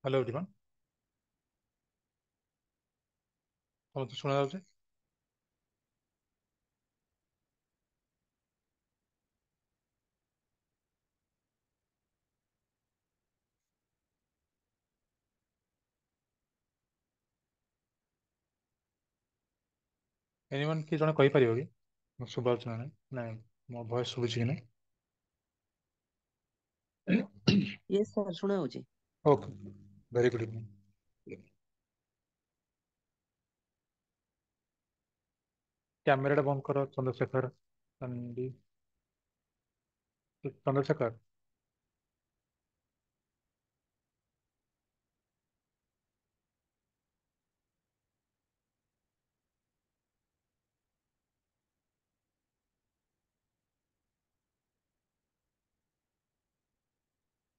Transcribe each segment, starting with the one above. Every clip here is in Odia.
Hello everyone, ସମସ୍ତେ ଶୁଣା ଯାଉଛି? ଏନିୱାନ୍ କିଏ ଜଣେ କହିପାରିବ କି ମୁଁ ଶୁଭା ଯାଉଛି ନା ନାଇଁ? ନାଇଁ, ମୋ ଭଏସ ଶୁଭୁଛି କି ନାଇଁ? Yes sir, ଶୁଣା ଯାଉଛି। Okay, very good evening. କ୍ୟାମେରାଟା ବନ୍ଦ କର ଚନ୍ଦ୍ରଶେଖର। ଚନ୍ଦ୍ରଶେଖର।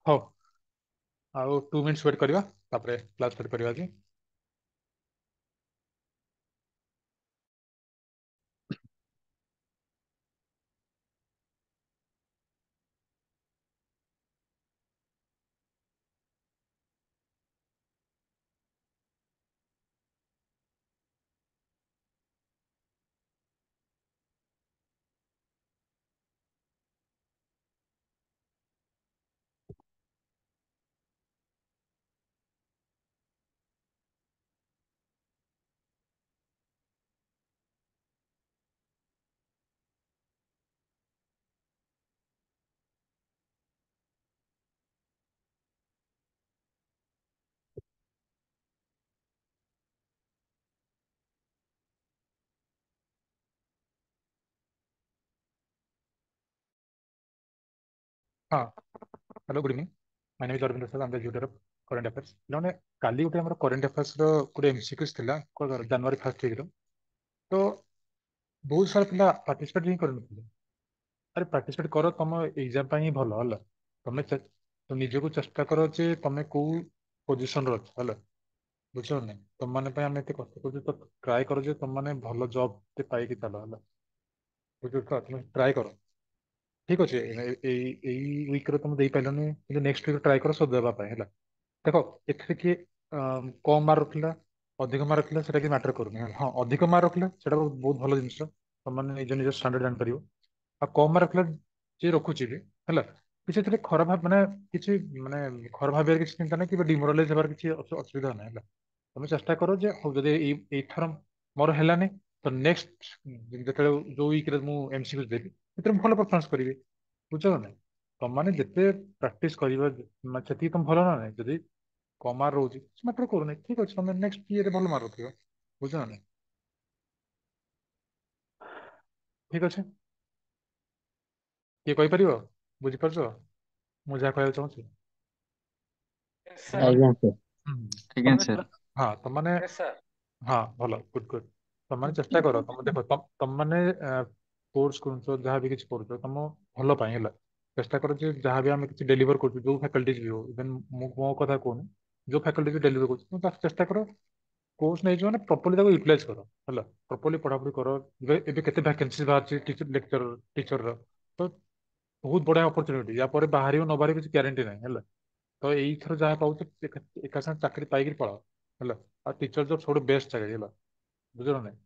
ହଉ, ଆଉ 2 ମିନିଟ୍ସ ୱେଟ୍ କରିବା, ତାପରେ କ୍ଲାସ୍ ଷ୍ଟାର୍ଟ କରିବା ଆଜି। ହଁ, hello, good evening. My name is Arvind Prasad, I am the tutor of current affairs. ପିଲାମାନେ, କାଲି ଗୋଟେ ଆମର କରେଣ୍ଟ ଆଫେୟାର୍ସର ଗୋଟେ ଏମସିକ୍ୟୁଜ ଥିଲା ଜାନୁଆରୀ ଫାର୍ଷ୍ଟ ୱିକ୍ର। ତ ବହୁତ ସାରା ପିଲା ପାର୍ଟିସିପେଟ୍ ହିଁ କରିନଥିଲେ। ଆରେ ପାର୍ଟିସିପେଟ୍ କର, ତମ ଏକ୍ଜାମ ପାଇଁ ହିଁ ଭଲ ହେଲା। ତମେ ନିଜକୁ ଚେଷ୍ଟା କର ଯେ ତମେ କୋଉ ପୋଜିସନରେ ଅଛ, ହେଲା, ବୁଝିଲ ନା ନାଇଁ? ତମମାନେ ପାଇଁ ଆମେ ଏତେ କଷ୍ଟ କରୁଛୁ, ତ ଟ୍ରାଏ କର ଯେ ତମମାନେ ଭଲ ଜବ୍ ଟେ ପାଇକି ଚାଲ, ହେଲା, ବୁଝୁଛ ତ? ତମେ ଟ୍ରାଏ କର, ଠିକ ଅଛି। ଏଇ ୱିକ୍ରେ ତମେ ଦେଇପାରିଲନି, କିନ୍ତୁ ନେକ୍ସଟ ୱିକ୍ ଟ୍ରାଏ କର ସବୁ ଦେବା ପାଇଁ, ହେଲା। ଦେଖ, ଏଥିରେ କିଏ କମ ମାର୍କ ରଖିଲା ଅଧିକ ମାର୍କ ରଖିଲା ସେଟା କିଛି ମ୍ୟାଟର କରୁନି, ହେଲା। ହଁ, ଅଧିକ ମାର୍କ ରଖିଲା ସେଟା ବହୁତ ଭଲ ଜିନିଷ, ତମମାନେ ନିଜ ନିଜ ଷ୍ଟାଣ୍ଡାର୍ଡ ଜାଣିପାରିବ। ଆଉ କମ ମାର୍କ ରଖିଲା ଯିଏ ରଖୁଛି ବି, ହେଲା, କିଛି ଏଥିରେ ଖରାପ ମାନେ କିଛି ମାନେ ଖରାପ ଭାବିବାର କିଛି ଚିନ୍ତା ନାହିଁ କିମ୍ବା ଡିମୋରାଲାଇଜ ହେବାର କିଛି ଅସୁବିଧା ନାହିଁ, ହେଲା। ତମେ ଚେଷ୍ଟା କର ଯେ ହଉ, ଯଦି ଏଇଥର ମୋର ହେଲାନି ତ ନେକ୍ସଟ ଯେତେବେଳେ ଯୋଉ ୱିକ୍ରେ ମୁଁ ଏମସିକ୍ୟୁ ଦେବି ସେଥିରେ ମୁଁ ଭଲ ପରଫର୍ମାନ୍ସ କରିବି, ବୁଝୁଛ ନା ନାଇଁ? ତମମାନେ ଯେତେ ପ୍ରାକ୍ଟିସ କରିବ ସେତିକି ତମେ ଭଲ ନା ନାଇଁ। ଯଦି କମ ମାର୍କ ରହୁଛି କିଛି ମ୍ୟାଟର କରୁନି, ଠିକ ଅଛି, ତମେ ନେକ୍ସଟ ଇଏରେ ଭଲ ମାର୍କ ରଖିବ, ବୁଝୁଛ ନା ନାଇଁ? ଠିକ ଅଛି, କିଏ କହିପାରିବ? ବୁଝିପାରୁଛ ମୁଁ ଯାହା କହିବାକୁ ଚାହୁଁଛି? ଆଜ୍ଞା ସାର୍। ଆଜ୍ଞା ସାର୍। ହଁ, ତମମାନେ ହଁ, ଭଲ, ଗୁଡ ଗୁଡ। ତମମାନେ ଚେଷ୍ଟା କର, ତମେ ଦେଖ, ତମମାନେ କୋର୍ସ କରୁଛ, ଯାହା ବି କିଛି କରୁଛ ତମ ଭଲ ପାଇଁ, ହେଲା। ଚେଷ୍ଟା କର ଯେ ଯାହା ବି ଆମେ କିଛି ଡେଲିଭର କରୁଛୁ, ଯୋଉ ଫ୍ୟାକଲ୍ଟିଜ ବି ହଉ, ଇଭେନ୍ ମୁଁ ମୋ କଥା କହୁନି, ଯୋଉ ଫ୍ୟାକଲ୍ଟି ବି ଡେଲିଭର କରୁଛୁ, ତମେ ତାକୁ ଚେଷ୍ଟା କର କୋର୍ସ ନେଇଯିବ ମାନେ ପ୍ରପରଲି ତାକୁ ୟୁଟିଲାଇଜ କର, ହେଲା, ପ୍ରପରଲି ପଢାପଢି କର। ଏବେ କେତେ ଭ୍ୟାକେନ୍ସି ବାହାରିଛି ଟିଚର, ଲେକ୍ଚର, ଟିଚରର, ତ ବହୁତ ବଢିଆ ଅପରଚୁନିଟି। ୟା ପରେ ବାହାରିବ ନ ବାହାରିବ କିଛି ଗ୍ୟାରେଣ୍ଟି ନାହିଁ, ହେଲା। ତ ଏଇଥର ଯାହା ପାଉଛ ଏକା ସାଙ୍ଗେ ଚାକିରି ପାଇକିରି ପଳାଅ, ହେଲା। ଆଉ ଟିଚର ଜବ୍ ସବୁଠୁ ବେଷ୍ଟ ଚାକିରି, ହେଲା, ବୁଝିଲ ନା ନାଇଁ?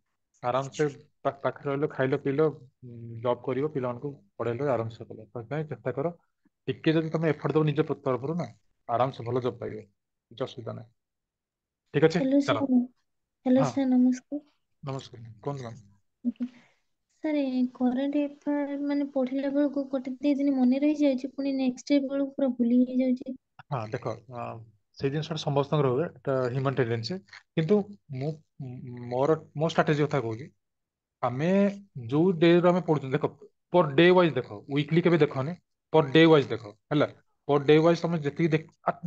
ଆରାମସେ ପାଖରେ ରହିଲ, ଖାଇଲ ପିଇଲ, ଜବ୍ କରିବ, ପିଲାମାନଙ୍କୁ ପଢେଇଲ, ଆରାମସେ କଲ। ସେଥିପାଇଁ ଚେଷ୍ଟା କର, ଟିକେ ଯଦି ତମେ ଏଫର୍ଟ ଦବ ନିଜ ତରଫରୁ ନା, ଆରାମସେ ଭଲ ଜବ୍ ପାଇବ, କିଛି ଅସୁବିଧା ନାହିଁ। ଠିକ ଅଛି, ହ୍ୟାଲୋ ଚାଲ। ସାର୍। ହ୍ୟାଲୋ ହଁ ସାର୍, ନମସ୍କାର। ନମସ୍କାର, କୁହନ୍ତୁ ma'am. Sir, current affair ମାନେ ପଢିଲା ବେଳକୁ ଗୋଟେ ଦି ଦିନ ମନେ ରହିଯାଉଛି, ପୁଣି ନେକ୍ସଟ ଡେ ବେଳକୁ ପୁରା ଭୁଲି ହେଇଯାଉଛି। ହଁ, ଦେଖ, ସେଇ ଜିନିଷଟା ସମସ୍ତଙ୍କର ହୁଏ, ଏଟା ହ୍ୟୁମାନ ଟେଣ୍ଡେନ୍ସି। କିନ୍ତୁ ମୁଁ ମୋ ଷ୍ଟ୍ରାଟେଜି କଥା କହୁଛି, ଆମେ ଯୋଉ ଡେ ରୁ ଆମେ ପଢୁଛନ୍ତି, ଦେଖ ପର ଡେ ୱାଇଜ ଦେଖ, ୱିକଲି କେବେ ଦେଖନି, ପର ଡେ ୱାଇଜ ଦେଖ, ହେଲା। ପର ଡେ ୱାଇଜ ତମେ ଯେତିକି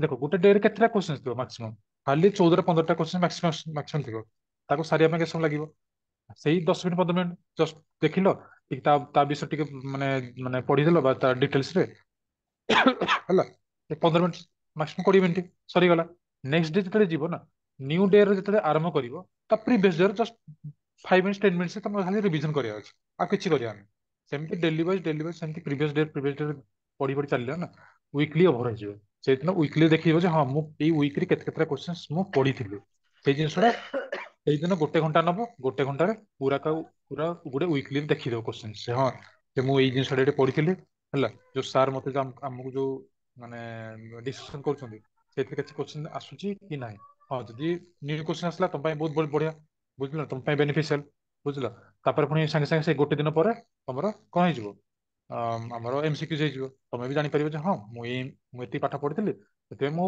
ଦେଖ, ଗୋଟେ ଡେ ରେ କେତେଟା କ୍ୱେଶ୍ଚନ ଥିବ? ମାକ୍ସିମମ୍ ଖାଲି 14-15ଟା କ୍ୱେଶ୍ଚନ ମାକ୍ସିମମ୍ ଥିବ। ତାକୁ ସାରିବା ପାଇଁ କେତେ ସମୟ ଲାଗିବ? ସେଇ 10 ମିନିଟ୍ 15 ମିନିଟ୍ ଜଷ୍ଟ ଦେଖିଲ ଟିକେ, ତା ବିଷୟରେ ଟିକେ ମାନେ ପଢିଦେଲ ବା ତା ଡିଟେଲ୍ସ ରେ, ହେଲା, 15 ମିନିଟ୍ ମାକ୍ସିମମ୍ 20 ମିନିଟ୍ ସରିଗଲା। ନେକ୍ସଟ ଡେ ଯେତେବେଳେ ଯିବ ନା, ନ୍ୟୁ ଡେ ରେ ଯେତେବେଳେ ଆରମ୍ଭ କରିବ, ତା ପ୍ରିଭିୟସ ଡେ ରେ ଜଷ୍ଟ 5 ମିନିଟ୍ସ 10 ମିନିଟ୍ସ ତମେ ଖାଲି ରିଭିଜନ କରିବାର ଅଛି, ଆଉ କିଛି କରିବାର ନାହିଁ। ସେମିତି ଡେଲି ୱାଇଜ, ଡେଲି ୱାଇଜ ସେମିତି ପ୍ରିଭିୟସ ଡେ ପ୍ରିଭିୟସ ଡେ ପଢି ପଢି ଚାଲିଲ ନା, ୱିକଲି ଓଭର ହେଇଯିବ। ସେଇଦିନ ୱିକଲି ଦେଖିବ ଯେ ହଁ ମୁଁ ଏଇ ୱିକରେ କେତେ କେତେଟା କ୍ୱେଶ୍ଚନ୍ସ ମୁଁ ପଢିଥିଲି। ସେଇ ଜିନିଷଟା ସେଇଦିନ ଗୋଟେ ଘଣ୍ଟା ନବ, ଗୋଟେ ଘଣ୍ଟାରେ ପୁରା ପୁରା ଗୋଟେ ୱିକଲି ଦେଖିଦବ କ୍ୱେଶ୍ଚନ୍ସ, ହଁ ଯେ ମୁଁ ଏଇ ଜିନିଷଟା ଏଠି ପଢିଥିଲି ହେଲା, ଯୋଉ ସାର୍ ମତେ ଆମକୁ ଯୋଉ ମାନେ ଡିସ୍କସନ କରୁଛନ୍ତି ସେଥିରେ କିଛି କ୍ୱେଶ୍ଚନ ଆସୁଛି କି ନାହିଁ। ହଁ ଯଦି ନ୍ୟୁ କ୍ୱେଶ୍ଚନ ଆସିଲା ତମ ପାଇଁ ବହୁତ ବଢିଆ, ବୁଝିଲ, ତମ ପାଇଁ ବେନିଫିସିଆଲ, ବୁଝିଲ। ତାପରେ ପୁଣି ସାଙ୍ଗେ ସାଙ୍ଗେ ସେଇ ଗୋଟେ ଦିନ ପରେ ତମର କଣ ହେଇଯିବ, ଆମର ଏମସିକ୍ୟୁଜ ହେଇଯିବ। ତମେ ବି ଜାଣିପାରିବ ଯେ ହଁ ମୁଁ ଏତିକି ପାଠ ପଢିଥିଲି, ସେଥିପାଇଁ ମୁଁ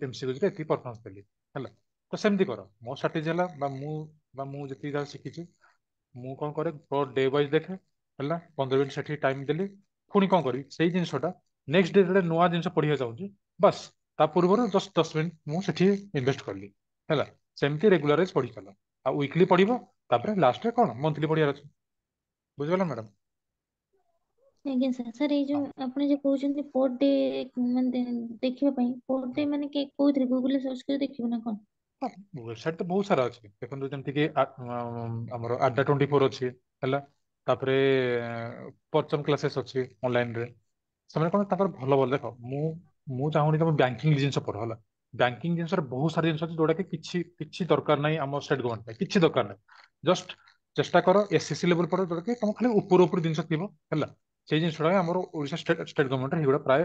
ଏମସିକ୍ୟୁଜ ରେ ଏତିକି ପରଫର୍ମାନ୍ସ ଦେଲି ହେଲା। ତ ସେମିତି କର। ମୋ ଷ୍ଟ୍ରାଟେଜି ହେଲା ବା ମୁଁ ଯେତିକି ଯାହା ଶିଖିଛି, ମୁଁ କଣ କରେ ପର ଡେ ୱାଇଜ ଦେଖେ ହେଲା, 15 ମିନିଟ୍ ସେଠି ଟାଇମ ଦେଲି, ପୁଣି କଣ କରିବି ସେଇ ଜିନିଷଟା ନେକ୍ସଟ ଡେ ଯେତେବେଳେ ନୂଆ ଜିନିଷ ପଢିବାକୁ ଚାହୁଁଛି, ବାସ୍ ତା ପୂର୍ବରୁ ଜଷ୍ଟ 10 ମିନିଟ୍ ମୁଁ ସେଠି ଇନଭେଷ୍ଟ କଲି ହେଲା। ସେମିତି ରେଗୁଲାରାଇଜ ପଢି ଚାଲ, ଆଉ ୱିକଲି ପଢିବ, ତାପରେ ଲାଷ୍ଟରେ କଣ ମନ୍ଥଲି ପଢିବାର ଅଛି। ବୁଝିଗଲା ମ୍ୟାଡାମ? ଆଜ୍ଞା ସାର୍। ସାର୍ ଏଇ ଯୋଉ ଆପଣ ଯୋଉ କହୁଛନ୍ତି ପର ଡେ ମାନେ ଦେଖିବା ପାଇଁ, ପର ଡେ ମାନେ କୋଉଥିରେ ଗୁଗଲରେ ସର୍ଚ୍ଚ କରି ଦେଖିବ ନା କଣ? ହଁ, ୱେବସାଇଟ ତ ବହୁତ ସାରା ଅଛି ଦେଖନ୍ତୁ, ଯେମିତି କି ଆମର ଆଡ୍ଡା 24 ଅଛି ହେଲା, ତାପରେ ପରଚମ କ୍ଲାସେସ୍ ଅଛି ଅନଲାଇନ ରେ। ସେମାନେ କଣ ତାଙ୍କର ଭଲ ଭଲ ଦେଖ, ମୁଁ ଚାହୁଁନି ତମେ ବ୍ୟାଙ୍କିଙ୍ଗ ଜିନିଷ ପଢ ହେଲା। ବ୍ୟାଙ୍କିଙ୍ଗ ଜିନିଷରେ ବହୁତ ସାରା ଜିନିଷ ଅଛି ଯୋଉଟା କି କିଛି କିଛି ଦରକାର ନାହିଁ ଆମ ଷ୍ଟେଟ ଗଭର୍ଣ୍ଣମେଣ୍ଟ ପାଇଁ, କିଛି ଦରକାର ନାହିଁ। ଜଷ୍ଟ ଚେଷ୍ଟା କର ଏସଏସସି ଲେଭେଲ ପଢ, ଯୋଉଟା କି ତମ ଖାଲି ଉପର ଉପର ଜିନିଷ ଥିବ ହେଲା। ସେଇ ଜିନିଷଟା ଆମର ଓଡ଼ିଶା ଷ୍ଟେଟ ଗଭର୍ଣ୍ଣମେଣ୍ଟ ହେଇଗୁଡ଼ା ପ୍ରାୟ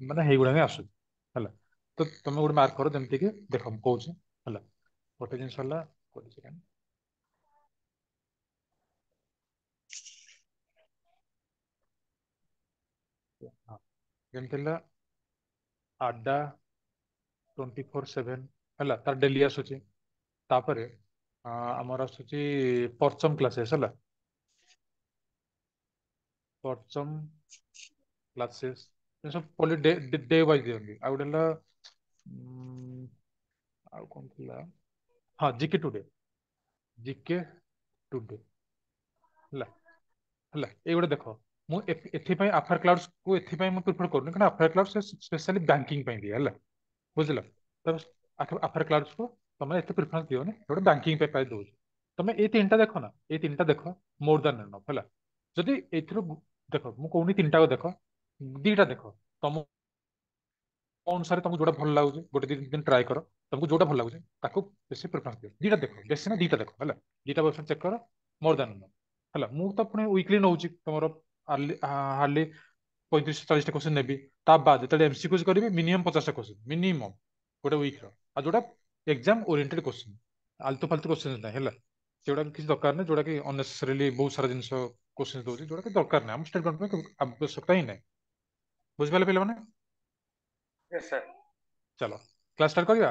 ମାନେ ହେଇଗୁଡ଼ା ହିଁ ଆସୁଛି ହେଲା। ତ ତମେ ଗୋଟେ ମାର୍କ କର, ଯେମିତି କି ଦେଖ ମୁଁ କହୁଛି ହେଲା, ଗୋଟେ ଜିନିଷ ହେଲା ଗୋଟେ ସେକେଣ୍ଡ, ହଁ ଯେମିତି ହେଲା ଆଡ୍ଡା 24/7 ହେଲା, ତାର ଡେଲି ଆସୁଛି। ତାପରେ ଆମର ଆସୁଛି ପରଚମ କ୍ଲାସେସ୍ ହେଲା, ପରଚମ କ୍ଲାସେସ୍ ସବୁ ପଲି ଡେ ଡେ ୱାଇଜ ଦିଅନ୍ତି। ଆଉ ଗୋଟେ ହେଲା ଆଉ କଣ ଥିଲା, ହଁ ଜିକେ ଟୁଡେ, ଜିକେ ଟୁଡେ ହେଲା ହେଲା। ଏଇଗୁଡ଼ା ଦେଖ, ମୁଁ ଏଥିପାଇଁ ଆଫାର କ୍ଲାଉଡ୍ସ କୁ ଏଥିପାଇଁ ମୁଁ ପ୍ରିଫର କରୁନି, କାରଣ ଆଫାର କ୍ଲାଉଡ୍ସ ସ୍ପେଶାଲି ବ୍ୟାଙ୍କିଙ୍ଗ ପାଇଁ ଦିଏ ହେଲା, ବୁଝିଲ। ତ ଆଫାର କ୍ଲାଉଡ୍ସ କୁ ତମେ ଏତେ ପ୍ରିଫରେନ୍ସ ଦିଅନି, ଗୋଟେ ବ୍ୟାଙ୍କିଙ୍ଗ ପାଇଁ ପ୍ରାୟ ଦଉଛି। ତମେ ଏଇ ତିନିଟା ଦେଖ ନା, ଏଇ ତିନିଟା ଦେଖ ମୋର ଦ୍ୟାନ ଏନଫ ହେଲା। ଯଦି ଏଇଥିରୁ ଦେଖ, ମୁଁ କହୁନି ତିନିଟାକୁ ଦେଖ, ଦିଟା ଦେଖ, ତମ ଅନୁସାରେ ତମକୁ ଯୋଉଟା ଭଲ ଲାଗୁଛି ଗୋଟେ ଦି ଦିନ ଟ୍ରାଏ କର, ତମକୁ ଯୋଉଟା ଭଲ ଲାଗୁଛି ତାକୁ ବେଶୀ ପ୍ରିଫରେନ୍ସ ଦିଅ। ଦିଟା ଦେଖ, ବେଶୀ ନା ଦିଟା ଦେଖ ହେଲା, ଦିଟା ୱେବସାଇଟ୍ ଚେକ୍ କର, ମୋର ଦ୍ୟାନ ଏନଫ ହେଲା। ମୁଁ ତ ପୁଣି ୱିକଲି ନଉଛି ତମର ହାର୍ଡଲି 35-40ଟା କ୍ୱେଶ୍ଚନ ନେବି। ତା ବାଦ ଯେତେବେଳେ ଏମସିକ୍ୟୁଜ କରିବି ମିନିମମ୍ 50ଟା କ୍ୱେଶ୍ଚନ ମିନିମମ୍ ଗୋଟେ ୱିକର, ଆଉ ଯୋଉଟା ଏକ୍ସାମ ଓରିଏଣ୍ଟେଡ କ୍ୱେଶ୍ଚନ, ଆଲତୁ ଫାଲତୁ କ୍ୱେଶ୍ଚନ ନାହିଁ ହେଲା। ସେଗୁଡା କିଛି ଦରକାର ନାହିଁ, ଯୋଉଟା କି ଅନନେସେସରିଲି ବହୁତ ସାରା ଜିନିଷ କ୍ୱେଶ୍ଚନ ଦଉଛି, ଯୋଉଟା କି ଦରକାର ନାହିଁ ଆମ ଷ୍ଟେଟ ଗଭର୍ଣ୍ଣମେଣ୍ଟ ପାଇଁ ଆବଶ୍ୟକତା ହିଁ ନାହିଁ। ବୁଝିପାରିଲେ ପିଲାମାନେ? Yes sir. ଚାଲ କ୍ଲାସ ଷ୍ଟାର୍ଟ କରିବା।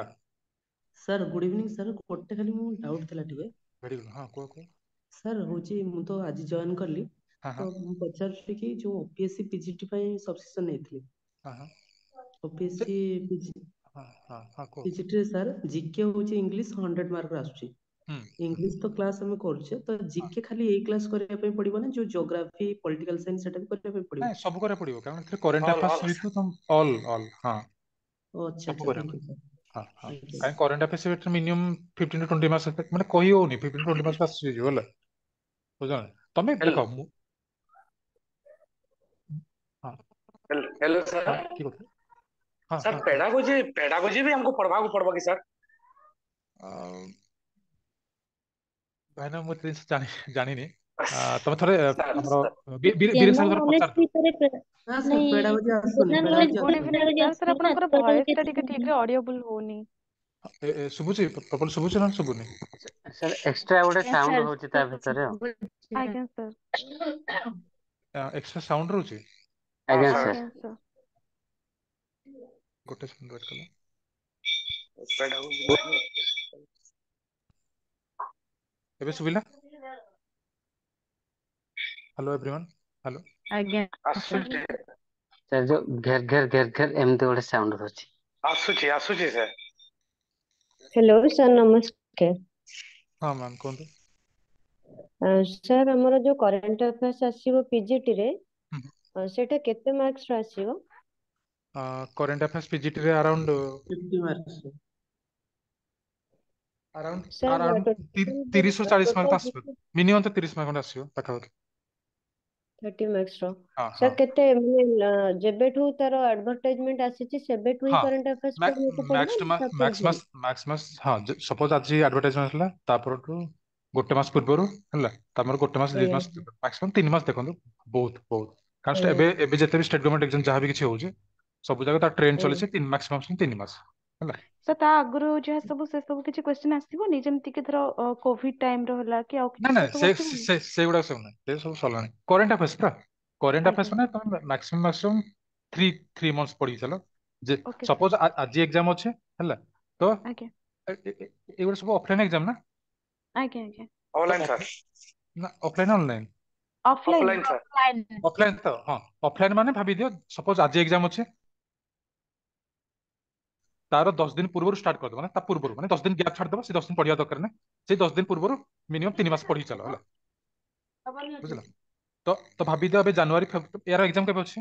ସାର୍ ଗୁଡ୍ ଇଭିନିଂ ସାର୍, ଗୋଟେ ଖାଲି ମୁଁ ଡାଉଟ୍ ଥିଲା ଟିକେ। ଭେରି ଗୁଡ୍, ହଁ କୁହ କୁହ। ସାର୍ ହଉଛି ମୁଁ ତ ଆଜି ଜଏନ୍ କଲି, ତ ମୁଁ ପଚାରୁଥିଲି କି ଯୋଉ ଓପିଏସସି ପିଜିଟି ପାଇଁ ସବସ୍କ୍ରିପସନ ନେଇଥିଲି, ଓପିଏସସି ପିଜିଟି ରେ ସାର୍ ଜିକେ ହଉଛି ଇଂଲିଶ 100 ମାର୍କ ର ଆସୁଛି। ଇଂଲିଶ ତ କ୍ଲାସ ଆମେ କରୁଛେ, ତ ଜିକେ ଖାଲି ଏଇ କ୍ଲାସ କରିବା ପାଇଁ ପଡିବ ନା ଯୋଉ ଜିଓଗ୍ରାଫି ପଲିଟିକାଲ ସାଇନ୍ସ ସେଟା ବି କରିବା ପାଇଁ ପଡିବ? ନାଇଁ ସବୁ କରିବାକୁ ପଡିବ, କାରଣ ଏଥିରେ କରେଣ୍ଟ ଆଫେୟାର୍ସ ସହିତ ତମ ଅଲ୍ ଅଲ୍ ହଁ ଆଚ୍ଛା ସବୁ ଆଚ୍ଛା, କରିବାକୁ thank you sir. ହଁ ହଁ, କାଇଁ କରେଣ୍ଟ ଆଫେୟାର୍ସ ଏଥିରେ ମିନିମମ୍ 15 to 20 marks, ମାନେ କହି ହଉନି 15 to 20 marks ଆସିଯିବ ହେଲା, ବୁଝିଲ ନା? ତମେ ଦେଖ ମୁଁ ହଁ ହେଲୋ ସାର୍, ହଁ କି କଥା? ହଁ ସାର୍ ହଁ ପେଡାଗୋଜି ପେଡାଗୋଜି ବି ଆମକୁ ପଢବାକୁ ପଡବ କି ସାର୍? ଭାଇନା ମୁଁ ଏତେ ଜିନିଷ ଜାଣିନି, ତମେ ଥରେ ଆମର ବୀରେଶ ଜେନେରାଲ ସାର୍ ଥରେ ନଲେଜ ପଚାରିଦିଅ। ଭିତରେ ନା ସାର୍ ପେଡାଗୋଜି ଆସୁନି, ଜେନେରାଲ ପେଡାଗୋଜି ନଲେଜ ଗୁଡ୍ ଭିତରେ ଇଭିନିଂ ପେଡାଗୋଜି ସାର୍। ସାର୍ ଆସୁନି ନା, ଆପଣଙ୍କର ପେଡାଗୋଜି ଭଏସ ଟା ଏତେ ଟିକେ ଠିକ ରେ ଅଡିଓବଲ ହଉନି। ଶୁଭୁଛି ପ୍ରପର ଶୁଭୁଛି ନା ଶୁଭୁନି? ସାର୍ ଏକ୍ସଟ୍ରା ଗୋଟେ ଆଜ୍ଞା ସାଉଣ୍ଡ ସାର୍ ହଉଛି ତା ଭିତରେ ଆଉ। ଆଜ୍ଞା ସାର୍। ଏକ୍ସଟ୍ରା ସାଉଣ୍ଡ ରହୁଛି? ଆଜ୍ଞା ହଁ ସାର୍। ଆଜ୍ଞା ସାର୍। ଗୋଟେ ସେକେଣ୍ଡ ୱେଟ୍ କଲ। ପେଡାଗୋଜି ଏବେ ଶୁଭିଲା? Hello everyone, hello. ଆଜ୍ଞା ଆସୁଛି ସାର୍, ଯୋଉ ଘେର ଘେର ଘେର ଘେର ଏମିତି ଗୋଟେ ସାଉଣ୍ଡ ହଉଛି। ଆସୁଛି ଆସୁଛି ସାର୍। ହ୍ୟାଲୋ ସାର୍ ନମସ୍କାର। ହଁ ମ୍ୟାମ୍ କୁହନ୍ତୁ। ସାର୍ ଆମର ଯୋଉ କରେଣ୍ଟ ଆଫେୟାର୍ସ ଆସିବ ପିଜିଟି ରେ, ସେଇଟା କେତେ ମାର୍କସ ର ଆସିବ? କରେଣ୍ଟ ଆଫେୟାର୍ସ ପିଜିଟି ରେ around 50 marks. Around sir around total 30 ରୁ 40 ମାର୍କ ଟୋଟାଲ ଆସିବ, ମିନିମମ୍ ତ 30 ମାର୍କ ଖଣ୍ଡେ ଆସିବ ପାଖାପାଖି। 30 ମାର୍କ୍ସ ର। ହଁ। ସାର୍, ହଁ। କେତେ ମାନେ ଯେବେଠୁ ତାର ଆଡଭର୍ଟାଇଜମେଣ୍ଟ ଆସିଛି, ସେବେଠୁ ହିଁ କରେଣ୍ଟ ଆଫେୟାର୍ସ ପଢିବାକୁ ପଡିବ ମ୍ୟାକ୍ସ ଟୁ ନା ତା ମ୍ୟାକ୍ସ ପୂର୍ବରୁ? ମାସ, ମ୍ୟାକ୍ସ ମାସ। ହଁ, ସପୋଜ ଆଜି ଆଡଭର୍ଟାଇଜମେଣ୍ଟ ହେଲା, ତା ପରଠୁ ଗୋଟେ ମାସ ପୂର୍ବରୁ ହେଲା, ତାପରେ ଗୋଟେ ମାସ, 2 ମାସ, ମ୍ୟାକ୍ସିମମ୍ 3 ମାସ ଦେଖନ୍ତୁ, ବହୁତ ବହୁତ। କାରଣ ଏବେ ଏବେ ଯେତେ ବି ଷ୍ଟେଟ୍ ଗଭର୍ଣ୍ଣମେଣ୍ଟ ଏକ୍ସାମ ଯାହା ବି କିଛି ହଉଛି, ସବୁ ଜାଗା ତା ଟ୍ରେଣ୍ଡ ଚାଲିଛି ମ୍ୟାକ୍ସିମମ୍ 3 ମାସ ହେଲା। ସାର୍, ତା ଆଗରୁ ଯାହା ସବୁ, ସେ ସବୁ କିଛି କ୍ୱେଶ୍ଚନ ଆସିବନି? ଯେମିତି କି ଧର କୋଭିଡ ଟାଇମ ର ହେଲା କି ଆଉ ନା କିଛି, ନା, ସେ ସବୁ ସେ ଆସିବନି? ସେ ସେଗୁଡା ସବୁ ନାହିଁ, ସେ ସବୁ ସରିଲାଣି। କରେଣ୍ଟ ଆଫେୟାର୍ସ ପୁରା କରେଣ୍ଟ ଆଫେୟାର୍ସ ମାନେ ତମେ maximum 3 months ପଢିକି ଚାଲ ଯେ ଓକେ ସାର୍। ସପୋଜ ଆଜି ଏକ୍ସାମ ଅଛି ହେଲା, ତ ଏଗୁଡ଼ା ସବୁ ଅଫଲାଇନ ଏକ୍ସାମ ନା? ଆଜ୍ଞା। ତ ଅନଲାଇନ ସାର୍। ନା, offline, online? Offline. Offline sir. Offline. Offline ତ ହଁ, ଅଫଲାଇନ ମାନେ ଭାବି ଦିଅ, ସପୋଜ ଆଜି ଏକ୍ସାମ ଅଛି, ତାର 10 ଦିନ ପୂର୍ବରୁ ଷ୍ଟାର୍ଟ କରିଦବ। ମାନେ ତା ପୂର୍ବରୁ, ମାନେ 10 ଦିନ ଗ୍ୟାପ୍ ଛାଡ଼ିଦବ। ସେ 10 ଦିନ ପଢିବା ଦରକାର ନାହିଁ। ସେଇ 10 ଦିନ ପୂର୍ବରୁ ମିନିମମ୍ 3 ମାସ ପଢିକି ଚାଲ ହେଲା, ବୁଝିଲ? ତ ଭାବିଦିଅ ଏବେ ଜାନୁଆରୀ, ଏହାର ଏକ୍ସାମ କେବେ ଅଛି,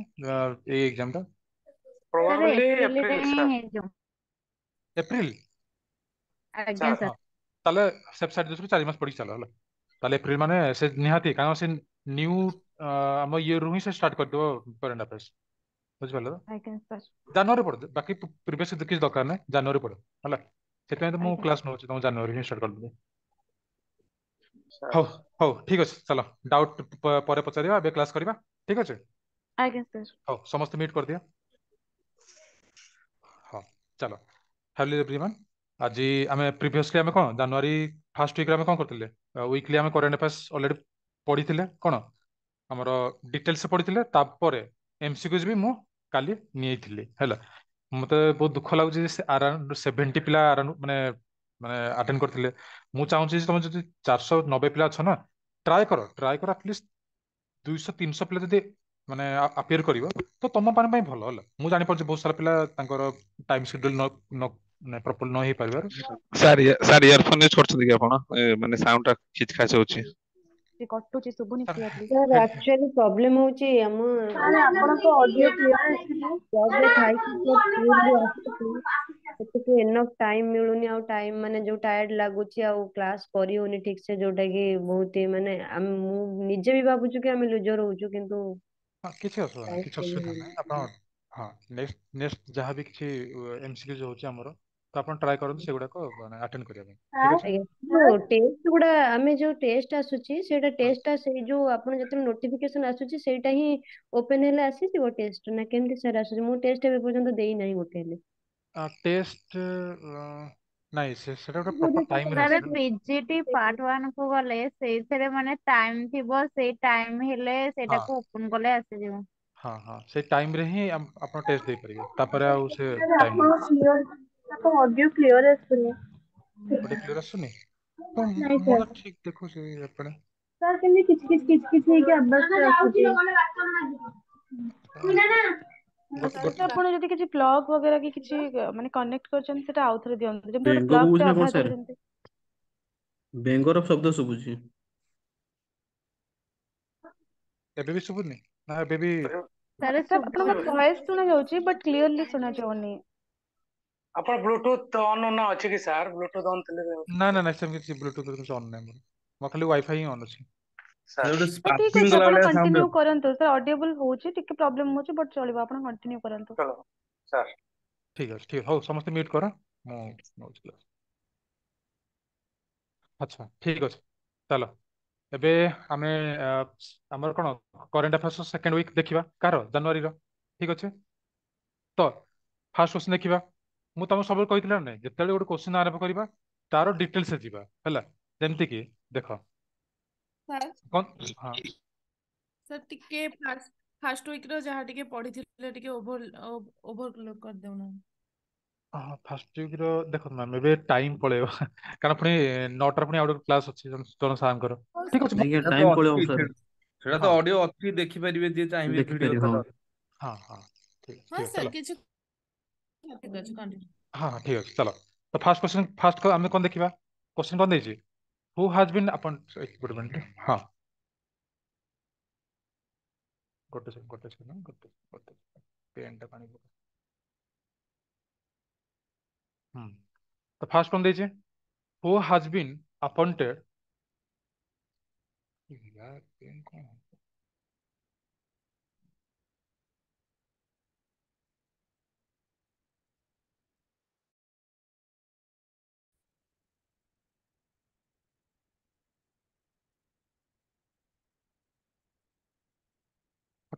ଏଇ ଏକ୍ସାମ ଟା? ସାର୍, ପ୍ରୋବାବଲି ଏପ୍ରିଲରେ ଏପ୍ରିଲ ହିଁ ସାର୍। ହେଇଯିବ। ଏପ୍ରିଲ? ଆଜ୍ଞା। ସାର୍। ସାର୍। ହଁ, ତାହେଲେ ସେଫ୍ ସାଇଡ୍ ଦୃଷ୍ଟିରୁ 4 ମାସ ପଢିକି ଚାଲ ହେଲା। ତାହେଲେ ଏପ୍ରିଲ ମାନେ ସେ ନିହାତି, କାରଣ ସେ ନ୍ୟୁ ଆମ ଇୟରରୁ ହିଁ ସେ ଷ୍ଟାର୍ଟ କରିଦେବ କରେଣ୍ଟ ଆଫେୟାର୍ସ, ବୁଝିପାରିଲ ତ? ଆଜ୍ଞା ସାର୍। ଜାନୁଆରୀ ପଢ, ବାକି ପ୍ରିଭିୟସ କିଛି ଦରକାର ନାହିଁ, ଜାନୁଆରୀ ପଢ ହେଲା। ସେଥିପାଇଁ ତ ମୁଁ କ୍ଲାସ ନଉଛି ତମ, ଜାନୁଆରୀ ହିଁ ଷ୍ଟାର୍ଟ କରିଦେବି। ସାର୍। ହଉ ହଉ, ଠିକ ଅଛି, ଚାଲ। ଡାଉଟ୍ ପରେ ପଚାରିବା, ଏବେ କ୍ଲାସ କରିବା, ଠିକ ଅଛି? ଆଜ୍ଞା ସାର୍। ହଉ, ସମସ୍ତେ ମ୍ୟୁଟ୍ କରିଦିଅ। ହଁ, ଚାଲ। Hello everyone. ଆଜି ଆମେ ପ୍ରିଭିୟସଲି ଆମେ କ'ଣ ଜାନୁଆରୀ ଫାର୍ଷ୍ଟ ୱିକରେ ଆମେ କ'ଣ କରିଥିଲେ? ୱିକଲି ଆମେ କରେଣ୍ଟ ଆଫେୟାର୍ସ ଅଲରେଡି ପଢିଥିଲେ, କ'ଣ ଆମର ଡିଟେଲ୍ସ ପଢିଥିଲେ। ତାପରେ ଏମସିକ୍ୟୁଜ ବି ମୁଁ କାଲି ନେଇଥିଲି ହେଲା। ମତେ ବହୁତ ଦୁଃଖ ଲାଗୁଛି ଯେ ଆରାଉଣ୍ଡ 70 ପିଲା ଆରାଉଣ୍ଡ ମାନେ ମାନେ ଆଟେଣ୍ଡ କରିଥିଲେ। ମୁଁ ଚାହୁଁଛି ଯେ ତମେ ଯଦି 490 ପିଲା ଅଛ ନା, ଟ୍ରାଏ କର, ଟ୍ରାଏ କର, ଆଟଲିଷ୍ଟ 200 300 ପିଲା ଯଦି ମାନେ ଆପିୟର କରିବ ତ ତମ ପାଇଁ ଭଲ ହେଲା। ମୁଁ ଜାଣିପାରୁଛି ବହୁତ ସାରା ପିଲା ତାଙ୍କର ଟାଇମ ସେଡ୍ୟୁଲ ନ ନ ମାନେ ପ୍ରପର ନ ହେଇପାରିବାରୁ। ସାର୍, ସାର୍, ଇୟରଫୋନ ୟୁଜ କରୁଛନ୍ତି କି ଆପଣ? ମାନେ ସାଉଣ୍ଡ ଟା ଖିଚ ଖାଚ ହଉଛି। କଟୁଛି, ଶୁଭୁନି sir clearly. Sir, actually problem ହଉଛି ଆମ ସାର୍, ଆପଣଙ୍କ ଅଡିଓ କ୍ଲିୟର ଆସୁନି। ଜବରେ ଥାଇକି ସ୍କୁଲରୁ ଆସୁଛି, ସେତିକି ଏନଫ ଟାଇମ ମିଳୁନି। ଆଉ ଟାଇମ ମାନେ ଯୋଉ ଟାୟାର୍ଡ ଲାଗୁଛି, ଆଉ କ୍ଲାସ କରି ହଉନି ଠିକ ସେ, ଯୋଉଟା କି ବହୁତ ହି ମାନେ ମୁଁ ନିଜେ ବି ଭାବୁଛୁ କି ଆମେ ଲୁଜର ହଉଛୁ, କିନ୍ତୁ ହଁ, କିଛି ଅସୁବିଧା ନାହିଁ, କ୍ଲାସ କିଛି କରି ଅସୁବିଧା ହଉନି। ନାହିଁ। ଆପଣ ହଁ, ନେକ୍ସଟ ନେକ୍ସଟ ଯାହା ବି କିଛି ଏମସିକ୍ୟୁଜ ହଉଛି ଆମର, ତ ଆପଣ ଟ୍ରାଏ କରନ୍ତୁ ସେଗୁଡାକ ମାନେ ଆଟେଣ୍ଡ କରିବା ପାଇଁ, ଠିକ ଅଛି? ଆଜ୍ଞା, ଯୋଉ ଟେଷ୍ଟ ଗୁଡା ଆମେ ଯୋଉ ଟେଷ୍ଟ ଆସୁଛି, ସେଇଟା ଟେଷ୍ଟ ଟା ସେଇ ଯୋଉ ଆପଣ ଯେତେବେଳେ ନୋଟିଫିକେସନ ଆସୁଛି, ସେଇଟା ହିଁ ଓପେନ ହେଲେ ଆସିଯିବ ଟେଷ୍ଟ ନା କେମିତି ସାର୍ ଆସୁଛି? ମୁଁ ଟେଷ୍ଟ ଏବେ ପର୍ଯ୍ୟନ୍ତ ଦେଇନାହିଁ ଗୋଟେ ହେଲେ। ଟେଷ୍ଟ ନାଇଁ, ସେଟା ଗୋଟେ ପ୍ରପର ଟାଇମରେ ସାର୍, ଆସେ ନା। ପିଜିଟି ପାର୍ଟ 1 କୁ ଗଲେ ସେଇଥିରେ ମାନେ ଟାଇମ ଥିବ, ସେଇ ଟାଇମ ହେଲେ ସେଇଟାକୁ ଓପନ କଲେ ଆସିଯିବ। ହଁ, ସେଇ ଟାଇମରେ ହିଁ ଆପଣ ଟେଷ୍ଟ ଦେଇପାରିବେ, ତାପରେ ଆଉ ସେ ଟାଇମ ଆପଣ କ୍ଲିୟର, ଆପଣଙ୍କ ଅଡିଓ କ୍ଲିୟର ଆସୁନି। ଗୋଟେ କ୍ଲିୟର ଆସୁନି ତ? ନାଇଁ ମୁଁ ସାର୍। ତ ଠିକ ଦେଖୁଛି ଏପଟେ। ସାର୍, କେମିତି କିଛି କିଛି କିଛି କିଛି ହେଇକି ଆବାଜ ଆସୁଛି। ଗୋଟେ ସାର୍, ଗୋଟେ ଆପଣ ଯଦି କିଛି ପ୍ଲଗ ବଗେରା କି କିଛି ମାନେ କନେକ୍ଟ କରିଛନ୍ତି, ସେଟା ଆଉଥରେ ଦିଅନ୍ତୁ। ଯେମିତି ଗୋଟେ ବେଙ୍ଗ ପ୍ଲଗ ବୋବଉଛି ଟେ ନା କଣ ଅଧା ସାର୍? ଦେଲେ ଯେମିତି ବେଙ୍ଗର ଶବ୍ଦ ଶୁଭୁଛି। ଏବେ ବି ଶୁଭୁନି ନା ଏବେ ବି? ସାର୍, ସାର୍, ଆପଣଙ୍କ ଶୁଭୁନି। ଭଏସ ଶୁଣା ଯାଉଛି, ବଟ୍ କ୍ଲିୟରଲି ଶୁଣା ଯାଉନି। ଆପଣ ବ୍ଲୁଟୁଥ ଅନ୍ ନା ଅଛି କି ସାର୍? ବ୍ଲୁଟୁଥ ଅନ୍ ଥିଲେ ବି ନା, ସେମିତି କିଛି ବ୍ଲୁଟୁଥ କିଛି ଅନ୍ ନାହିଁ ମୋର। ମୋର ଖାଲି ୱାଇଫାଇ ହିଁ ଅନ୍ ଅଛି। ସାର୍। ଗୋଟେ ହଁ, ଠିକ ସ୍ପାର୍କିଂ ଅଛି, କଲା ଆପଣ ଭଳିଆ ସାଉଣ୍ଡ। କଣ୍ଟିନ୍ୟୁ କରନ୍ତୁ ସାର୍। ଅଡିଏବଲ ହଉଛି, ଟିକେ ପ୍ରୋବ୍ଲେମ ହଉଛି, ବଟ୍ ଚଳିବ, ଆପଣ କଣ୍ଟିନ୍ୟୁ କରନ୍ତୁ। ଚଲୋ ସାର୍। ଠିକ ଅଛି, ଠିକ। ହଉ, ସମସ୍ତେ ମ୍ୟୁଟ୍ କର, ମୁଁ ନଉଛି କ୍ଲାସ। ଆଚ୍ଛା, ଠିକ ଅଛି, ଚାଲ। ଏବେ ଆମେ ଆମର କଣ କରେଣ୍ଟ ଆଫେୟାର୍ସ ସେକେଣ୍ଡ ୱିକ୍ ଦେଖିବା, କାହାର? ଜାନୁଆରୀର, ଠିକ ଅଛି? ତ ଫାର୍ଷ୍ଟ କ୍ୱେଶ୍ଚନ ଦେଖିବା। ମୁଁ ତମକୁ ସବୁବେଳେ କହିଥିଲି ନା ନାଇଁ, ଯେତେବେଳେ ଗୋଟେ କ୍ୱେଶ୍ଚନ ଆରମ୍ଭ କରିବା, ତାର ଡିଟେଲ୍ସ ଯିବା ହେଲା। ଯେମିତି କି ଦେଖ ସାର୍। କଣ? ହଁ। ସାର୍, ଟିକେ ଫାଷ୍ଟ ଫାଷ୍ଟ ୱିକ୍ ର ଯାହା ଟିକେ ପଢିଥିଲେ, ଟିକେ ଓଭର ଓଭର କରିଦେଉନାହାନ୍ତି। ହଁ, ଫାର୍ଷ୍ଟ ୱିକ୍ ର ଦେଖନ୍ତୁ ମ୍ୟାମ୍, ଏବେ ଟାଇମ ପଳେଇବ, କାରଣ ପୁଣି 9ଟାରେ ପୁଣି ଆଉ ଗୋଟେ କ୍ଲାସ ଅଛି ଜଣେ ଜଣେ ସାର୍ଙ୍କର। ହଉ ଠିକ ସାର୍। ଅଛି, ମୁଁ ଆଜ୍ଞା, ସେଟା ତ ଟାଇମ ପଳେଇବ ଅଛି ସାର୍। ସେଟା ତ ଅଡିଓ ଅଛି, ଦେଖିପାରିବେ ଯିଏ ଚାହିଁବେ ଭିଡିଓ ଦେଖିପାରିବେ, ହଁ। ତାର। ହଁ, ଠିକ ଅଛି। ହଁ ଠିକ ଅଛି, ସାର୍, ଚାଲ। କିଛି ଠିକ ଅଛି, କଣ୍ଟିନ୍ୟୁ। ହଁ, ଠିକ ଅଛି, ଚାଲ। ତ ଫାର୍ଷ୍ଟ କ୍ୱେଶ୍ଚନ, ଫାର୍ଷ୍ଟ ଆମେ କଣ ଦେଖିବା? କ୍ୱେଶ୍ଚନ କଣ ଦେଇଛି? ହୁ ହାଜ ବିନ୍, ଆପଣ ଗୋଟେ ମିନିଟ୍, ହଁ, ଗୋଟେ ସେକେଣ୍ଡ, ଗୋଟେ ସେକେଣ୍ଡ, ଗୋଟେ ଗୋଟେ ପେନ୍ ଟା ପାଣି ପକା। ହୁଁ, ତ ଫାର୍ଷ୍ଟ କଣ ଦେଇଛି? ହୁ ହାଜ ବିନ୍ ଆପଏଣ୍ଟେଡ, ୟାର ପେନ୍ କଣ?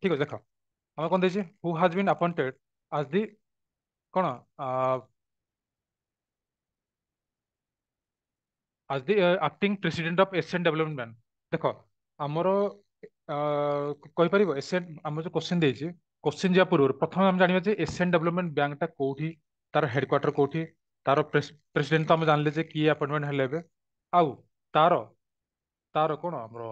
ଠିକ ଅଛି, ଦେଖ ଆମେ କଣ ଦେଇଛି, who has been appointed as the କଣ as the acting president of Asian Development Bank। ଦେଖ ଆମର କହିପାରିବ ଏସିଆନ, ଆମର ଯୋଉ କ୍ୱେଶ୍ଚିନ୍ ଦେଇଛି, କ୍ୱେଶ୍ଚିନ୍ ଯିବା ପୂର୍ବରୁ ପ୍ରଥମେ ଆମେ ଜାଣିବା ଯେ ଏସିଆନ ଡେଭଲପମେଣ୍ଟ ବ୍ୟାଙ୍କଟା କୋଉଠି, ତାର ହେଡକ୍ୱାର୍ଟର କୋଉଠି, ତାର ପ୍ରେସିଡେଣ୍ଟ ତ ଆମେ ଜାଣିଲେ ଯେ କିଏ ଆପଏଣ୍ଟମେଣ୍ଟ ହେଲେ ଏବେ, ଆଉ ତାର ତାର କଣ ଆମର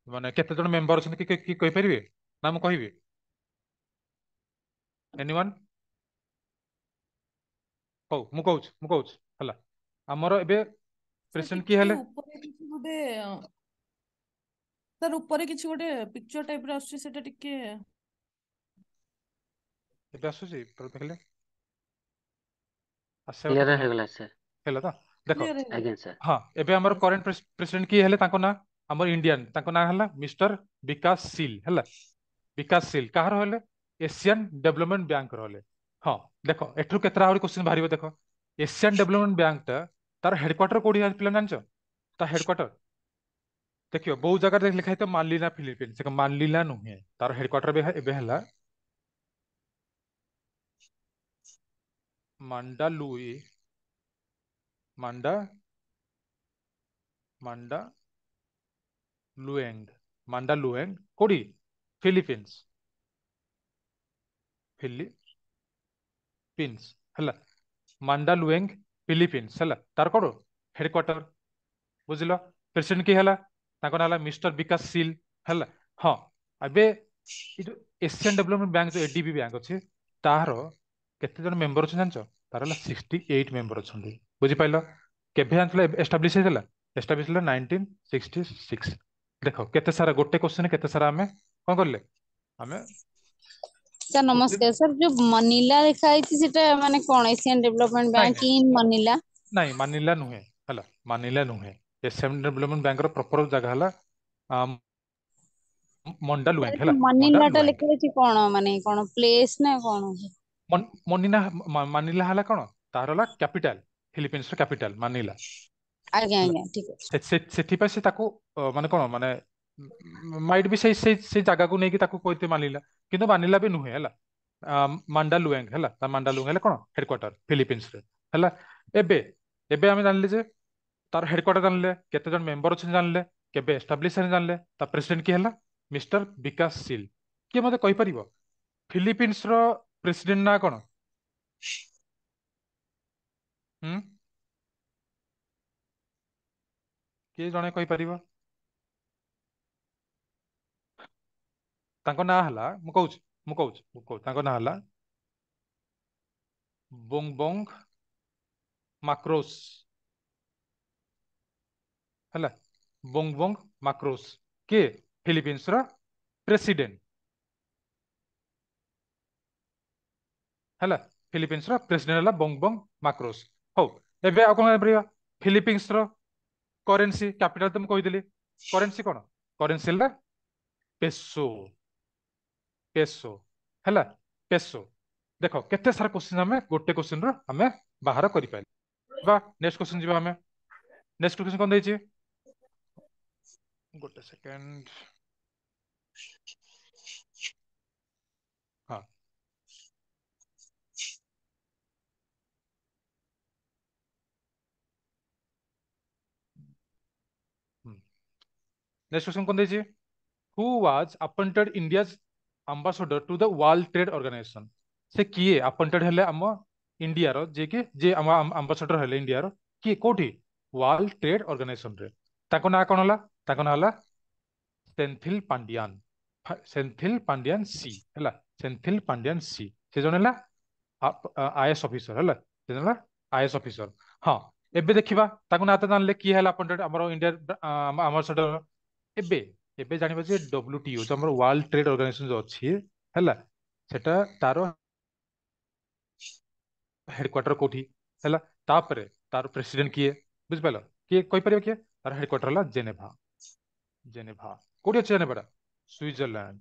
ମାନେ କେତେ ଜଣ ମେମ୍ବର ଅଛନ୍ତି, କି କି କହିପାରିବେ ନା ମୁଁ କହିବି? ଏନିୱାନ୍? ହଉ ମୁଁ କହୁଛି, ମୁଁ କହୁଛି। ହେଲା, ଆମର ଏବେ ସାର୍ ପ୍ରେସିଡେଣ୍ଟ କିଏ ଟିକେ ହେଲେ? ଉପରେ କିଛି ଗୋଟେ, ସାର୍ ଉପରେ କିଛି ଗୋଟେ ପିକ୍ଚର ଟାଇପ ର ଆସୁଛି, ସେଟା ଟିକେ ଏବେ ଆସୁଛି ଦେଖିଲେ ଆସିବା କଥା କ୍ଲିୟର ତ ହେଇଗଲା ସାର୍। ହେଲା ତ ଦେଖ। କ୍ଲିୟର ହେଇଗଲା। ଆଜ୍ଞା ସାର୍। ହଁ, ଏବେ ଆମର କରେଣ୍ଟ ପ୍ରେସିଡେଣ୍ଟ କିଏ ହେଲେ? ତାଙ୍କ ନାଁ ଆମର ଇଣ୍ଡିଆନ, ତାଙ୍କ ନାଁ ହେଲା ମିଷ୍ଟର ବିକାଶ ସିଲ। ହେଲା, ବିକାଶ ସିଲ କାହାର ହେଲେ? ଏସିଆନ ଡେଭଲପମେଣ୍ଟ ବ୍ୟାଙ୍କର ହେଲେ। ହଁ ଦେଖ, ଏଠୁ କେତେଟା ଆହୁରି କ୍ୱେଶ୍ଚିନ୍ ବାହାରିବ। ଦେଖ, ଏସିଆନ ଡେଭଲପମେଣ୍ଟ ବ୍ୟାଙ୍କଟା ତାର ହେଡକ୍ୱାର୍ଟର କୋଉଠି ପିଲା ଜାଣିଛ? ତା ହେଡକ୍ୱାର୍ଟର ଦେଖିବ ବହୁତ ଜାଗାରେ ଲେଖା ହେଇଥିବ ମାନିଲା ଫିଲିପିନ୍ସ। ଦେଖ, ମାନିଲା ନୁହେଁ, ତାର ହେଡକ୍ୱାର୍ଟର ଏବେ ହେଲା ମାଣ୍ଡାଲୁଇ ମାଣ୍ଡା ମାଣ୍ଡା ଲୁଏଙ୍ଗ, ମାଣ୍ଡା ଲୁଏଙ୍ଗ କୋଉଠି? ଫିଲିପିନ୍ସ, ଫିଲିପିନ୍ସ ହେଲା, ମାଣ୍ଡାଲୁଏଙ୍ଗ ଫିଲିପିନ୍ସ ହେଲା ତାର କଣ ହେଡକ୍ୱାର୍ଟର। ବୁଝିଲ? ପ୍ରେସିଡେଣ୍ଟ କିଏ ହେଲା? ତାଙ୍କ ନାଁ ହେଲା ମିଷ୍ଟର ବିକାଶ ସିଲ। ହେଲା, ହଁ ଏବେ ଏ ଯୋଉ ଏସିଆନ ଡେଭଲପମେଣ୍ଟ ବ୍ୟାଙ୍କ ଯୋଉ ଏଡିବି ବ୍ୟାଙ୍କ ଅଛି, ତାର କେତେ ଜଣ ମେମ୍ବର ଅଛନ୍ତି ଜାଣିଛ? ତାର ହେଲା 68 ମେମ୍ବର ଅଛନ୍ତି। ବୁଝିପାରିଲ? କେବେ ଜାଣିଥିଲା ଏଷ୍ଟାବ୍ଲିଶ ହେଇଥିଲା? ଏଷ୍ଟାବ୍ଲିଶ ହେଲା 1966। ଦେଖ କେତେ ସାରା ଗୋଟେ କ୍ୱେଶ୍ଚନ କେତେ ସାରା ଆମେ କଣ କଲେ ଆମେ ସାର୍ କ୍ୱେଶ୍ଚିନ୍। ନମସ୍କାର ସାର୍, ଯୋଉ ମନିଲା ଲେଖା ହେଇଛି ସେଟା ମାନେ କଣ? ଏସିଆନ ଡେଭଲପମେଣ୍ଟ ନାଇଁ ବ୍ୟାଙ୍କ ନାଇଁ ଇନ୍ ମନିଲା? ନାଇଁ, ମାନିଲା ନୁହେଁ, ହେଲା ମାନିଲା ନୁହେଁ। ଏସିଆନ ଡେଭଲପମେଣ୍ଟ ବ୍ୟାଙ୍କର ପ୍ରପର ଜାଗା ହେଲା ମଣ୍ଡାଲୁଏଙ୍ଗ। ହେଲା, ମନିଲା ଟା ମଣ୍ଡାଲୁଏଙ୍ଗ ଲେଖା ହେଇଛି କଣ, ମାନେ କଣ ପ୍ଲେସ ନା କଣ? ମନିନା ମାନିଲା ହେଲା କଣ ତାର ହେଲା କ୍ୟାପିଟାଲ, ଫିଲିପିନ୍ସ ର କ୍ୟାପିଟାଲ ମାନିଲା। ଆଜ୍ଞା ହେଲା, ଆଜ୍ଞା ଠିକ ଅଛି। ସେଥିପାଇଁ ସେ ତାକୁ ମାନେ କଣ ମାନେ ମାଇଟ୍ ବି ସେଇ ସେଇ ସେଇ ଜାଗାକୁ ନେଇକି ତାକୁ କହିତେ ମାନିଲା, କିନ୍ତୁ ମାନିଲା ବି ନୁହେଁ। ହେଲା, ମାଣ୍ଡାଲୁଏଙ୍ଗ ହେଲା ତା ମାଣ୍ଡାଲୁଏଙ୍ଗ ହେଲା କଣ ହେଡକ୍ୱାର୍ଟର ଫିଲିପିନ୍ସ ରେ। ହେଲା, ଏବେ ଏବେ ଆମେ ଜାଣିଲେ ଯେ ତାର ହେଡକ୍ୱାର୍ଟର ଜାଣିଲେ, କେତେ ଜଣ ମେମ୍ବର ଅଛନ୍ତି ଜାଣିଲେ, କେବେ ଏଷ୍ଟାବ୍ଲିଶ ହେଲେ ଜାଣିଲେ, ତା ପ୍ରେସିଡେଣ୍ଟ କିଏ ହେଲା ମିଷ୍ଟର ବିକାଶ ସିଲ। କିଏ ମତେ କହିପାରିବ ଫିଲିପିନ୍ସ ର ପ୍ରେସିଡେଣ୍ଟ ନା କଣ? ହୁଁ, କିଏ ଜଣେ କହିପାରିବ? ତାଙ୍କ ନାଁ ହେଲା, ମୁଁ କହୁଛି ମୁଁ କହୁଛି ମୁଁ କହୁଛି ତାଙ୍କ ନାଁ ହେଲା ବୋଙ୍ଗବୋଙ୍ଗ ମାକ୍ରୋସ। ହେଲା, ବୋଙ୍ଗବୋଙ୍ଗ ମାକ୍ରୋସ କିଏ? ଫିଲିପିନ୍ସ ର ପ୍ରେସିଡେଣ୍ଟ। ହେଲା, ଫିଲିପିନ୍ସ ର ପ୍ରେସିଡେଣ୍ଟ ହେଲା ବୋଙ୍ଗବୋଙ୍ଗ ମାକ୍ରୋସ। ହଉ, ଏବେ ଆଉ କଣ ଜାଣିପାରିବା? ଫିଲିପିନ୍ସ ର କରେନ୍ସି, କ୍ୟାପିଟାଲ ତ ମୁଁ କହିଦେଲି, କରେନ୍ସି କଣ? କରେନ୍ସି ହେଲା ପେସୋ, ପେସୋ ହେଲା ପେସୋ। ଦେଖ କେତେ ସାରା କ୍ୱେଶ୍ଚିନ୍ ଆମେ ଗୋଟେ କ୍ୱେଶ୍ଚିନ୍ ରୁ ଆମେ ବାହାର କରିପାରିବା। ନେକ୍ସଟ କ୍ୱେଶ୍ଚିନ୍ ଯିବା ଆମେ। ନେକ୍ସଟ କ୍ୱେଶ୍ଚିନ୍ କଣ ଦେଇଛି? ଗୋଟେ ସେକେଣ୍ଡ। ହଁ, ନେକ୍ସଟ କ୍ୱେଶ୍ଚିନ୍ କଣ ଦେଇଛି? Who was appointed India's ambassador to the World Trade Organization? ସେ କିଏ ଆପଏଣ୍ଟେଡ ହେଲେ ଆମ ଇଣ୍ଡିଆର, ଯିଏ କି ଯିଏ ଆମ ଆମ୍ବାସଡର ହେଲେ ଇଣ୍ଡିଆର କିଏ କୋଉଠି? ୱାର୍ଲଡ ଟ୍ରେଡ ଅର୍ଗାନାଇଜେସନ ରେ। ତାଙ୍କ ନାଁ କଣ ହେଲା? ତାଙ୍କ ନାଁ ହେଲା ସେନ୍ଥିଲ ପାଣ୍ଡିଆନ, ସେନ୍ଥିଲ ପାଣ୍ଡିଆନ ସି। ହେଲା, ସେନ୍ଥିଲ ପାଣ୍ଡିଆନ ସି, ସେ ଜଣେ ହେଲା ଆଇଏଏସ୍ ଅଫିସର। ହେଲା, ସେ ଜଣେ ହେଲା ଆଇଏଏସ୍ ଅଫିସର। ହଁ, ଏବେ ଦେଖିବା ତାଙ୍କ ନାଁ ତ ଜାଣିଲେ କିଏ ହେଲା ଆପଏଣ୍ଟେଡ ଆମର ଇଣ୍ଡିଆ ଆମ୍ବାସଡର। ଏବେ ଏବେ ଜାଣିବା ଯେ ଡବ୍ଲ୍ୟୁଟିଓ ଯୋଉ ଆମର ୱାର୍ଲଡ ଟ୍ରେଡ ଅର୍ଗାନାଇଜେସନ ଯୋଉ ଅଛି, ହେଲା ସେଟା ତାର ହେଡକ୍ୱାର୍ଟର କୋଉଠି? ହେଲା, ତାପରେ ତାର ପ୍ରେସିଡେଣ୍ଟ କିଏ? ବୁଝିପାରିଲ? କିଏ କହିପାରିବ କିଏ? ତାର ହେଡକ୍ୱାର୍ଟର ହେଲା ଜେନେଭା। ଜେନେଭା କୋଉଠି ଅଛି? ଜେନେଭାଟା ସୁଇଜରଲ୍ୟାଣ୍ଡ,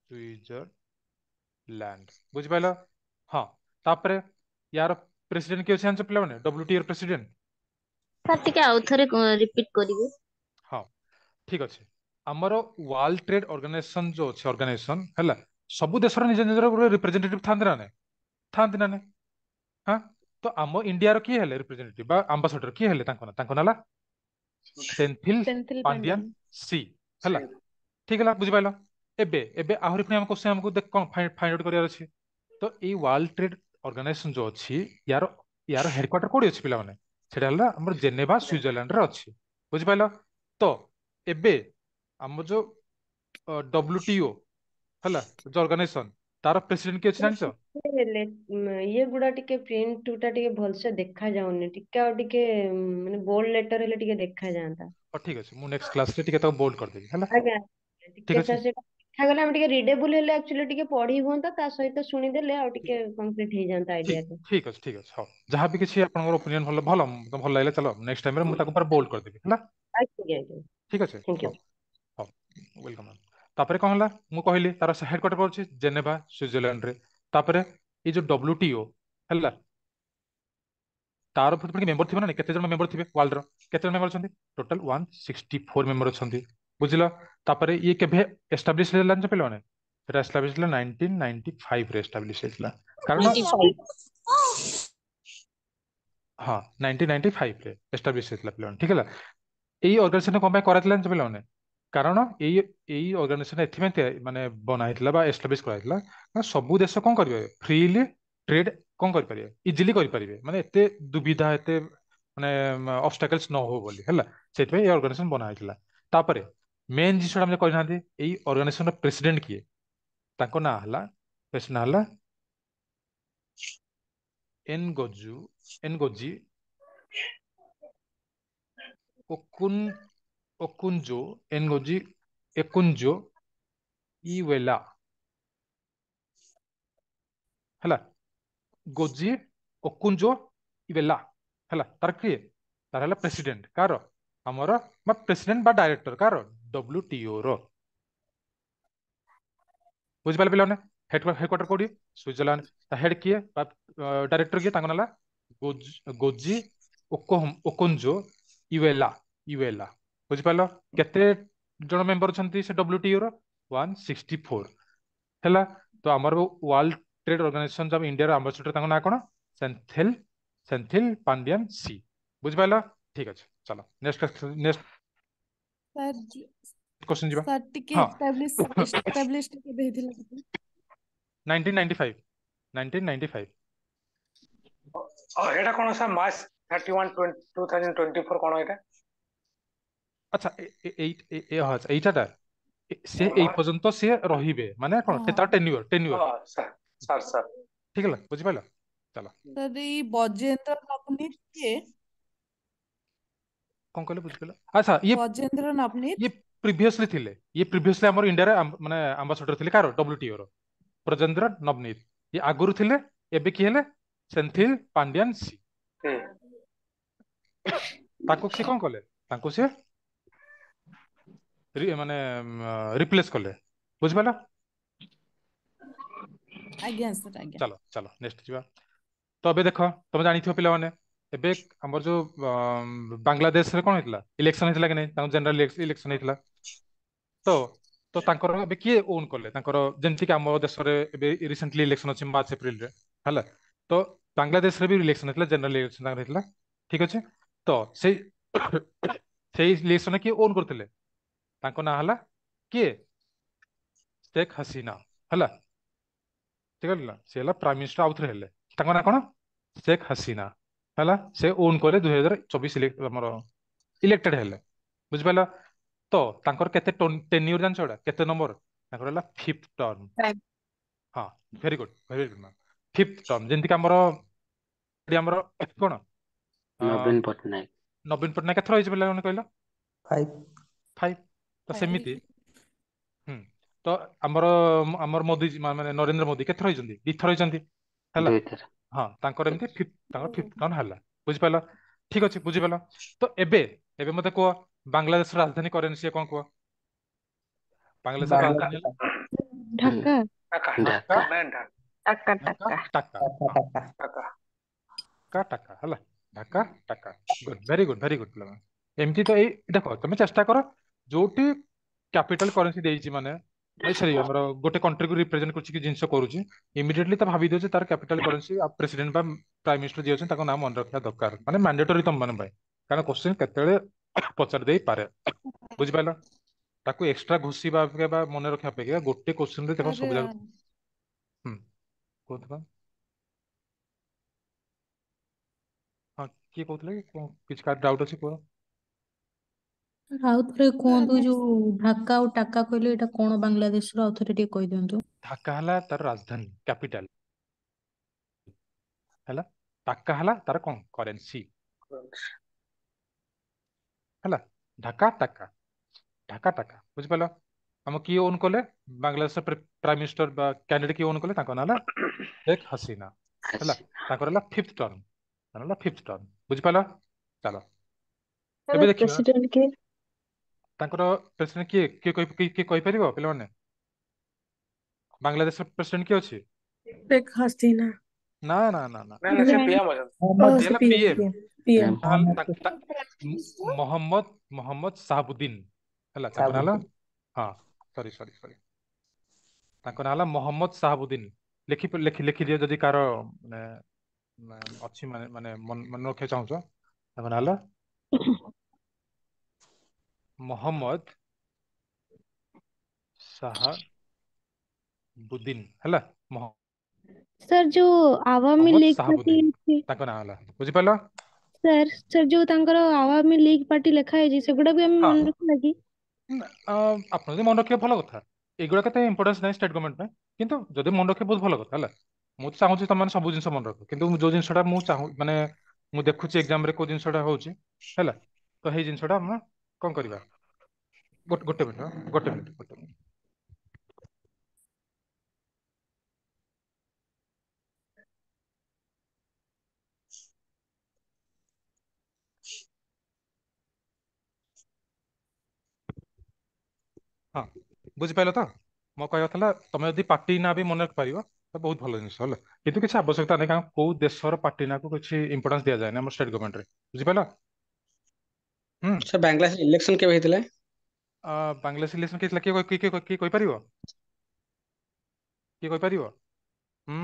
ସୁଇଜରଲ୍ୟାଣ୍ଡ। ବୁଝିପାରିଲ? ହଁ, ତାପରେ ୟାର ପ୍ରେସିଡେଣ୍ଟ କିଏ ଅଛି ଜାଣିଛ ପିଲାମାନେ? ଡବ୍ଲ୍ୟୁଟିଓ ର ପ୍ରେସିଡେଣ୍ଟ। ସାର୍ ଟିକେ ଆଉ ଥରେ ରିପିଟ କରିବେ। ହଁ ଠିକ ଅଛି। ଆମର ୱାର୍ଲଡ ଟ୍ରେଡ ଅର୍ଗାନାଇଜେସନ ଯୋଉ ଅଛି ଅର୍ଗାନାଇଜେସନ ହେଲା, ସବୁ ଦେଶର ନିଜ ନିଜର ଗୋଟେ ରିପ୍ରେଜେଣ୍ଟେଟିଭ ଥାନ୍ତି ନା ନାଇଁ? ଥାନ୍ତି ନା ନାଇଁ? ହଁ, ତ ଆମ ଇଣ୍ଡିଆର କିଏ ହେଲେ ରିପ୍ରେଜେଣ୍ଟେଟିଭ ବା ଆମ୍ବାସଡର କିଏ ହେଲେ? ତାଙ୍କ ନାଁ ହେଲା ସେନ୍ଥିଲ ସେନ୍ଥିଲ ପାଣ୍ଡିଆନ ପାଣ୍ଡିଆନ ସି। ହେଲା, ଠିକ ହେଲା, ବୁଝିପାରିଲ? ଏବେ ଏବେ ଆହୁରି ପୁଣି ଆମ କ୍ୱେଶ୍ଚନ ଆମକୁ କଣ ଫାଇଣ୍ଡ ଆଉଟ୍ କରିବାର ଅଛି। ତ ଏଇ ୱାର୍ଲଡ ଟ୍ରେଡ ଅର୍ଗାନାଇଜେସନ ଯୋଉ ଅଛି, ୟାର ୟାର ହେଡକ୍ୱାର୍ଟର କୋଉଠି ଅଛି ପିଲାମାନେ? ସେଟା ହେଲା ଆମର ଜେନେଭା, ସୁଇଜରଲ୍ୟାଣ୍ଡରେ ଅଛି। ବୁଝିପାରିଲ? ତ ଏବେ ଆମ ଯୋଉ ଡବ୍ଲ୍ୟୁଟିଓ ହେଲା, ଯୋଉ ଅର୍ଗାନାଇଜେସନ, ତାର ପ୍ରେସିଡେଣ୍ଟ କିଏ ଅଛି ଜାଣିଛ? ହେଲେ ଇଏ ଗୁଡା ଟିକେ ପ୍ରିଣ୍ଟ ଟା ଟିକେ ଭଲସେ ଦେଖା ଯାଉନି, ଟିକେ ଆଉ ଟିକେ ମାନେ ବୋଲ୍ଡ ଲେଟର ହେଲେ ଟିକେ ଦେଖା ଯାଆନ୍ତା। ହଉ, ଠିକ ଅଛି, ମୁଁ ନେକ୍ସଟ କ୍ଲାସରେ ଟିକେ ତାକୁ ବୋଲ୍ଡ କରିଦେବି, ହେଲା? ଆଜ୍ଞା, ଠିକ ଟିକେ ଅଛି। ସାର୍, ସେଟା ଦେଖାଗଲେ ଆମେ ଟିକେ ରିଡେବୁଲ ହେଲେ ଆକ୍ଚୁଆଲି ଟିକେ ପଢି ହୁଅନ୍ତା, ତା ସହିତ ଶୁଣିଦେଲେ ଆଉ ଟିକେ କମ୍ପ୍ଲିଟ ହେଇଯାନ୍ତା ଠିକ ଆଇଡିଆଟା। ଠିକ ଅଛି, ଠିକ ଅଛି। ହଉ, ଯାହା ବି କିଛି ଆପଣଙ୍କର ଓପିନିଅନ ଭଲ ଭଲ ତ ଭଲ ଲାଗିଲା। ଚାଲ, ନେକ୍ସଟ ଟାଇମରେ ମୁଁ ତାକୁ ପୁରା ବୋଲ୍ଡ କରିଦେବି, ହେଲା? ଆଜ୍ଞା ଆଜ୍ଞା। ଠିକ ଅଛି। Thank you. ହଉ ହଉ, welcome. ତାପରେ କଣ ହେଲା? ମୁଁ କହିଲି ତାର ହେଡକ୍ୱାର୍ଟର ଅଛି ଜେନେଭା, ସୁଇଜରଲ୍ୟାଣ୍ଡରେ। ତାପରେ ଏଇ ଯୋଉ ଡବ୍ଲ୍ୟୁଟିଓ ହେଲା, ତାର ପୁଣି ମେମ୍ବର ଥିବେ ନା ନାଇଁ? କେତେ ଜଣ ମେମ୍ବର ଥିବେ? ୱାର୍ଲଡର କେତେ ଜଣ ମେମ୍ବର ଅଛନ୍ତି? ଟୋଟାଲ 164 ମେମ୍ବର ଅଛନ୍ତି, ବୁଝିଲ? ତାପରେ ଇଏ କେବେ ଏଷ୍ଟାବ୍ଲିଶ ହେଲା ଜାଣିଛ ପିଲାମାନେ? ସେଟା ଏଷ୍ଟାବ୍ଲିଶ ହେଲା 1995ରେ ଏଷ୍ଟାବ୍ଲିଶ ହେଇଥିଲା। କାରଣ 95। ହଁ, 1995ରେ ଏଷ୍ଟାବ୍ଲିଶ ହେଇଥିଲା ପିଲାମାନେ, ଠିକ ହେଲା? ଏଇ ଅର୍ଗାନାଇଜେସନ କଣ ପାଇଁ କରାଯାଇଥିଲା ଜାଣିଛ ପିଲାମାନେ? କାରଣ ଏଇ ଏଇ ଅର୍ଗାନାଇଜେସନ ଏଥିପାଇଁ ମାନେ ବନା ହେଇଥିଲା ବା ଏଷ୍ଟାବ୍ଲିଶ କରାଯାଇଥିଲା ନା, ସବୁ ଦେଶ କଣ କରିବେ? ଫ୍ରିଲି ଟ୍ରେଡ କଣ କରିପାରିବେ, ଇଜିଲି କରିପାରିବେ, ମାନେ ଏତେ ଦୁବିଧା, ଏତେ ମାନେ ଅବଷ୍ଟାକଲ୍ସ ନ ହଉ ବୋଲି, ହେଲା? ସେଥିପାଇଁ ଏଇ ଅର୍ଗାନାଇଜେସନ ବନା ହେଇଥିଲା। ତାପରେ ମେନ୍ ଜିନିଷଟା ଆମେ କହିନାହାନ୍ତି, ଏଇ ଅର୍ଗାନାଇଜେସନର ପ୍ରେସିଡେଣ୍ଟ କିଏ? ତାଙ୍କ ନାଁ ହେଲା, ପ୍ରେସିଡେଣ୍ଟ ନାଁ ହେଲା ଏନ୍ ଗଜୁ ଏନଗୋଜି ଓକୁନ ଓକୁନଜୋ ଏନଗୋଜି ଏକୁନଜୋ ଇୱେଲା, ହେଲା? ଗୋଜି ଓକୁନଜୋ ଇୱେଲା ହେଲା ତାର କିଏ? ତାର ହେଲା ପ୍ରେସିଡେଣ୍ଟ କାର ଆମର, ବା ପ୍ରେସିଡେଣ୍ଟ ବା ଡାଇରେକ୍ଟର କାର? ଡବ୍ଲ୍ୟୁଟିଓ ର। ବୁଝିପାରିଲେ ପିଲାମାନେ? ହେଡକ୍ୱାର୍ଟର କୋଉଠି? ସୁଇଜରଲ୍ୟାଣ୍ଡ। ତା ହେଡ କିଏ ବା ଡାଇରେକ୍ଟର କିଏ? ତାଙ୍କ ନାଁ ହେଲା ଗୋଜି ଓକୋଞ୍ଜୋ ଇୱେଲା ଇୱେଲା, ବୁଝିପାରିଲ? କେତେ ଜଣ ମେମ୍ବର ଅଛନ୍ତି ସେ ଡବ୍ଲ୍ୟୁଟିଓ ର? 164 ହେଲା। ତ ଆମର ୱାର୍ଲଡ ଟ୍ରେଡ ଅର୍ଗାନାଇଜେସନ ଯୋଉ ଇଣ୍ଡିଆର ଆମ୍ବାସେଡର, ତାଙ୍କ ନାଁ କଣ? ସେନ୍ଥିଲ ସେନ୍ଥିଲ ପାଣ୍ଡିଆନ ସି। ବୁଝିପାରିଲ? ଠିକ ଅଛି, ଚାଲ ନେକ୍ସଟ ନେକ୍ସଟ ସାର୍ କ୍ୱେଶ୍ଚନ ଯିବା। ସାର୍, ଟିକେ ହଁ। ଏଷ୍ଟାବ୍ଲିଶ ଏଷ୍ଟାବ୍ଲିଶ କେବେ ହେଇଥିଲା ଟିକେ? 1995, 1995। ଏଇଟା କଣ ସାର୍, March 31, 2024 କଣ ଏଇଟା? ଆଚ୍ଛା, ଏଇ ହଁ, ଆଚ୍ଛା, ଏଇଟା ସେ ଏଇ ପର୍ଯ୍ୟନ୍ତ ସିଏ ରହିବେ, ମାନେ କଣ ତାର ଟେନ୍ୟୁର ଟେନ୍ୟୁର। ହଁ ସାର୍ ସାର୍ ସାର୍। ଠିକ ହେଲା, ବୁଝିପାରିଲ? ଚାଲ। ସାର୍, ଏଇ ବଜେନ୍ଦ୍ର ନବନୀତ କିଏ? କଣ କହିଲେ, ବୁଝିପାରିଲ? ଆଚ୍ଛା, ଇଏ ବଜେନ୍ଦ୍ର ନବନୀତ। ଇଏ ପ୍ରିଭିୟସଲି ଥିଲେ, ଇଏ ପ୍ରିଭିୟସଲି ଆମର ଇଣ୍ଡିଆରେ ମାନେ ଆମ୍ବାସଡର ଥିଲେ। କାର? ଡବ୍ଲ୍ୟୁଟିଓ ର ବ୍ରଜେନ୍ଦ୍ର ନବନୀତ, ଇଏ ଆଗରୁ ଥିଲେ। ଏବେ କିଏ ହେଲେ? ସେନ୍ଥିଲ ପାଣ୍ଡିଆନ ସି। ତାଙ୍କୁ ସିଏ କଣ କଲେ? ତାଙ୍କୁ ସିଏ ମାନେ ରିପ୍ଲେସ କଲେ, ବୁଝିପାରିଲ? ଆଜ୍ଞା ସାର୍, ଆଜ୍ଞା। ଚାଲ ଚାଲ, ନେକ୍ସଟ ଯିବା। ତ ଏବେ ଦେଖ, ତମେ ଜାଣିଥିବ ପିଲାମାନେ, ଏବେ ଆମର ଯୋଉ ବାଂଲାଦେଶରେ କଣ ହେଇଥିଲା? ଇଲେକ୍ସନ ହେଇଥିଲା କି ନାଇଁ? ତାଙ୍କ ଜେନେରାଲ ଇଲେକ୍ସନ ହେଇଥିଲା। ତ ତ ତାଙ୍କର ଏବେ କିଏ ଓନ୍ କଲେ ତାଙ୍କର? ଯେମିତି କି ଆମ ଦେଶରେ ଏବେ ରିସେଣ୍ଟଲି ଇଲେକ୍ସନ ଅଛି ମାର୍ଚ୍ଚ ଏପ୍ରିଲରେ, ହେଲା? ତ ବାଂଲାଦେଶରେ ବି ଇଲେକ୍ସନ ହେଇଥିଲା, ଜେନେରାଲ ଇଲେକ୍ସନ ତାଙ୍କର ହେଇଥିଲା, ଠିକ ଅଛି? ତ ସେଇ ସେଇ ଇଲେକ୍ସନ କିଏ ଓନ୍ କରୁଥିଲେ? ତାଙ୍କ ନାଁ ହେଲା କିଏ? ଶେଖ ହସିନା, ହେଲା? ଠିକ ହେଲା, ସେ ହେଲା ପ୍ରାଇମ ମିନିଷ୍ଟର ଆଉଥରେ ହେଲେ। ତାଙ୍କ ନାଁ କଣ? ଶେଖ ହସିନା, ହେଲା? ସେ ଓନ୍ କଲେ 2024 ଆମର ଇଲେକ୍ଟେଡ ହେଲେ, ବୁଝିପାରିଲ? ତ ତାଙ୍କର କେତେ ଟେନ୍ୟୁର ଜାଣିଛ? ଏଟା କେତେ ନମ୍ବର ତାଙ୍କର ହେଲା? Fifth term. ହଁ, very good, very good ma'am. Fifth term, ଯେମିତିକି ଆମର ଏଠି ଆମର କଣ ନବୀନ ପଟ୍ଟନାୟକ। ନବୀନ ପଟ୍ଟନାୟକ କେଥର ହେଇଛି ପିଲାମାନେ କହିଲ? ଫାଇଭ। ଫାଇଭ। ତ ସେମିତି ତ ଆମର ଆମର ମୋଦି, ମାନେ ନରେନ୍ଦ୍ର ମୋଦି କେଥର ହେଇଛନ୍ତି? ଦିଥର ହେଇଛନ୍ତି, ହେଲା? ଦୁଇଥର। ହଁ, ତାଙ୍କର ଏମିତି ଫିଫ୍ଥ, ତାଙ୍କର ଫିଫ୍ଥ ଟର୍ମ ହେଲା, ବୁଝିପାରିଲ? ଠିକ ଅଛି, ବୁଝିପାରିଲ? ତ ଏବେ ଏବେ ମତେ କୁହ, ବାଂଲାଦେଶର ରାଜଧାନୀ କରେନ୍ସି କଣ କୁହ? ବାଂଲାଦେଶର ରାଜଧାନୀ ହେଲା ଢାକା। ଢାକା। ଢାକା। ଢାକା। ମେନ୍ ଢାକା। ଟାକା। ଢାକା। ଟାକା। ଟାକା। ହଁ। ଟାକା। ଢାକା। ଢାକା ଟାକା ହେଲା, Dhaka ଟାକା। Good, very good, very good ପିଲାମାନେ। ଏମିତି ତ ଏଇ ଦେଖ, ତମେ ଚେଷ୍ଟା କର ଯୋଉଠି କ୍ୟାପିଟାଲ କରେନ୍ସି ଦେଇଛି, ମାନେ ସରି, ଆମର ଗୋଟେ କଣ୍ଟ୍ରିକୁ ରିପ୍ରେଜେଣ୍ଟ କରୁଛି କି ଜିନିଷ କରୁଛି, ଇମିଡିଏଟଲି ତା ଭାବି ଦିଅ ଯେ ତାର କ୍ୟାପିଟାଲ କରେନ୍ସି ଆଉ ପ୍ରେସିଡେଣ୍ଟ ବା ପ୍ରାଇମ ମିନିଷ୍ଟର ଯିଏ ଅଛନ୍ତି ତାଙ୍କ ନାଁ ମନେ ରଖିବା ଦରକାର, ମାନେ ମ୍ୟାଣ୍ଡେଟୋରି ତମ ମାନଙ୍କ ପାଇଁ, କାରଣ କ୍ୱେଶ୍ଚିନ୍ କେତେବେଳେ ପଚାରି ଦେଇପାରେ। ବୁଝିପାରିଲ? ତାକୁ ଏକ୍ସଟ୍ରା ଘୋଷିବା ଅପେକ୍ଷା ବା ମନେ ରଖିବା ଅପେକ୍ଷା ଗୋଟେ କ୍ୱେଶ୍ଚିନ୍ ରେ ଦେଖ ସବୁ ଯାକ। ହୁଁ, କୁହନ୍ତୁ ମ୍ୟାମ୍। ହଁ, କିଏ କହୁଥିଲେ କି? କଣ କିଛି କାହାର ଡାଉଟ୍ ଅଛି, କୁହ। ଆଉ ଥରେ କୁହନ୍ତୁ, ଯୋଉ ଢାକା ଆଉ ଟାକା କହିଲେ, ଏଇଟା କଣ ବାଂଲାଦେଶର? ଆଉ ଥରେ ଟିକେ କହିଦିଅନ୍ତୁ। ଢାକା ହେଲା ତାର ରାଜଧାନୀ, କ୍ୟାପିଟାଲ ହେଲା। ଟାକା ହେଲା ତାର କଣ? କରେନ୍ସି ହେଲା। ଢାକା ଟାକା, ଢାକା ଟାକା, ବୁଝିପାରିଲ? ଆମ କିଏ ଓନ୍ କଲେ ବାଂଲାଦେଶର ପ୍ରାଇମ ମିନିଷ୍ଟର ବା କ୍ୟାଣ୍ଡିଡେଟ କିଏ ଓନ୍ କଲେ? ତାଙ୍କ ନାଁ ହେଲା ଶେଖ ହସିନା ହେଲା। ତାଙ୍କର ହେଲା ଫିଫ୍ଥ ଟର୍ମ, ତାଙ୍କର ହେଲା ଫିଫ୍ଥ ଟର୍ମ। ବୁଝିପାରିଲ? ଚାଲ ଏବେ ଦେଖିବା। ପ୍ରେସିଡେଣ୍ଟ କିଏ? ତାଙ୍କର ପ୍ରେସିଡେଣ୍ଟ କିଏ? କିଏ କହିପାରିବ ପିଲାମାନେ? ବାଂଲାଦେଶର ପ୍ରେସିଡେଣ୍ଟ କିଏ ଅଛି? ଶେଖ ହସିନା। ନା ନା ନା ନା। ନା ନା, ସେ ପିଏମ ଅଛନ୍ତି। ଓ, ସିଏ ସେ ହେଲା PM. PM. PM, PM. Mohammad Mohammad Shahabuddin ହେଲା ତାଙ୍କ ନାଁ ହେଲା। ହଁ, ସରି ସରି ସରି, ତାଙ୍କ ନାଁ ହେଲା ମହମ୍ମଦ ସାହାବୁଦ୍ଦିନ। ଲେଖି ଲେଖି ଲେଖିଦିଅ ଯଦି କାହାର ମାନେ ଅଛି, ମାନେ ମାନେ ମନେ ରଖିବାକୁ ଚାହୁଁଛ। ତାଙ୍କ ନାଁ ହେଲା ମହମ୍ମଦ ସାହାବୁଦ୍ଦିନ ହେଲା। ସାର୍, ଯୋଉ ଆୱାମୀ ମହମ୍ମଦ ଲିଗ ପାର୍ଟି ସାହାବୁଦ୍ଦିନ ଅଛି ତାଙ୍କ ନାଁ ହେଲା, ବୁଝିପାରିଲ? ସାର୍, ସାର୍, ଯୋଉ ତାଙ୍କର ଆୱାମୀ ଲିଗ ପାର୍ଟି ଲେଖା ହେଇଛି, ସେଗୁଡା ବି ଆମେ ମନେ ରଖିବା କି? ଆପଣ ଯଦି ମନେ ରଖିବେ ଭଲ କଥା। ଏଗୁଡା କେତେ ଇମ୍ପୋର୍ଟାନ୍ସ ନାହିଁ ଷ୍ଟେଟ୍ ଗଭର୍ଣ୍ଣମେଣ୍ଟ ପାଇଁ, କିନ୍ତୁ ଯଦି ମନେ ରଖିବେ ବହୁତ ଭଲ କଥା ହେଲା। ମୁଁ ତ ଚାହୁଁଛି ତମେ ସବୁ ଜିନିଷ ମନେ ରଖ, କିନ୍ତୁ ଯୋଉ ଜିନିଷଟା ମୁଁ ଚାହୁଁ, ମାନେ ମୁଁ ଦେଖୁଛି ଏକ୍ଜାମ ରେ କୋଉ ଜିନିଷଟା ହଉଛି ହେଲା, ତ ସେଇ ଜିନିଷଟା ଆମେ କଣ କରିବା। ଗୋଟେ ମିନିଟ, ଗୋଟେ ମିନିଟ, ଗୋଟେ ମିନିଟ। ହଁ, ବୁଝିପାରିଲ ତ? ମୋ କହିବା ଥିଲା, ତମେ ଯଦି ପାର୍ଟି ନାଁ ବି ମନେ ରଖିପାରିବ ତ ବହୁତ ଭଲ ଜିନିଷ ହେଲା, କିନ୍ତୁ କିଛି ଆବଶ୍ୟକତା ନାହିଁ, କାରଣ କୋଉ ଦେଶର ପାର୍ଟି ନାଁକୁ କିଛି ଇମ୍ପୋର୍ଟାନ୍ସ ଦିଆଯାଏନି ଆମ ଷ୍ଟେଟ୍ ଗଭର୍ଣ୍ଣମେଣ୍ଟରେ। ବୁଝିପାରିଲ? ହୁଁ। ସାର୍, ବାଂଲାଦେଶ ଇଲେକ୍ସନ କେବେ ହେଇଥିଲା? ବାଂଲାଦେଶ ଇଲେକ୍ସନ କିଏ ଥିଲା? କିଏ କିଏ କିଏ କହିପାରିବ? କିଏ କହିପାରିବ? ହୁଁ,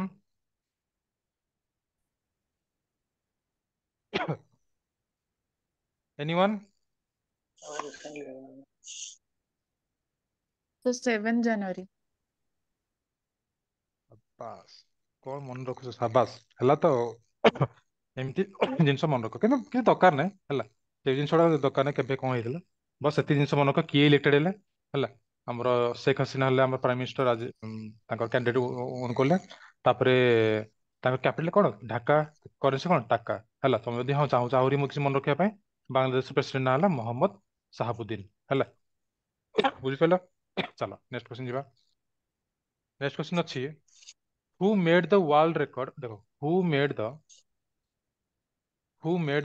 ଏନିୱାନ୍? ତ 7 ଜାନୁଆରୀ। ବାସ୍, କଣ ମନେ ରଖୁଛ, ସାବାସ। ହେଲା ତ, ଏମିତି ଜିନିଷ ମନେ ରଖ, କିନ୍ତୁ କିଛି ଦରକାର ନାହିଁ ହେଲା। ସେଇ ଜିନିଷଟା ଦରକାର ନାହିଁ କେବେ କଣ ହେଇଥିଲା, ବସ୍ ସେତିକି ଜିନିଷ ମନେ ରଖ କିଏ ଇଲେକ୍ଟେଡ ହେଲେ ହେଲା। ଆମର ଶେଖ ହସିନା ହେଲେ ଆମର ପ୍ରାଇମ ମିନିଷ୍ଟର, ଆଜି ତାଙ୍କର କ୍ୟାଣ୍ଡିଡେଟ ଓନ୍ କଲେ। ତାପରେ ତାଙ୍କ କ୍ୟାପିଟାଲ କଣ? ଢାକା। କରେନ୍ସି କଣ? ଟାକା ହେଲା। ତମେ ଯଦି ହଁ ଚାହୁଁଛ ଆହୁରି ମୁଁ କିଛି ମନେ ରଖିବା ପାଇଁ, ବାଂଲାଦେଶ ପ୍ରେସିଡେଣ୍ଟ ନାଁ ହେଲା ମହମ୍ମଦ ସାହାବୁଦ୍ଦିନ ହେଲା। ବୁଝିପାରିଲ? ଚାଲ ନେକ୍ସଟ କ୍ୱେଶ୍ଚନ ଯିବା। ନେକ୍ସଟ କ୍ୱେଶ୍ଚନ ଅଛି, who made the world record, ଦେଖ, who made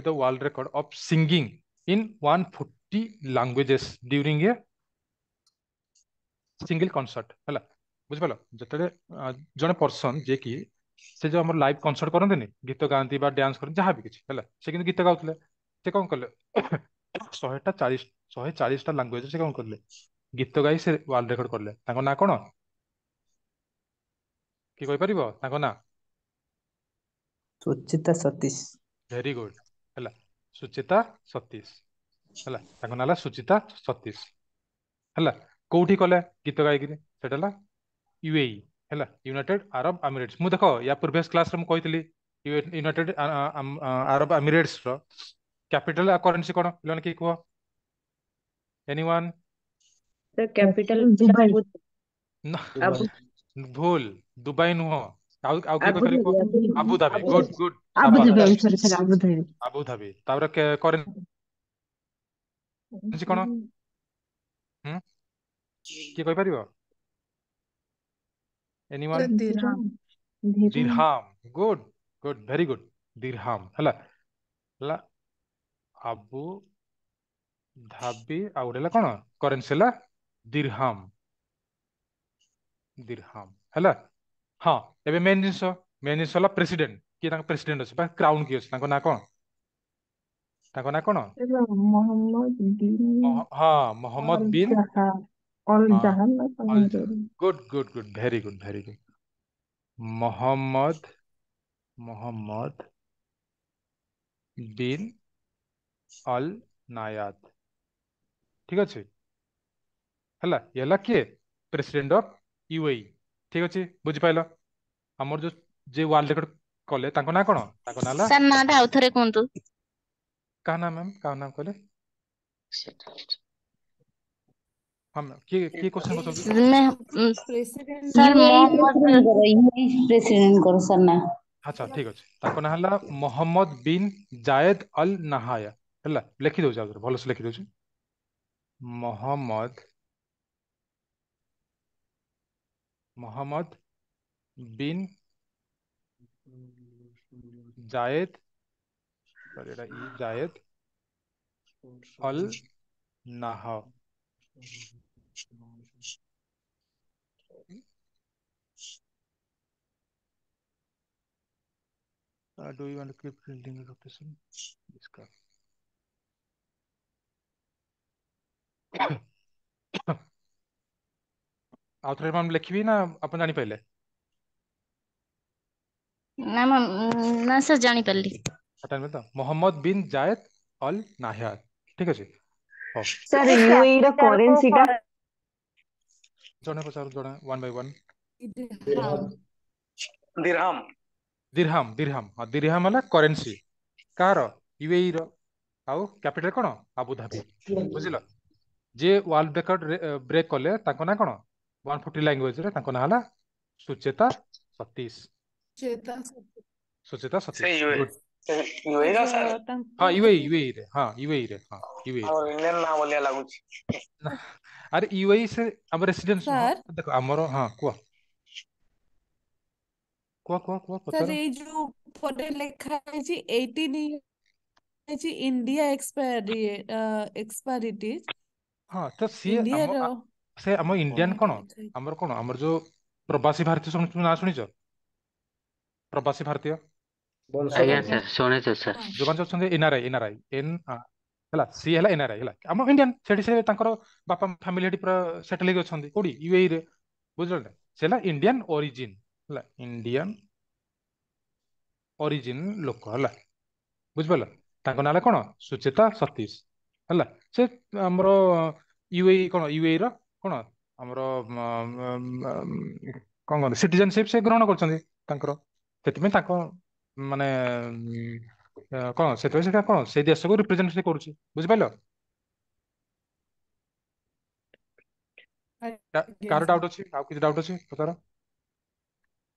the world record of singing in 140 languages during a single concert ହେଲା। ବୁଝିପାରିଲ? ଯେତେବେଳେ ଜଣେ ପର୍ସନ ଯିଏକି ସେ ଯୋଉ ଆମର ଲାଇଭ କନସର୍ଟ କରନ୍ତିନି, ଗୀତ ଗାଆନ୍ତି ବା ଡ୍ୟାନ୍ସ କରନ୍ତି, ଯାହା ବି କିଛି ହେଲା, ସେ କିନ୍ତୁ ଗୀତ ଗାଉଥିଲେ। ସେ କଣ କଲେ? 140, 140ଟା ଲାଙ୍ଗୁଏଜ ସେ କଣ କଲେ? ଗୀତ ଗାଇ ସେ ୱାର୍ଲଡ ରେକର୍ଡ କଲେ। ତାଙ୍କ ନାଁ କଣ? କିଏ କହିପାରିବ ତାଙ୍କ ନାଁ? ସୁଚିତା ସତୀଶ। ଭେରି ଗୁଡ ହେଲା, ସୁଚିତା ସତୀଶ ହେଲା। ତାଙ୍କ ନାଁ ହେଲା ସୁଚିତା ସତୀଶ ହେଲା। କୋଉଠି କଲେ ଗୀତ ଗାଇକିରି? ସେଟା ହେଲା ୟୁଏଇ ହେଲା, ୟୁନାଇଟେଡ ଆରବ ଏମିରେଟ୍ସ। ମୁଁ ଦେଖ ୟା ପ୍ରିଭିୟସ କ୍ଲାସରେ ମୁଁ କହିଥିଲି, ୟୁନାଇଟେଡ ଆରବ ଏମିରେଟ୍ସ ର କ୍ୟାପିଟାଲ ଆଉ କରେନ୍ସି କଣ? ପିଲାମାନେ କିଏ କୁହ, ଏନିୱାନ୍? Sir, capital Dubai. ନା। ଆବୁ ଭୁଲ, ଦୁବାଇ ନୁହଁ। ଆଉ ଆଉ କିଏ କହିପାରିବ? Abu Dhabi. Abu Dhabi. Good good, Abu Dhabi. ସାବାସ। ସରି ସରି, ଆବୁଧାବି। ଆବୁଧାବି। ତାପରେ କରେନ୍ସି କଣ? ହୁଁ, କିଏ କହିପାରିବ? ଏନିୱାନ୍? ଦିରହାମ। ଦିରହାମ। ଦିରହାମ। ଗୁଡ ଗୁଡ, ଭେରି ଗୁଡ। ଦିରହାମ ହେଲା। ହେଲା ଆବୁ ଧାବି, ଆଉ ଗୋଟେ ହେଲା କଣ? କରେନ୍ସି ହେଲା ଦିରହାମ, ଦିରହାମ ହେଲା। ହଁ, ଏବେ ମେନ୍ ଜିନିଷ, ମେନ୍ ଜିନିଷ ହେଲା ପ୍ରେସିଡେଣ୍ଟ କିଏ? ତାଙ୍କ ପ୍ରେସିଡେଣ୍ଟ ଅଛି ବା କ୍ରାଉନ କିଏ ଅଛି? ତାଙ୍କ ନାଁ କଣ? ତାଙ୍କ ନାଁ କଣ? ମହମ୍ମଦ ବିନ୍ ହଁ, ମହମ୍ମଦ ବିନ୍ ଜାହା। ଅଲ ହଁ, ଜାହାନ ନା କଣ ଅଲ ଏମିତି ଗୋଟେ। Good good good, very good very good. Mohammed Mohammed bin Al Nahyan, ଠିକ ଅଛି। ହେଲା, ଇଏ ହେଲା କିଏ? President of UAE. ଠିକ ଅଛି, ବୁଝିପାରିଲ? ଆମର ଯୋଉ ଯେ ୱାର୍ଲଡ ରେକର୍ଡ କଲେ ତାଙ୍କ ନାଁ କଣ? ତାଙ୍କ ନାଁ ହେଲା, ସାର୍ ନାଁଟା ଆଉ ଥରେ କୁହନ୍ତୁ। କାହା ନାଁ ମ୍ୟାମ୍, କାହା ନାଁ କହିଲେ? ହଁ ମ୍ୟାମ୍, କିଏ କିଏ କ୍ୱେଶ୍ଚନ କରୁଛନ୍ତି? ପ୍ରେସିଡେଣ୍ଟ ସାର୍ ୟୁଏଇ ମହମ୍ମଦ ପ୍ରେସିଡେଣ୍ଟଙ୍କର, ୟୁଏଇ ପ୍ରେସିଡେଣ୍ଟଙ୍କର ସାର୍ ନା। ଆଚ୍ଛା ଠିକ ଅଛି, ତାଙ୍କ ନାଁ ହେଲା Mohammed bin Zayed Al Nahyan. ହେଲା, ଲେଖିଦଉଛି, ଆଉ ଥରେ ଭଲସେ ଲେଖିଦଉଛି। Mohammed Mohammed bin Zayed, sorry ଏଟା ଇ, Zayed Al Nahyan. Do you want to keep printing the location? Discard. ଆଉ ଥରେ ମ୍ୟାମ୍ ଲେଖିବି ନା ଆପଣ ଜାଣିପାରିଲେ? ନା ମ୍ୟାମ୍, ନା ସାର୍, ଜାଣିପାରିଲି। ଜାଣିପାରିଲେ ତ? Mohammed bin Zayed Al Nahyan, ଠିକ ଅଛି। ହଉ। ସାର୍, ୟୁଏଇ ର କ୍ୟାପିଟାଲ କୁ କରେନ୍ସି ଟା? ଜଣେ ପଚାରୁ, ଜଣେ, one by one. Dirham. Dirham. Dirham, dirham, ହଁ, ଦିରହାମ ହେଲା କରେନ୍ସି କାହାର? ୟୁଏଇ ର। ଆଉ କ୍ୟାପିଟାଲ କଣ? ଆବୁଧାବି। ବୁଝିଲ? ଯିଏ ୱାର୍ଲଡ ରେକର୍ଡ ବ୍ରେକ୍ କଲେ ତାଙ୍କ ନାଁ କଣ? 140 ଲାଙ୍ଗୁଏଜ ରେ ତାଙ୍କ ନାଁ ହେଲା ସୁଚେତା ସତୀଶ। ଚେତା ସୁଚେତା ସେ ସତୀଶ, ୟୁଏ ଗୁଡ୍। ସେ ୟୁଏ ର ସାର୍? ହଁ, ତାଙ୍କୁ ୟୁଏଇ, ୟୁଏଇ ରେ, ହଁ, ୟୁଏଇ ରେ, ହଁ, ୟୁଏଇ ରେ। ଆମର ଇଣ୍ଡିଆନ ନାଁ ଭଳିଆ ଲାଗୁଛି। ନା, ଆରେ ୟୁଏଇ ସେ ଆମ ରେସିଡେନ୍ସ, ହଁ। ସାର୍ ଦେଖ ଆମର, ହଁ, କୁହ କୁହ କୁହ କୁହ, ସାର୍ ପଚାର। ଏଇ ଯୋଉ ଉପରେ ଲେଖା ହେଇଛି 18 ହେଇଛି ଇଣ୍ଡିଆ ଏକ୍ସପାୟରି ଏକ୍ସପାୟରିଟି ହଁ, ତ ସିଏ ଆମ ଇଣ୍ଡିଆର ସେ ଆମ କଣ ଇଣ୍ଡିଆନ ଏଇଟା କଣ, ଲେଖା ହେଇଛି? ଆମର କଣ, ଆମର ଯୋଉ ପ୍ରବାସୀ ଭାରତୀୟ, ଶୁଣି ନାଁ ଶୁଣିଛ? ପ୍ରବାସୀ ଭାରତୀୟ ଆଜ୍ଞା ଆଜ୍ଞା ସାର୍, ଶୁଣିଛୁ ସାର୍। ହଁ। ଯୋଉମାନେ ଅଛନ୍ତି ଏନଆରଆଇ, ଏନଆରଆଇ ଏନ୍ ହେଲା, ସିଏ ହେଲା ଏନଆରଆଇ ହେଲା ଆମ ଇଣ୍ଡିଆନ, ସେଠି ସେ ତାଙ୍କର ବାପା ଫ୍ୟାମିଲି ସେଠି ପୁରା ସେଟଲ ହେଇକି ଅଛନ୍ତି କୋଉଠି? ୟୁଏଇ ରେ। ବୁଝିଲ ନା? ସେ ହେଲା ଇଣ୍ଡିଆନ ଅରିଜିନ, ହେଲା ଇଣ୍ଡିଆନ ଅରିଜିନ ଲୋକ ହେଲା, ବୁଝିପାରିଲ? ତାଙ୍କ ନାଁ ହେଲା କଣ? ସୁଚେତା ସତୀଶ। ହେଲା, ସେ ଆମର ୟୁଏଇ କଣ, ୟୁଏଇ ର କଣ ଆମର କଣ କହନ୍ତି, ସିଟିଜେନସିପ ସେ ଗ୍ରହଣ କରୁଛନ୍ତି ତାଙ୍କର, ସେଥିପାଇଁ ତାଙ୍କ ମାନେ କଣ, ସେଥିପାଇଁ ସେଟା କଣ ସେଇ ଦେଶକୁ ରିପ୍ରେଜେଣ୍ଟ ସେ କରୁଛି। ବୁଝିପାରିଲ? ଆଜ୍ଞା କାହାର ସାର୍। ଡାଉଟ ଅଛି? ଆଉ କିଛି ଡାଉଟ ଅଛି ପଚାର।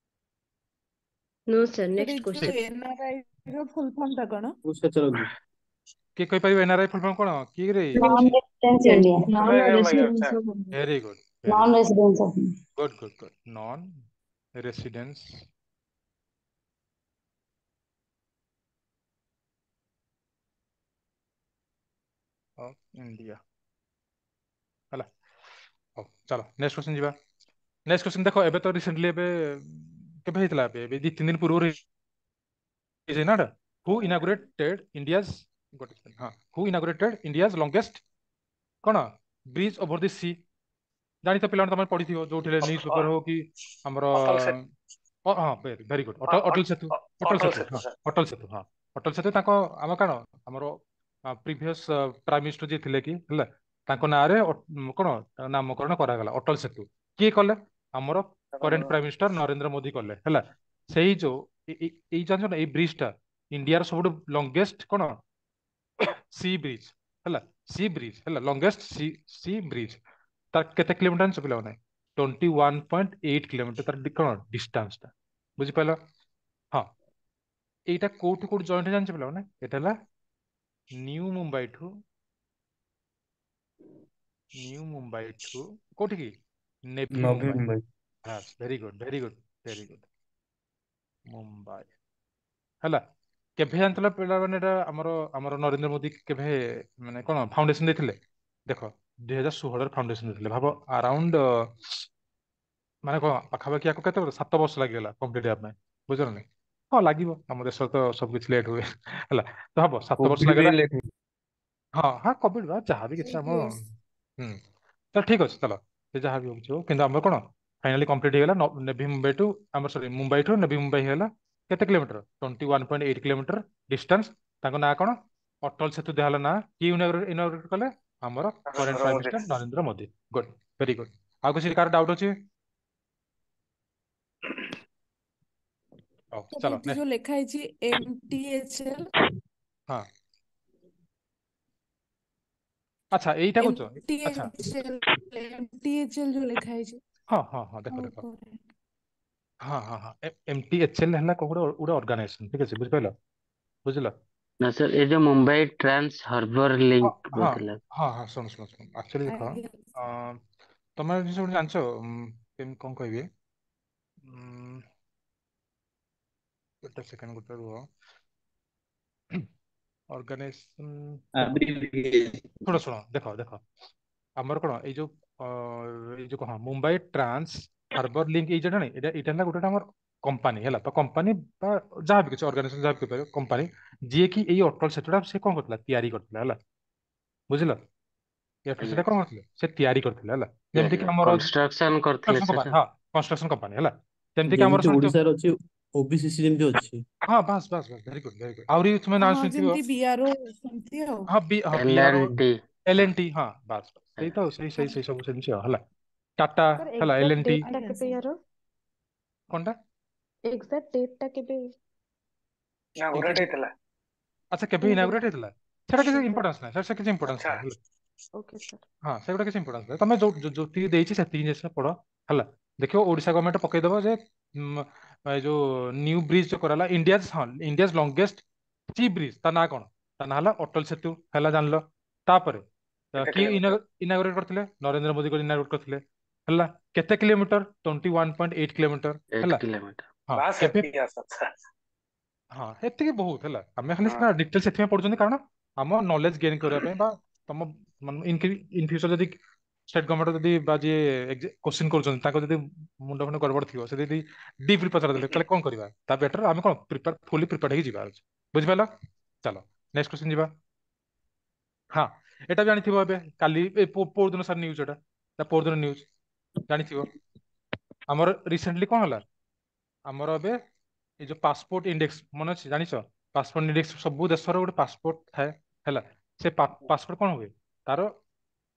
ନୋ ସାର୍, ସାର୍ ନେକ୍ସଟ ଏଇ ଯୋଉ କ୍ୱେଶ୍ଚନ। ଏନଆରଆଇ ର ଫୁଲ ଫର୍ମ ଟା କଣ? କିଏ କହିପାରିବ ଏନଆରଆଇ ଫୁଲ ଫର୍ମ କଣ? କିଏ ରେ ନନ୍ ଅଛି? Residence India. Non residence of very good, very non good, residence of good good good. Non residence of India. ହେଲା, ହଉ ଚାଲ ନେକ୍ସଟ କ୍ୱେଶ୍ଚନ ଯିବା। ନେକ୍ସଟ କ୍ୱେଶ୍ଚନ ଦେଖ, ଏବେ ତ ରିସେଣ୍ଟଲି ଏବେ କେବେ ହେଇଥିଲା? ଏବେ ଏବେ 2-3 ଦିନ ପୂର୍ବରୁ ହେଇଛି ନା ଏଟା? ହୁ ଇନାଗୁରେଟେଡ ଇଣ୍ଡିଆଜ, ଗୋଟେ second, ହଁ, ହୁ ଇନାଗୁରେଟେଡ ଇଣ୍ଡିଆଜ ଲଙ୍ଗେଷ୍ଟ କଣ ବ୍ରିଜ ଓଭର the C? ଜାଣିଛ ପିଲାମାନେ, ତମେ ପଢିଥିବ ଯୋଉଠି ନ୍ୟୁଜ ପେପର ହଉ କି ଆମର, ଅଟଲ ସେତୁ। ହଁ, ଭେରି ଗୁଡ, ଅଟଲ ସେତୁ, ଅଟଲ ଅଟଲ ସେତୁ, ସେତୁ ହଁ, ସାର୍। ଅଟଲ ସେତୁ, ହଁ, ଅଟଲ ସେତୁ। ତାଙ୍କ ଆମ କଣ ଆମର ପ୍ରିଭିୟସ ପ୍ରାଇମ ମିନିଷ୍ଟର ଯିଏ ଥିଲେ କି ହେଲା, ତାଙ୍କ ନାଁରେ କଣ ନାମକରଣ କରାଗଲା ଅଟଲ ସେତୁ। କିଏ କଲେ? ଆମର current prime minister Narendra Modi କଲେ। ହେଲା, ସେଇ ଯୋଉ ଏଇ ଜାଣିଛ ନା, ଏଇ ବ୍ରିଜ ଟା ଇଣ୍ଡିଆର ସବୁଠୁ ଲଙ୍ଗେଷ୍ଟ କଣ ସି ବ୍ରିଜ, ହେଲା, ସି ବ୍ରିଜ ହେଲା, ଲଙ୍ଗେଷ୍ଟ ସି ସି ବ୍ରିଜ। ତାର କେତେ କିଲୋମିଟର ଜାଣିଛ ପିଲାମାନେ? 21.8 କିଲୋମିଟର ତାର କଣ ଡିଷ୍ଟାନ୍ସ ଟା। ବୁଝିପାରିଲ? ହଁ, ଏଇଟା କୋଉଠୁ କୋଉଠି ଜଏଣ୍ଟ ଜାଣିଛ ପିଲାମାନେ? ଏଇଟା ହେଲା ନ୍ୟୁ ମୁମ୍ବାଇ ଠୁ, ନ୍ୟୁ ମୁମ୍ବାଇ ଠୁ କୋଉଠି କି? ନେଭି ନଭି ମୁମ୍ବାଇ। ମୁମ୍ବାଇ। ବାସ୍, very good very good very good. Mumbai ହେଲା। କେବେ ଜାଣିଥିଲ ପିଲାମାନେ ଏଟା ଆମର ଆମର ନରେନ୍ଦ୍ର ମୋଦି କେବେ ମାନେ କଣ ଫାଉଣ୍ଡେସନ ଦେଇଥିଲେ? ଦେଖ, 2016ରେ ଫାଉଣ୍ଡେସନ ଦେଇଥିଲେ। ଭାବ, ଆରାଉଣ୍ଡ ମାନେ କଣ ପାଖାପାଖି ଆକୁ କେତେ ବର୍ଷ, 7 ବର୍ଷ ଲାଗିଗଲା କମ୍ପ୍ଲିଟ ହେବା ପାଇଁ। ବୁଝିଲ ନା? ହଁ, ଲାଗିବ, ଆମ ଦେଶରେ ତ ସବୁ କିଛି ଲେଟ୍ ହୁଏ। ହେଲା, ତ ହବ 7 ବର୍ଷ କୋଭିଡ ଲାଗିଗଲା। ପାଇଁ ଲେଟ୍। ହଁ ହଁ, କୋଭିଡ ବା ଯାହା ବି କିଛି ଏଇଟ୍ ଆମ ଇୟର୍ସ। ହୁଁ, ତ ଠିକ ଅଛି, ଚାଲ। ସେ ଯାହା ବି ହଉଛି ହଉ, କିନ୍ତୁ ଆମର କଣ ଫାଇନାଲି କମ୍ପ୍ଲିଟ ହେଇଗଲା। ନେଭି ମୁମ୍ବାଇ ଟୁ ଆମର, ସରି, ମୁମ୍ବାଇ ଠୁ ନେଭି ମୁମ୍ବାଇ ହେଇଗଲା କେତେ କିଲୋମିଟର? 21.8 kilometre distance. ତାଙ୍କ ନାଁ କଣ? ଅଟଳ ସେତୁ ଦିଆହେଲା ନାଁ। କିଏ ଇନାଗୁରେଟ କଲେ? ଆମର current Narendra prime Modi. Minister Narendra Modi. Good, very good. ଆଉ କିଛି କାହାର ଡାଉଟ ଅଛି? ହଉ ସାର୍ ଚାଲ ଏଠି ନେକ୍ସଟ। ଯୋଉ ଲେଖା ହେଇଛି MTHL। ହଁ, ଆଚ୍ଛା, ଏଇଟା କହୁଛ? ଆଚ୍ଛା। MTHL, MTHL ଯୋଉ ଲେଖା ହେଇଛି। ହଁ ହଁ ହଁ, ଦେଖ ଆଉ ଦେଖ। ଉପରେ। ହଁ ହଁ ହଁ, MTHL ହେଲା କୋଉ ଗୋଟେ ଗୋଟେ ଅର୍ଗାନାଇଜେସନ, ଠିକ ଅଛି? ବୁଝିପାରିଲ? ବୁଝିଲ? ନା ସାର୍, ଏ ଯୋଉ ମୁମ୍ବାଇ ଟ୍ରାନ୍ସ ହାର୍ବର ହଁ ଲିଙ୍କ ହଁ ବୋଧେ ଲାଗେ। ହଁ ହଁ, ଶୁଣ ଶୁଣ ଶୁଣ, ଆକ୍ଚୁଆଲି ଦେଖ, ଆଜ୍ଞା। ଅଁ, ତମେ ଜିନିଷ ଗୋଟେ ଜାଣିଛ, କେମିତି କଣ କହିବି, ଗୋଟେ ସେକେଣ୍ଡ, ଗୋଟେ ରୁହ। ଅର୍ଗାନାଇଜେସନ ଦେଖ, ଶୁଣ ଶୁଣ, ଦେଖ ଦେଖ, ଆମର କଣ ଏଇ ଯୋଉ ଏଇ ଯୋଉ କଣ ମୁମ୍ବାଇ ଟ୍ରାନ୍ସ ହାର୍ବର ଲିଙ୍କ, ଏଇ ଯୋଉଟା ନାଇଁ, ଏଇଟା ଏଇଟା ହେଲା ଗୋଟେ ଆମର କମ୍ପାନୀ ହେଲା ତ, କମ୍ପାନୀ ବା ଯାହା ବି କିଛି ଅର୍ଗାନାଇଜେସନ ଯାହା ବି କହିପାରିବ, କମ୍ପାନୀ ଯିଏ କି ଏଇ ଅଟଳ ସେତୁଟା ସେ କଣ କରିଥିଲା? ତିଆରି କରିଥିଲା ହେଲା। ବୁଝିଲ? ଏ ଅଟଳ ଆଜ୍ଞା। ସେଟା କଣ କରିଥିଲେ? ସେ ତିଆରି କରିଥିଲେ ହେଲା। ତିଆରି ଯେମିତି କି ଆମର କନଷ୍ଟ୍ରକ୍ସନ କରିଥିଲେ କନଷ୍ଟ୍ରକ୍ସନ ସାର୍। କମ୍ପାନୀ, ହଁ, କନଷ୍ଟ୍ରକ୍ସନ କମ୍ପାନୀ ହେଲା। ଯେମିତି କି ଆମର ଯେମିତି ଶୁଣିଥିବ ଓଡିଶାର ଅଛି ଓବିସିସି ଯେମିତି ଅଛି। ହଁ, ବାସ୍ ବାସ୍ ବାସ୍, ଭେରି ଗୁଡ୍ ଭେରି ଗୁଡ୍। ଆହୁରି ତୁମେ ନାଁ ହଁ, ଶୁଣିଥିବ। ଯେମିତି ବିଆରଓ ସେମିତି ଆଉ। ହଁ, ବି, ହଁ, L BRO, N T. L N T, ହଁ, ବାସ୍ ବାସ୍, ସେଇ ଆଜ୍ଞା। ତ ସେଇ ସେଇ ସେଇ ସବୁ ଜିନିଷ ହେଲା। ଟାଟା ସାର୍ ହେଲା, L exact N T. Date ଟା ଆଜ୍ଞା କେବେ ସାର୍। ୟାର? କଣଟା? ଏକ୍ସାକ୍ଟ ଡେଟ୍ ଟା କେବେ? ଇନାଗୁରେଟ ଏକ୍ସାକ୍ଟ ହେଇଥିଲା। ଆଚ୍ଛା, କେବେ ଇନାଗୁରେଟ ହେଇଥିଲା ସେଟା କିଛି ଆଜ୍ଞା ସାର୍। ଇମ୍ପୋର୍ଟାନ୍ସ ନାହିଁ ସାର୍, ସେ କିଛି ଇମ୍ପୋର୍ଟାନ୍ସ ଆଚ୍ଛା। ନାହିଁ ହେଲା। Okay sir. ହଁ, ସେଗୁଡ଼ା କିଛି ଇମ୍ପୋର୍ଟାନ୍ସ ନାହିଁ। ତମେ ଯୋଉ ଯେତିକି ଦେଇଛି ସେତିକି ଜିନିଷ ପଢ ହେଲା। ଦେଖିବ ଓଡିଶା ଗଭର୍ଣ୍ଣମେଣ୍ଟ ପକେଇଦବ ଯେ ଏ ଯୋଉ ନ୍ୟୁ ବ୍ରିଜ ଯୋଉ କରାଲା ଇଣ୍ଡିଆଜ, ହଁ, ଇଣ୍ଡିଆଜ ଲଙ୍ଗେଷ୍ଟ ସି ବ୍ରିଜ, ତା ନାଁ କଣ? ତା ନାଁ ହେଲା ଅଟଲ ସେତୁ ହେଲା, ଜାଣିଲ? ତାପରେ କେତେ କିଏ କିଲୋମିଟର? ଇନାଗୁରେଟ କରିଥିଲେ? ନରେନ୍ଦ୍ର ମୋଦି ଇନାଗୁରେଟ କରିଥିଲେ ହେଲା। କେତେ କିଲୋମିଟର? 21.8 କିଲୋମିଟର 8 ହେଲା। କିଲୋମିଟର। ହଁ, ବାସ୍ କେବେ? ଏତିକି ଆସ। ଆଚ୍ଛା। ହଁ, ଏତିକି ବହୁତ ହେଲା। ଆମେ ଖାଲି ହଁ ସିନା ଡିଟେଲ ସେଥିପାଇଁ ପଢୁଛନ୍ତି କାରଣ ଆମ ନଲେଜ ଗେନ୍ କରିବା ପାଇଁ ବା ତମ ଇନ ଫ୍ୟୁଚର ଯଦି ଷ୍ଟେଟ ଗଭର୍ଣ୍ଣମେଣ୍ଟ ଯଦି ବା ଯିଏ କୋଶ୍ଚିନ୍ କରୁଛନ୍ତି ତାଙ୍କ ଯଦି ମୁଣ୍ଡ ଫୁଣ୍ଡ ଗଡବଡ ଥିବ, ସେ ଯଦି ଡିପଲି ପଚାରିଦେଲେ ତାହେଲେ କଣ କରିବା? ତା ବେଟର ଆମେ କଣ ପ୍ରିପେୟାର, ଫୁଲି ପ୍ରିପେୟାର ହେଇକି ଯିବା ଅଛି। ବୁଝିପାରିଲ? ଚାଲ ନେକ୍ସଟ କ୍ୱେଶ୍ଚିନ୍ ଯିବା। ହଁ, ଏଟା ବି ଜାଣିଥିବ, ଏବେ କାଲି ପୋର ଦିନ ସାର୍ ନ୍ୟୁଜ, ଏଟା ତା ପୋର ଦିନ ନ୍ୟୁଜ ଜାଣିଥିବ। ଆମର ରିସେଣ୍ଟଲି କଣ ହେଲା? ଆମର ଏବେ ଏଇ ଯୋଉ ପାସପୋର୍ଟ ଇଣ୍ଡେକ୍ସ ମନେ ଅଛି? ଜାଣିଛ ପାସପୋର୍ଟ ଇଣ୍ଡେକ୍ସ? ସବୁ ଦେଶର ଗୋଟେ ପାସପୋର୍ଟ ଥାଏ ହେଲା। ସେ ପାସପୋର୍ଟ କଣ ହୁଏ? ତାର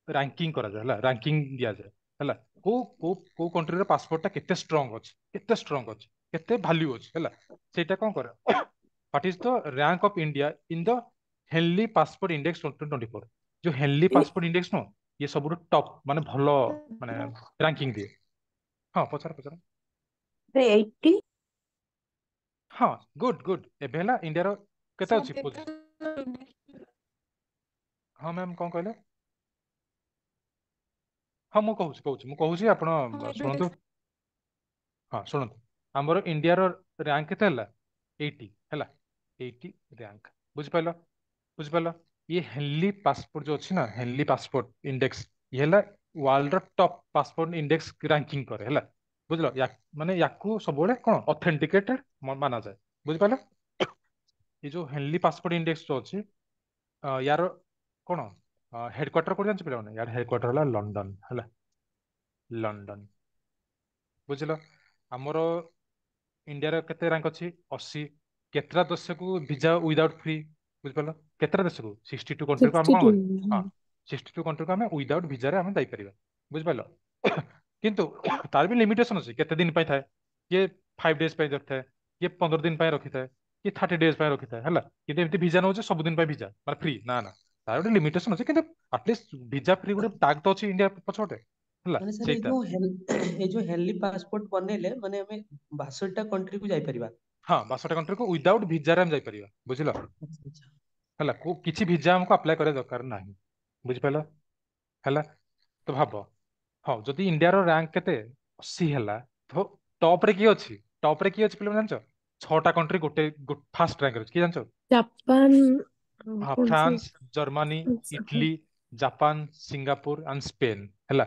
ରାଙ୍କିଙ୍ଗ କରାଯାଏ ହେଲା, ରାଙ୍କିଙ୍ଗ ଦିଆଯାଏ ହେଲା। କୋଉ କୋଉ କୋଉ କଣ୍ଟ୍ରିର ପାସପୋର୍ଟ ଟା କେତେ ଷ୍ଟ୍ରଙ୍ଗ ଅଛି, କେତେ ଷ୍ଟ୍ରଙ୍ଗ ଅଛି, କେତେ ଭାଲ୍ୟୁ ଅଛି ହେଲା, ସେଇଟା କଣ କରେ? What is the rank of India in the Henley Passport Index 2024? ଯୋଉ ହେନଲି ପାସପୋର୍ଟ ଇଣ୍ଡେକ୍ସ ନୁହଁ, ଇଏ ସବୁଠୁ ଟପ୍, ମାନେ ଭଲ, ମାନେ ରାଙ୍କିଙ୍ଗ ଦିଏ। ହଁ, ପଚାର ପଚାର। 80। ହଁ, ଗୁଡ୍ ଗୁଡ୍। ଏବେ ହେଲା ଇଣ୍ଡିଆର କେତେ ସାର୍ ଅଛି ପୋଜିସନ? ଦେଖାଯାଉନି। ହଁ ମ୍ୟାମ୍, କଣ କହିଲେ? ହଁ, ମୁଁ କହୁଛି କହୁଛି, ମୁଁ କହୁଛି, ଆପଣ ହଁ, ଏବେ ଶୁଣନ୍ତୁ। ଦେଖ। ହଁ, ଶୁଣନ୍ତୁ, ଆମର ଇଣ୍ଡିଆର ରାଙ୍କ କେତେ ହେଲା? 80 ହେଲା, 80 ରାଙ୍କ। ବୁଝିପାରିଲ? ବୁଝିପାରିଲ? ଇଏ ହେନଲି ପାସପୋର୍ଟ ଯୋଉ ଅଛି ନା, ହେନଲି ପାସପୋର୍ଟ ଇଣ୍ଡେକ୍ସ, ଇଏ ହେଲା ୱାର୍ଲଡ ର ଟପ୍ ପାସପୋର୍ଟ ଇଣ୍ଡେକ୍ସ ରାଙ୍କିଙ୍ଗ କରେ ହେଲା। ବୁଝିଲ? ମାନେ ୟାକୁ ସବୁବେଳେ କଣ ଅଥେଣ୍ଟିକେଟେଡ ମାନାଯାଏ। ବୁଝିପାରିଲ? ଏ ଯୋଉ ହେନଲି ପାସପୋର୍ଟ ଇଣ୍ଡେକ୍ସ ଯୋଉ ଅଛି, ୟାର କଣ ହେଡକ୍ୱାର୍ଟର କୋଉଠି ଜାଣିଛ ପିଲାମାନେ? ୟାର ହେଡକ୍ୱାର୍ଟର ହେଲା ଲଣ୍ଡନ ହେଲା, ଲଣ୍ଡନ। ବୁଝିଲ? ଆମର ଇଣ୍ଡିଆର କେତେ ରାଙ୍କ ଅଛି? 80। କେତେଟା ଦେଶକୁ ଭିଜା ୱିଦାଉଟ୍ ଫ୍ରି? ବୁଝିପାରିଲ? କେତେଟା ଦେଶକୁ? 62 କଣ୍ଟ୍ରିକୁ ଆମେ ସିକ୍ସଟି କଣ ଟୁ କରିବୁ? ହଁ, 62 କଣ୍ଟ୍ରିକୁ ଆମେ ୱିଦାଉଟ୍ ଭିଜାରେ ଆମେ ଯାଇପାରିବା। ବୁଝିପାରିଲ? କିନ୍ତୁ ତାର ବି ଲିମିଟେସନ ଅଛି, କେତେ ଦିନ ପାଇଁ ଥାଏ। କିଏ 5 ଡେଜ ପାଇଁ ରଖିଥାଏ, କିଏ 15 ଦିନ ପାଇଁ ରଖିଥାଏ, କିଏ 30 ଡେଜ ପାଇଁ ରଖିଥାଏ ହେଲା। କିନ୍ତୁ ଏମିତି ଭିଜା ନଉଛି ସବୁଦିନ ପାଇଁ ଭିଜା ମାନେ ଫ୍ରି, ନା ନା, ତାର ଗୋଟେ ଲିମିଟେସନ ଅଛି। କିନ୍ତୁ ଆଟଲିଷ୍ଟ ଭିଜା ଫ୍ରି ଗୋଟେ ଟ୍ୟାଗ ତ ଅଛି ଇଣ୍ଡିଆ ପଛପଟେ ହେଲା। ମାନେ ସାର୍ ଏଇ ସେଇଟା ଯୋଉ ଏଇ ଯୋଉ ହେନଲି ପାସପୋର୍ଟ ବନେଇଲେ ମାନେ ଆମେ 62ଟା କଣ୍ଟ୍ରି କୁ ଯାଇପାରିବା? ହଁ, 62 କଣ୍ଟ୍ରିକୁ ୱିଦାଉଟ୍ ଭିଜାରେ ଆମେ ଯାଇପାରିବା। ବୁଝିଲ? ଆଚ୍ଛା ଆଚ୍ଛା। ହେଲା, କୋଉ କିଛି ଭିଜା ଆମକୁ ଆପ୍ଲାଏ କରିବା ଦରକାର ନାହିଁ। ବୁଝିପାରିଲ? ହେଲା ତ ଭାବ, ହଁ, ଯଦି ଇଣ୍ଡିଆର ରାଙ୍କ କେତେ 80 ହେଲା, ତ ଟପ ରେ କିଏ ଅଛି? ଟପ ରେ କିଏ ଅଛି ପିଲାମାନେ ଜାଣିଛ? ଛଅଟା କଣ୍ଟ୍ରି ଗୋଟେ ଫାଷ୍ଟ ରାଙ୍କରେ ଅଛି, କିଏ ଜାଣିଛ? ଜାପାନ ଆଉ ହଁ, କଣ ସେ ଫ୍ରାନ୍ସ, ଜର୍ମାନୀ, ହଁ। Italy, Japan, Singapore and Spain ହେଲା।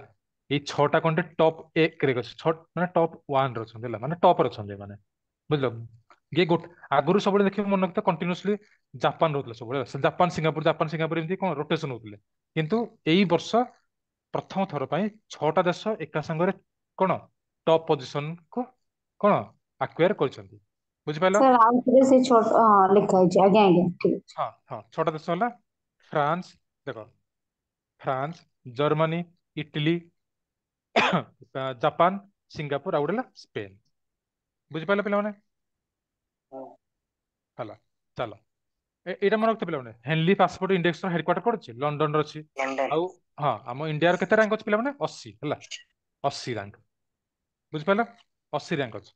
ଏଇ ଛଅଟା କଣ୍ଟ୍ରି ଟପ୍ 1 ରେ ଅଛି, ଛଅ ମାନେ ଟପ୍ 1 ରେ ଅଛନ୍ତି ହେଲା, ମାନେ ଟପରେ ଅଛନ୍ତି ମାନେ, ବୁଝିଲ? ଇଏ ଗୋଟେ ଆଗରୁ ସବୁବେଳେ ଦେଖିବ, ମନେ ରଖିଥା, କଣ୍ଟିନ୍ୟୁସଲି ଜାପାନ ରହୁଥିଲା ସବୁବେଳେ ହେଲା। ଜାପାନ ସିଙ୍ଗାପୁର, ଜାପାନ ସିଙ୍ଗାପୁର, ଏମିତି କଣ ରୋଟେସନ ହଉଥିଲେ। କିନ୍ତୁ ଏଇ ବର୍ଷ ପ୍ରଥମ ଥର ପାଇଁ 6ଟା ଦେଶ ଏକା ସାଙ୍ଗରେ କଣ ଟପ୍ ପୋଜିସନ କୁ କଣ ଆକ୍ୱାୟାର କରିଛନ୍ତି। ବୁଝିପାରିଲ? ସାର୍ ଆଉ ଥରେ ସେ ଛୋଟ, ହଁ, ଲେଖା ହେଇଛି। ଆଜ୍ଞା ଆଜ୍ଞା, ଠିକ ଅଛି। ହଁ ହଁ, 6ଟା ଦେଶ ହେଲା ଫ୍ରାନ୍ସ, ଦେଖ, France, Germany, Italy, Japan, Singapore ଆଉ ଗୋଟେ ହେଲା ସ୍ପେନ। ବୁଝିପାରିଲ ପିଲାମାନେ? ହେଲା, ଚାଲ। ଏଇଟା ମନେ ରଖିଥ ପିଲାମାନେ, ହେନଲି ପାସପୋର୍ଟ ଇଣ୍ଡେକ୍ସ ର ହେଡକ୍ୱାର୍ଟର କୋଉଠି ଅଛି? ଲଣ୍ଡନରେ ଅଛି। ଲଣ୍ଡନ। ଆଉ ହଁ, ଆମ ଇଣ୍ଡିଆର କେତେ ରାଙ୍କ ଅଛି ପିଲାମାନେ? 80 ହେଲା, 80 ରାଙ୍କ। ବୁଝିପାରିଲ? 80 ରାଙ୍କ ଅଛି।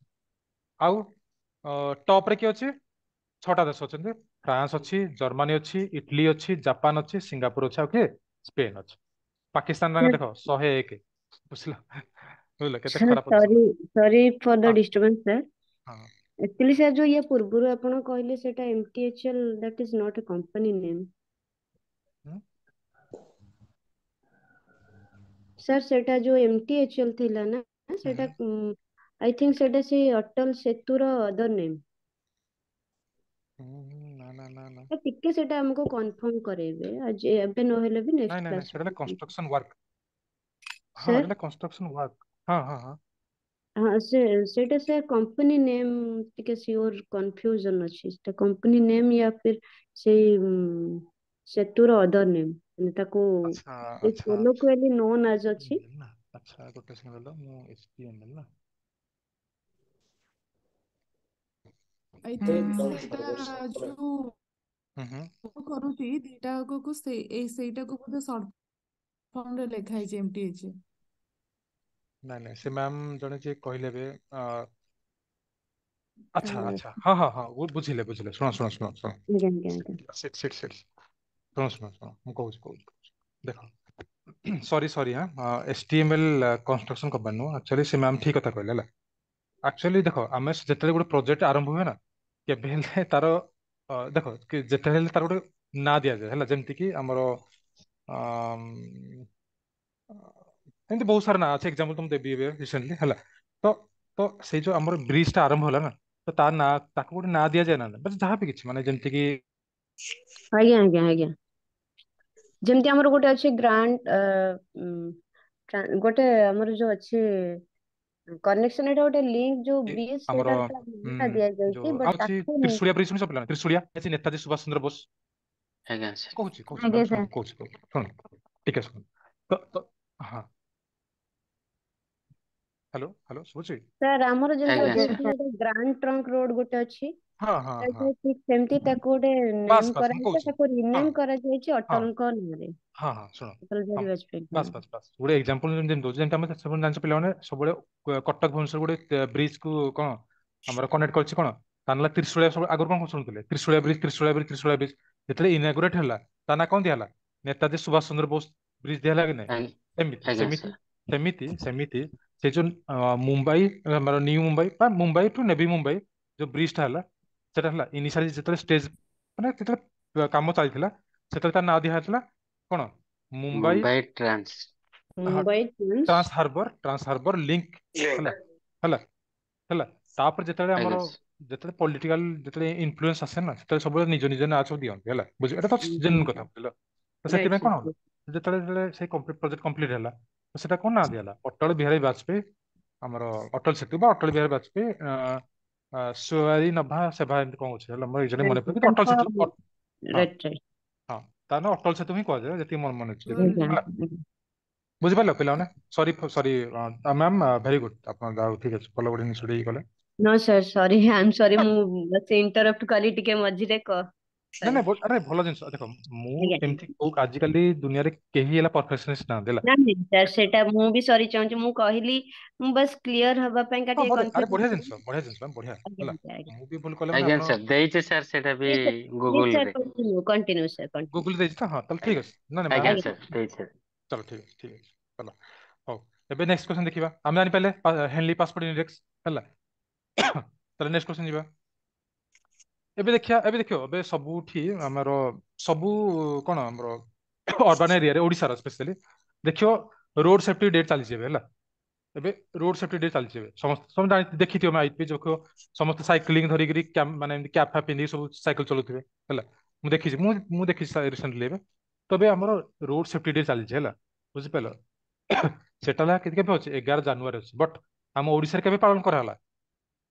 ଆଉ ଟପ ରେ କିଏ ଅଛି? 6ଟା ଦେଶ ଅଛନ୍ତି। ଫ୍ରାନ୍ସ ଅଛି, ଜର୍ମାନୀ ଅଛି, ଇଟାଲୀ ଅଛି, ଜାପାନ ଅଛି, ସିଙ୍ଗାପୁର ଅଛି, ଆଉ କିଏ? ସ୍ପେନ ଅଛି। ପାକିସ୍ତାନ ରାଙ୍କ ଦେଖ 101। ବୁଝିଲ? ବୁଝିଲ କେତେ ସାର୍, ଖରାପ position? Sorry, sorry for the ହଁ ଡିଷ୍ଟର୍ବାନ୍ସ ସାର୍। ହଁ। ଆକ୍ଚୁଆଲି ସାର୍, ଯୋଉ ଇଏ ପୂର୍ବରୁ ଆପଣ କହିଲେ ସେଟା MTHL, that is not a company name. ହୁଁ। ସାର୍, ସେଟା ଯୋଉ MTHL ଥିଲା ନା, ସେଟା I think ସେଟା ସେଇ ଅଟଲ ସେତୁର ଅଦର ନେମ୍। ହୁଁ, ନା ନା ନା ନା। ଟିକେ ସେଟା ଆମକୁ କନଫର୍ମ କରେଇବେ ଆଜି, ଏବେ ନହେଲେ ବି ନାଇଁ ନେକ୍ସଟ ନାଇଁ ନାଇଁ, କ୍ଲାସ। ସେଟା ହେଲା କନଷ୍ଟ୍ରକ୍ସନ ୱାର୍କ। ହଁ, ସାର୍। ଏଟା କନଷ୍ଟ୍ରକ୍ସନ ୱାର୍କ। ହଁ ହଁ ହଁ। ହଁ, ସେ ସେଇଟା ସାର୍ କମ୍ପାନୀ ନେମ୍, ଟିକେ ସିଓର କନଫ୍ୟୁଜନ ଅଛି। ସେଟା କମ୍ପାନୀ ନେମ୍ ୟା ଫିର ସେଇ ସେତୁର ଅଦର ନେମ୍, ମାନେ ତାକୁ ଆଚ୍ଛା ଆଚ୍ଛା। କୋଲୋକୁଆଲି ନୋନ୍ ଆଜ ଅଛି। ନା, ଆଚ୍ଛା, ଗୋଟେ ସେକେଣ୍ଡ ରହିଲ। ମୁଁ HTML ନା I think ସେଇଟା ଯୋଉ ହୁଁ ହୁଁ କରୁଛି ଦିଟା ଆଗକୁ, ସେଇ ଏଇ ସେଇଟାକୁ ବୋଧେ ସର୍ଟ ଫର୍ମ ରେ ଲେଖା ହେଇଛି MTH। ନାଇଁ ନାଇଁ, ସେ ମ୍ୟାମ ଜଣେ ଯିଏ କହିଲେ ଏବେ, ଆଚ୍ଛା ଆଚ୍ଛା, ହଁ ହଁ ହଁ, ବୁଝିଲେ ବୁଝିଲେ। ଶୁଣ ଶୁଣ ଶୁଣ ଶୁଣ। ଆଜ୍ଞା ଆଜ୍ଞା ଆଜ୍ଞା। ସିଟ୍ ସିଟ୍ ସିଟ୍, ଶୁଣ ଶୁଣ ଶୁଣ, ମୁଁ କହୁଛି କହୁଛି କହୁଛି, ଦେଖ। ସରି ସରି, ହଁ, HTML construction company ନୁହଁ ଆକ୍ଚୁଆଲି। ସେ ମ୍ୟାମ ଠିକ କଥା କହିଲେ। ହେଲା, ଆକ୍ଚୁଆଲି ଦେଖ, ଆମେ ଯେତେବେଳେ ଗୋଟେ ପ୍ରୋଜେକ୍ଟ ଆରମ୍ଭ ହୁଏ ନା, କେବେ ହେଲେ ତାର ଦେଖ କି ଯେତେବେଳେ ହେଲେ ତାର ଗୋଟେ ନାଁ ଦିଆଯାଏ। ହେଲା, ଯେମିତି କି ଆମର ଏମିତି ବହୁତ ସାରା ନାଁ ଅଛି, ଏକ୍ଜାମ୍ପଲ ତ ମୁଁ ଦେବି ଏବେ ରିସେଣ୍ଟଲି। ହେଲା, ତ ତ ସେଇ ଯୋଉ ଆମର ବ୍ରିଜ ଟା ଆରମ୍ଭ ହେଲା ନା, ତ ତା ନାଁ, ତାକୁ ଗୋଟେ ନାଁ ଦିଆଯାଏ ନା, ବାସ୍ ଯାହା ବି କିଛି, ମାନେ ଯେମିତି କି ଆଜ୍ଞା ଆଜ୍ଞା ଆଜ୍ଞା, ଯେମିତି ଆମର ଗୋଟେ ଅଛି ଗ୍ରାଣ୍ଡ, ଗୋଟେ ଆମର ଯୋଉ ଅଛି କନେକ୍ସନ, ଏଇଟା ଗୋଟେ ଲିଙ୍କ ଯୋଉ ବ୍ରିଜ, ଆମର ସେଇଟା ତା ନାଁଟା ଦିଆଯାଇଛି ଯୋଉ ବଟ୍ ଆଉ ଅଛି ତାକୁ ତ୍ରିଶୁଳିଆ ବ୍ରିଜ ଶୁଣିଛ ପିଲାମାନେ? ତ୍ରିଶୁଳିଆ ଅଛି, ନେତାଜୀ ସୁଭାଷ ଚନ୍ଦ୍ର ବୋଷ। ଆଜ୍ଞା ସାର୍। କହୁଛି କହୁଛି ଆଜ୍ଞା ମ୍ୟାମ୍, ଶୁଣ ସାର୍। କହୁଛି କହୁଛି, ଶୁଣ ଟିକେ ଶୁଣ। ତ ତ ହଁ, ହ୍ୟାଲୋ ହ୍ୟାଲୋ, ଶୁଭୁଛି? ସାର୍, ଆମର ଯେମିତି ଆଜ୍ଞା ଗୋଟେ ସାର୍। ଅଛି ଗୋଟେ ଗ୍ରାଣ୍ଡ ଟ୍ରଙ୍କ ରୋଡ ଗୋଟେ ଅଛି, ହଁ ହଁ ହଁ। ତାକୁ ଠିକ ସେମିତି ତାକୁ ଗୋଟେ ବାସ୍ ନେମ୍ ବାସ୍, ମୁଁ କରାଯାଇଛି, କହୁଛି। ତାକୁ ହଁ ରିନେମ୍ କରାଯାଇଛି ହଁ ଅଟଲଙ୍କ ନାଁରେ, ହଁ ହଁ, ଶୁଣ। ଅଟଲ ହଁ, ବିହାରୀ ବାଜପେୟୀଙ୍କ ବାସ୍ ନାଁରେ। ବାସ୍ ବାସ୍, ଗୋଟେ ଏକ୍ଜାମ୍ପଲ ଯେମିତି ଦଉଛି, ଯେମିତି ଆମେ ସବୁ ଜାଣିଛ ପିଲାମାନେ, ସବୁବେଳେ କଟକ ଭୁବନେଶ୍ୱର ଗୋଟେ ବ୍ରିଜ କୁ କଣ ଆମର କନେକ୍ଟ କରିଛି କଣ, ତା ନାଁ ହେଲା ତ୍ରିଶୁଳିଆ। ସବୁ ଆଗରୁ କଣ ଶୁଣୁଥିଲେ? Trisulia bridge, Trisulia bridge, Trisulia bridge. ଯେତେବେଳେ ଇନାଗୁରେଟ ହେଲା, ତା ନାଁ କଣ ଦିଆହେଲା? ନେତାଜୀ ସୁଭାଷ ଚନ୍ଦ୍ର ବୋଷ ବ୍ରିଜ ଦିଆହେଲା କି ନାଇଁ? ଆଜ୍ଞା। ସେମିତି ଆଜ୍ଞା ସେମିତି ସାର୍। ସେମିତି ସେମିତି ସେ ଯୋଉ ମୁମ୍ବାଇ, ଆମର ନ୍ୟୁ ମୁମ୍ବାଇ ବା ମୁମ୍ବାଇ ଟୁ ନେଭି ମୁମ୍ବାଇ ଯୋଉ ବ୍ରିଜ ଟା ହେଲା, ସେଟା ହେଲା ଇନିସିଆଲି ଯେତେବେଳେ ଷ୍ଟେଜ, ମାନେ ଯେତେବେଳେ କାମ ଚାଲିଥିଲା, ସେତେବେଳେ ତା ନାଁ ଦିଆ ହେଇଥିଲା କଣ? ମୁମ୍ବାଇ ମୁମ୍ବାଇ ଟ୍ରାନ୍ସ ହଁ, Mumbai trans trans harbour, trans harbour link. Link. ହେଲା ହେଲା ହେଲା, ତାପରେ ଯେତେବେଳେ ଆମର ଆଜ୍ଞା ସାର୍। ଯେତେବେଳେ ପଲିଟିକାଲ ଯେତେବେଳେ ଇନଫ୍ଲୁଏନ୍ସ ଆସେ ନା, ସେତେବେଳେ ସବୁବେଳେ ନିଜ ନିଜ ନାଁ ସବୁ ଦିଅନ୍ତି। ହେଲା, ବୁଝିଲ? ଏଟା ତ ଜେନୁଇନ କଥା, ବୁଝିଲ? ତ ରାଇଟ୍ ସେଥିପାଇଁ କଣ ସାର୍। ହେଲା, ଯେତେବେଳେ ଯେତେବେଳେ ସେଇ ପ୍ରୋଜେକ୍ଟ କମ୍ପ୍ଲିଟ ହେଲା, ତ ସେଟା କଣ ନାଁ ଦିଆହେଲା? ଅଟଳ ବିହାରୀ ବାଜପେୟୀ, ଆମର ଅଟଳ ସେତୁ ବା ଅଟଳ ବିହାରୀ ବାଜପେୟୀ ସୁଆରୀ ନଭା ସେବା, ଏମିତି କଣ ଅଛି। ହେଲା, ମୋର ଏକ୍ଜାକ୍ଟଲି ମନେ ପଡୁନି, କିନ୍ତୁ ଅଟଳ ତାଙ୍କ ସେତୁ ହଁ। Right right. ହଁ, ତା ନାଁ ଅଟଳ ସେତୁ ହିଁ କୁହାଯାଏ, ଯେତିକି ମୋର ମନେ ଅଛି। ଆଜ୍ଞା ହେଲା, ବୁଝିପାରିଲ ପିଲାମାନେ? Sorry sorry ma'am, very good, ଆପଣ ଯାହା ହଉ, ଠିକ ଅଛି, ଭଲ ଗୋଟେ ଜିନିଷ ଇଏ କଲେ। No sir, sorry, I am sorry, ମୁଁ ବସ୍ ଇଣ୍ଟରପ୍ଟ କଲି ଟିକେ ମଝିରେ କ ନାଇଁ ସରି। ନାଇଁ, ଆରେ ଭଲ ଜିନିଷ। ଦେଖ, ମୁଁ ଆଜ୍ଞା। ଏମିତି କୋଉ, ଆଜିକାଲି ଦୁନିଆରେ କେହି ହେଲା ପରଫେକ୍ସନିଷ୍ଟ ନାହାନ୍ତି। ହେଲା। ନା ନାଇଁ ସାର୍, ସେଇଟା ମୁଁ ବି ସରି ଚାହୁଁଛି। ମୁଁ କହିଲି, ମୁଁ ବାସ୍ କ୍ଲିୟର ହବା ପାଇଁକା ହଁ, ଟିକେ ବଢିଆ, ଆରେ କନଫ୍ୟୁଜନ ବଢିଆ ଥିଲି। ଜିନିଷ, ବଢିଆ ଜିନିଷ, ବଢିଆ। ଆଜ୍ଞା ହେଲା। ଆଜ୍ଞା ଆଜ୍ଞା। ମୁଁ ବି ଭୁଲ କଲେ ମାନେ ଆଜ୍ଞା ଆପଣ ସାର୍, ଦେଇଛି ସାର୍ ସେଇଟା ବି please sir, please Google sir, ରେ। Continue continue sir, continue. Google ଦେଇଛି ତ? ହଁ, ତାହେଲେ ଠିକ ଆଜ୍ଞା। ଅଛି। ନା ନା ଆଜ୍ଞା ମ୍ୟାମ୍। ଆଜ୍ଞା। ସାର୍, ଦେଇଛି। ଚାଲ, ଠିକ ଅଛି, ଠିକ ଅଛି, ଚାଲ। ହଉ, ଏବେ ନେକ୍ସଟ କ୍ୱେଶ୍ଚନ ଦେଖିବା। ଆମେ ଜାଣିପାରିଲେ ହେନଲି ପାସପୋର୍ଟ ଇଣ୍ଡେକ୍ସ। ହେଲା, ତାହେଲେ ନେକ୍ସଟ କ୍ୱେଶ୍ଚନ ଯିବା। ଏବେ ଦେଖିବା, ଏବେ ଦେଖିବ, ଏବେ ସବୁଠି ଆମର ସବୁ କଣ ଆମର ଅର୍ବାନ ଏରିଆରେ, ଓଡିଶାର ସ୍ପେଶାଲି ଦେଖିବ, ରୋଡ ସେଫ୍ଟି ଡେ ଚାଲିଛି ଏବେ। ହେଲା, ଏବେ ରୋଡ ସେଫ୍ଟି ଡେ ଚାଲିଛି ଏବେ। ସମସ୍ତେ ସମସ୍ତେ ଜାଣି ଦେଖିଥିବ, ଆଇପି ଦେଖିବ, ସମସ୍ତେ ସାଇକେଲିଂ ଧରିକିରି, ମାନେ ଏମିତି କ୍ୟାପ୍ ଫ୍ୟାପ୍ ପିନ୍ଧିକି ସବୁ ସାଇକେଲ ଚଲାଉଥିବେ। ହେଲା, ମୁଁ ଦେଖିଛି, ମୁଁ ମୁଁ ଦେଖିଛି ରିସେଣ୍ଟଲି ଏବେ। ତ ଏବେ ଆମର ରୋଡ ସେଫ୍ଟି ଡେ ଚାଲିଛି। ହେଲା, ବୁଝିପାରିଲ? ସେଟା ହେଲା କେବେ ଅଛି? 11 ଜାନୁଆରୀ ଅଛି। ବଟ୍ ଆମ ଓଡିଶାରେ କେବେ ପାଳନ କରାହେଲା?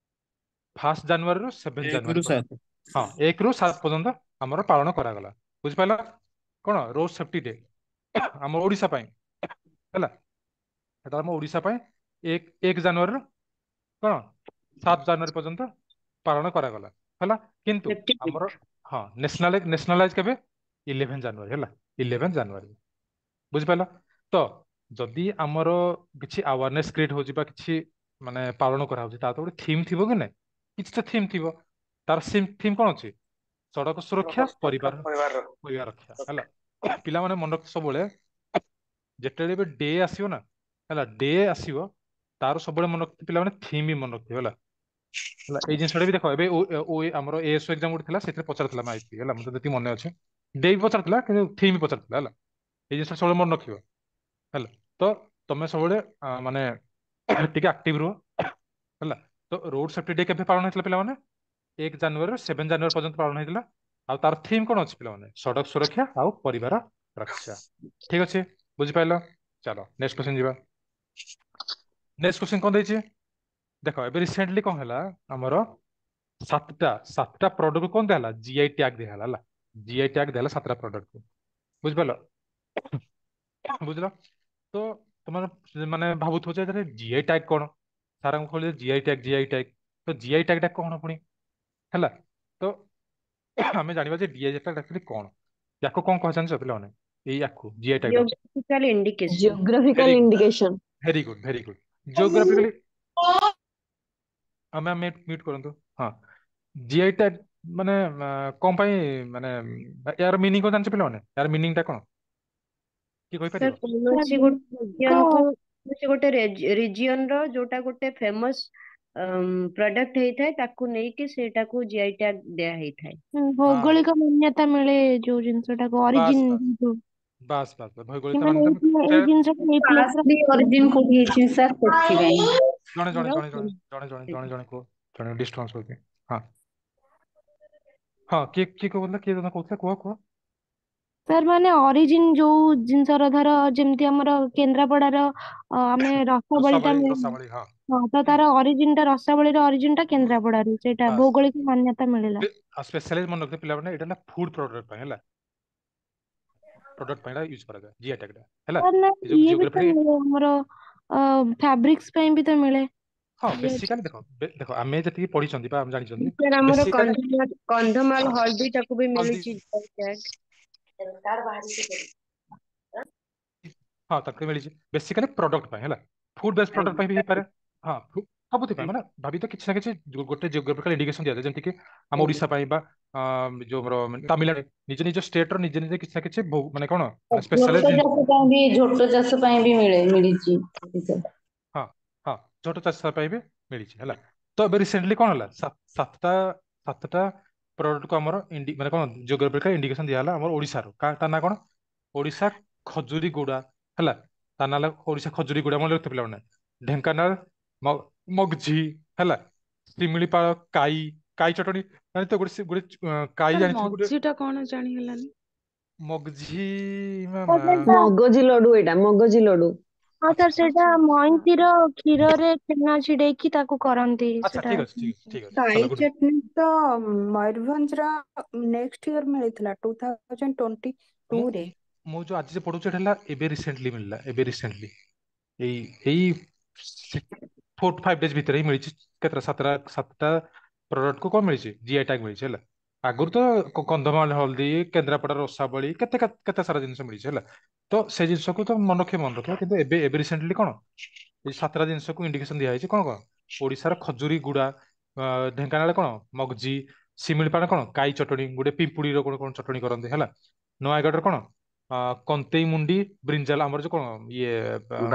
1 ଜାନୁଆରୀରୁ 7 ଜାନୁଆରୀ 1ରୁ ପର୍ଯ୍ୟନ୍ତ। 7। ହଁ, 1ରୁ 7 ପର୍ଯ୍ୟନ୍ତ ଆମର ପାଳନ କରାଗଲା। ବୁଝିପାରିଲ କଣ ରୋଡ ସେଫ୍ଟି ଡେ ଆମ ଓଡିଶା ପାଇଁ ହେଲା? ସେଟା ଆମ ଓଡିଶା ପାଇଁ 1 ଜାନୁଆରୀରୁ କଣ 7 ଜାନୁଆରୀ ପର୍ଯ୍ୟନ୍ତ ପାଳନ କରାଗଲା ହେଲା। କିନ୍ତୁ ସେଫ୍ଟି ଆମର ହଁ ନ୍ୟାସନାଲାଇଜ କେବେ? 11 ଜାନୁଆରୀ ହେଲା, 11 ଜାନୁଆରୀ। ବୁଝିପାରିଲ? ତ ଯଦି ଆମର କିଛି ଆୱାରନେସ କ୍ରିଏଟ ହଉଛି ବା କିଛି ମାନେ ପାଳନ କରାହଉଛି, ତାର ତ ଗୋଟେ ଥିମ୍ ଥିବ କି ନାଇଁ? କିଛି ତ ଥିମ୍ ଥିବ। ତାର ଥିମ୍ କଣ ଅଛି? ସଡ଼କ ସୁରକ୍ଷା, ସଡ଼କ ସୁରକ୍ଷା ପରିବାର ପରିବାର ପରିବାର ରକ୍ଷା ହେଲା। ପିଲାମାନେ ମନେ ରଖ, ସବୁବେଳେ ଯେତେବେଳେ ବି ଡେ ଆସିବ ନା, ହେଲା, ଡେ ଆସିବ, ତାର ସବୁବେଳେ ମନେ ରଖିଥିବ ପିଲାମାନେ, ଥିମ୍ ବି ମନେ ରଖିଥିବ ହେଲା। ହେଲା, ଏଇ ଜିନିଷଟା ବି ଦେଖ, ଏବେ ଆମର ଏଏସଓ ଏକ୍ଜାମ ଗୋଟେ ଥିଲା, ସେଥିରେ ପଚାରିଥିଲା ମାଇପି ହେଲା, ମତେ ଯେତିକି ମନେ ଅଛି ଡେ ବି ପଚାରିଥିଲା କିନ୍ତୁ ଥିମ୍ ବି ପଚାରିଥିଲା ହେଲା। ଏଇ ଜିନିଷ ସବୁବେଳେ ମନେ ରଖିବ ହେଲା। ତ ତମେ ସବୁବେଳେ ମାନେ ଟିକେ ଆକ୍ଟିଭ ରୁହ ହେଲା। ତ ରୋଡ ସେଫ୍ଟି ଡେ କେବେ ପାଳନ ହେଇଥିଲା ପିଲାମାନେ? 1 ଜାନୁଆରୀରୁ 7 ଜାନୁଆରୀ ପର୍ଯ୍ୟନ୍ତ ପାଳନ ହେଇଥିଲା। ଆଉ ତାର ଥିମ୍ କଣ ଅଛି ପିଲାମାନେ? ସଡ଼କ ସୁରକ୍ଷା ଆଉ ପରିବାର ରକ୍ଷା। ଠିକ ଅଛି, ବୁଝିପାରିଲ? ଚାଲ ନେକ୍ସଟ କ୍ୱେଶ୍ଚନ ଯିବା। ନେକ୍ସଟ କ୍ୱେଶ୍ଚନ କଣ ଦେଇଛି ଦେଖ। ଏବେ ରିସେଣ୍ଟଲି କଣ ହେଲା, ଆମର ସାତଟା ପ୍ରଡକ୍ଟ କଣ ଦିଆହେଲା? ଜିଆଇ ଟ୍ୟାଗ ଦିଆହେଲା ହେଲା। ଜିଆଇ ଟ୍ୟାଗ ଦିଆହେଲା 7ଟା ପ୍ରଡକ୍ଟ କୁ। ବୁଝିପାରିଲ? ବୁଝିଲ? ତ ତମର ମାନେ ଭାବୁଥିବ ଯେ ଜିଆଇ ଟ୍ୟାଗ କଣ? ସାରଙ୍କୁ କହିଲେ ଜିଆଇ ଟ୍ୟାଗ, ଜିଆଇ ଟ୍ୟାଗ, ତ ଜିଆଇ ଟ୍ୟାଗ ଟା କଣ ପୁଣି ହେଲା? ତ ଆମେ ଜାଣିବା ଯେ ଜିଆଇ ଟ୍ୟାଗ ଆକ୍ଚୁଆଲି କଣ। ୟାକୁ କଣ କହ ଜାଣିଛ ପିଲାମାନେ? ଏଇ ୟାକୁ ଜିଆଇ ଟ୍ୟାଗ ଟାକୁ geographical indication. Geographical very good, indication. Very good, very good. Geographically ଆମେ ମ୍ୟୁଟ କରନ୍ତୁ। ହଁ, ଜିଆଇ ଟ୍ୟାଗ ମାନେ କଣ ପାଇଁ, ମାନେ ୟାର ମିନିଂ କଣ ଜାଣିଛ ପିଲାମାନେ? ୟାର ମିନିଂ ଟା କଣ କିଏ ସାର୍ କହିପାରିବ? କୌଣସି ଗୋଟେ ରିଜିଅନ କୁ, କୌଣସି ଗୋଟେ ରିଜିଅନ ର ଯୋଉଟା ଗୋଟେ ଫେମସ ପ୍ରଡକ୍ଟ ହେଇଥାଏ ତାକୁ ନେଇକି ସେଇଟାକୁ ଜିଆଇ ଟ୍ୟାଗ ଦିଆ ହେଇଥାଏ। ହଁ, ଭୌଗୋଳିକ ମାନ୍ୟତା ମିଳେ ଯୋଉ ଜିନିଷଟାକୁ, ବାସ୍ ଅରିଜିନ ବାସ୍ ଯୋଉ ବାସ୍ ବାସ୍ ବାସ୍, କି ଭୌଗୋଳିକ ମାନେ ମାନ୍ୟତା ଏଇ ସେ ଜିନିଷଟା ଏଇ ପ୍ଲେସ ର ଫାଷ୍ଟଲି ଅରିଜିନ କୋଉଠି ହେଇଛି ସାର୍ ସେଥିପାଇଁ। ଜଣେ ଜଣେ ଜଣେ ଜଣେ ଜଣେ ଜଣେ ଜଣେ ଜଣେ କୁହ, ଜଣେ ଡିଷ୍ଟର୍ବାନ୍ସ ହଉଛି। ହଁ ହଁ, କିଏ କିଏ କହୁଥିଲା? କିଏ ଜଣେ କହୁଥିଲା, କୁହ କୁହ। ସାର୍ ମାନେ ଅରିଜିନ ଯୋଉ ଜିନିଷର, ଧର ଯେମିତି ଆମର କେନ୍ଦ୍ରାପଡାର ଆମେ ରସାବଳି ଟା ରସାବଳି, ମିଳେ। ରସାବଳି, ହଁ। ହଁ, ତ ତାର ଅରିଜିନ ଟା, ରସାବଳିର ଅରିଜିନ ଟା କେନ୍ଦ୍ରାପଡାରୁ, ସେଇଟା ବାସ୍। ଭୌଗୋଳିକ ମାନ୍ୟତା ମିଳିଲା। ଆଉ ସ୍ପେଶାଲି ମନେ ରଖିଥିବ ପିଲାମାନେ, ଏଇଟା ହେଲା ଫୁଡ ପ୍ରଡକ୍ଟ ପାଇଁ ହେଲା, ପ୍ରଡକ୍ଟ ପାଇଁ ୟୁଜ କରାଯାଏ ଜିଆଇ ଟ୍ୟାଗ ଟା ହେଲା। ସାର୍ ନା, ଏ ଯୋଉ ଇଏ ବି ତ ଜିଓଗ୍ରାଫି ମିଳେ ଆମର, ଫାବ୍ରିକ୍ସ ପାଇଁ ବି ତ ମିଳେ। ହଁ, ଜିଆଇ। ବେସିକାଲି ଦେଖ, ଦେଖ ଆମେ ଯେତିକି ପଢିଛନ୍ତି ବା ଆମେ ଜାଣିଛନ୍ତି ସାର୍ ଆମର ବେସିକାଲି କନ୍ଧମାଳ କନ୍ଧମାଳ ହଳଦୀ ଟାକୁ ବି ହଳଦୀ ମିଳୁଛି ଜିଆଇ ଟ୍ୟାଗ। ହଁ, ତାକୁ ମିଳିଛି ବେସିକାଲି ପ୍ରଡକ୍ଟ ପାଇଁ ହେଲା, ଫୁଡ ବେସ୍ଡ ପ୍ରଡକ୍ଟ ଆଜ୍ଞା ପାଇଁ ବି ହେଇପାରେ। ହଁ, ସବୁଥି ପାଇଁ ମାନେ ଭାବି ତ କିଛି ନା କିଛି ଗୋଟେ ଜିଓଗ୍ରାଫିକାଲ ଇଣ୍ଡିକେସନ ଦିଆଯାଏ, ଯେମିତି କି ଆମ ଆଜ୍ଞା ଓଡିଶା ପାଇଁ ବା ଯୋଉ ଆମର ତାମିଲନାଡୁ, ନିଜ ନିଜ ଷ୍ଟେଟ ର ନିଜ ନିଜ କିଛି ନା କିଛି ମାନେ କଣ ମାନେ ସ୍ପେଶାଲାଇଜ ଝୋଟ ଜିନିଷ। ଚାଷ ପାଇଁ ବି, ଝୋଟ ଚାଷ ପାଇଁ ବି ମିଳିଛି। ହଁ ହଁ, ଝୋଟ ଚାଷ ପାଇଁ ବି ମିଳିଛି ହେଲା। ତ ଏବେ ରିସେଣ୍ଟଲି କଣ ହେଲା, ସାତଟା ସାତଟା ପ୍ରଡକ୍ଟ କୁ ଆମର ମାନେ କଣ ଜିଓଗ୍ରାଫିକାଲ ଇଣ୍ଡିକେସନ ଦିଆହେଲା ଆମର ଓଡିଶାର। ତା ନାଁ କଣ? ଓଡିଶା ଖଜୁରୀ ଗୁଡା ହେଲା, ତା ନାଁ ହେଲା ଓଡିଶା ଖଜୁରୀ ଗୁଡା, ମନେ ରଖିଥିବ ପିଲାମାନେ। ଢେଙ୍କାନାଳ ମଗଝି ହେଲା, ଶିମିଳିପାଳ କାଇ, କାଇ ଚଟଣି ଜାଣିଥିବ, ଗୋଟେ ଗୋଟେ କାଇ ସାର୍ ଜାଣିଥିବ ଗୋଟେ ମଗଜିଟା କଣ ଜାଣି ହେଲାନି। ମଗଝି ସାର୍ ମାମା। ସେଇଟା ମଗଜି ଲଡୁ, ଏଇଟା ମଗଜି ଲଡୁ। ହଁ ଆଚ୍ଛା ସାର୍, ସେଇଟା ଆଚ୍ଛା ଆଚ୍ଛା। ମଇଁଷିର କ୍ଷୀରରେ ଛେନା ଛିଡେଇକି ତାକୁ କରନ୍ତି ଆଚ୍ଛା, ସେଟା। ଠିକ ଅଛି, ଠିକ ଅଛି, ଠିକ ଅଛି, କାଇ ଚାଲ ଗୁଡ। ଚଟଣି ତ ମୟୂରଭଞ୍ଜର ନେକ୍ସଟ ଇୟର ମିଳିଥିଲା ମୁଁ 2022 ରେ। ମୁଁ ଯୋଉ ଆଜି ଯେ ପଢୁଛି ଏଟା ହେଲା ଏବେ ରିସେଣ୍ଟଲି ମିଳିଲା, ଏବେ ରିସେଣ୍ଟଲି ଏଇ ଏଇ 4-5 ଡେଜ ଭିତରେ ହିଁ ମିଳିଛି। କେତେଟା? ସାତଟା, ସାତଟା ପ୍ରଡକ୍ଟ କୁ କଣ ମିଳିଛି? ଜିଆଇ ଟ୍ୟାଗ ମିଳିଛି ହେଲା। ଆଗରୁ ତ କନ୍ଧମାଳ ହଳଦୀ, କେନ୍ଦ୍ରାପଡ଼ା ରସାବଳି, କେତେ କେତେ ସାରା ଜିନିଷ ମିଳିଛି ହେଲା। ତ ସେ ଜିନିଷକୁ ତ ମନେ ରଖିବ, ମନେ ରଖିବ, କିନ୍ତୁ ଏବେ ଏବେ ରିସେଣ୍ଟଲି କଣ ଏଇ 7ଟା ଜିନିଷକୁ ଇଣ୍ଡିକେସନ ଦିଆହେଇଛି। କଣ କଣ? ଓଡିଶାର ଖଜୁରୀ ଗୁଡା, ଢେଙ୍କାନାଳ କଣ ମଗଜି, ଶିମିଳିପାଳ କଣ କାଇ ଚଟଣି, ଗୋଟେ ପିମ୍ପୁଡିର କଣ କଣ ଚଟଣି କରନ୍ତି ହେଲା। ନୟାଗଡ଼ର କଣ କନ୍ତେଇ ମୁଣ୍ଡି ବ୍ରିଞ୍ଜାଲ, ଆମର ଯୋଉ କଣ ଇଏ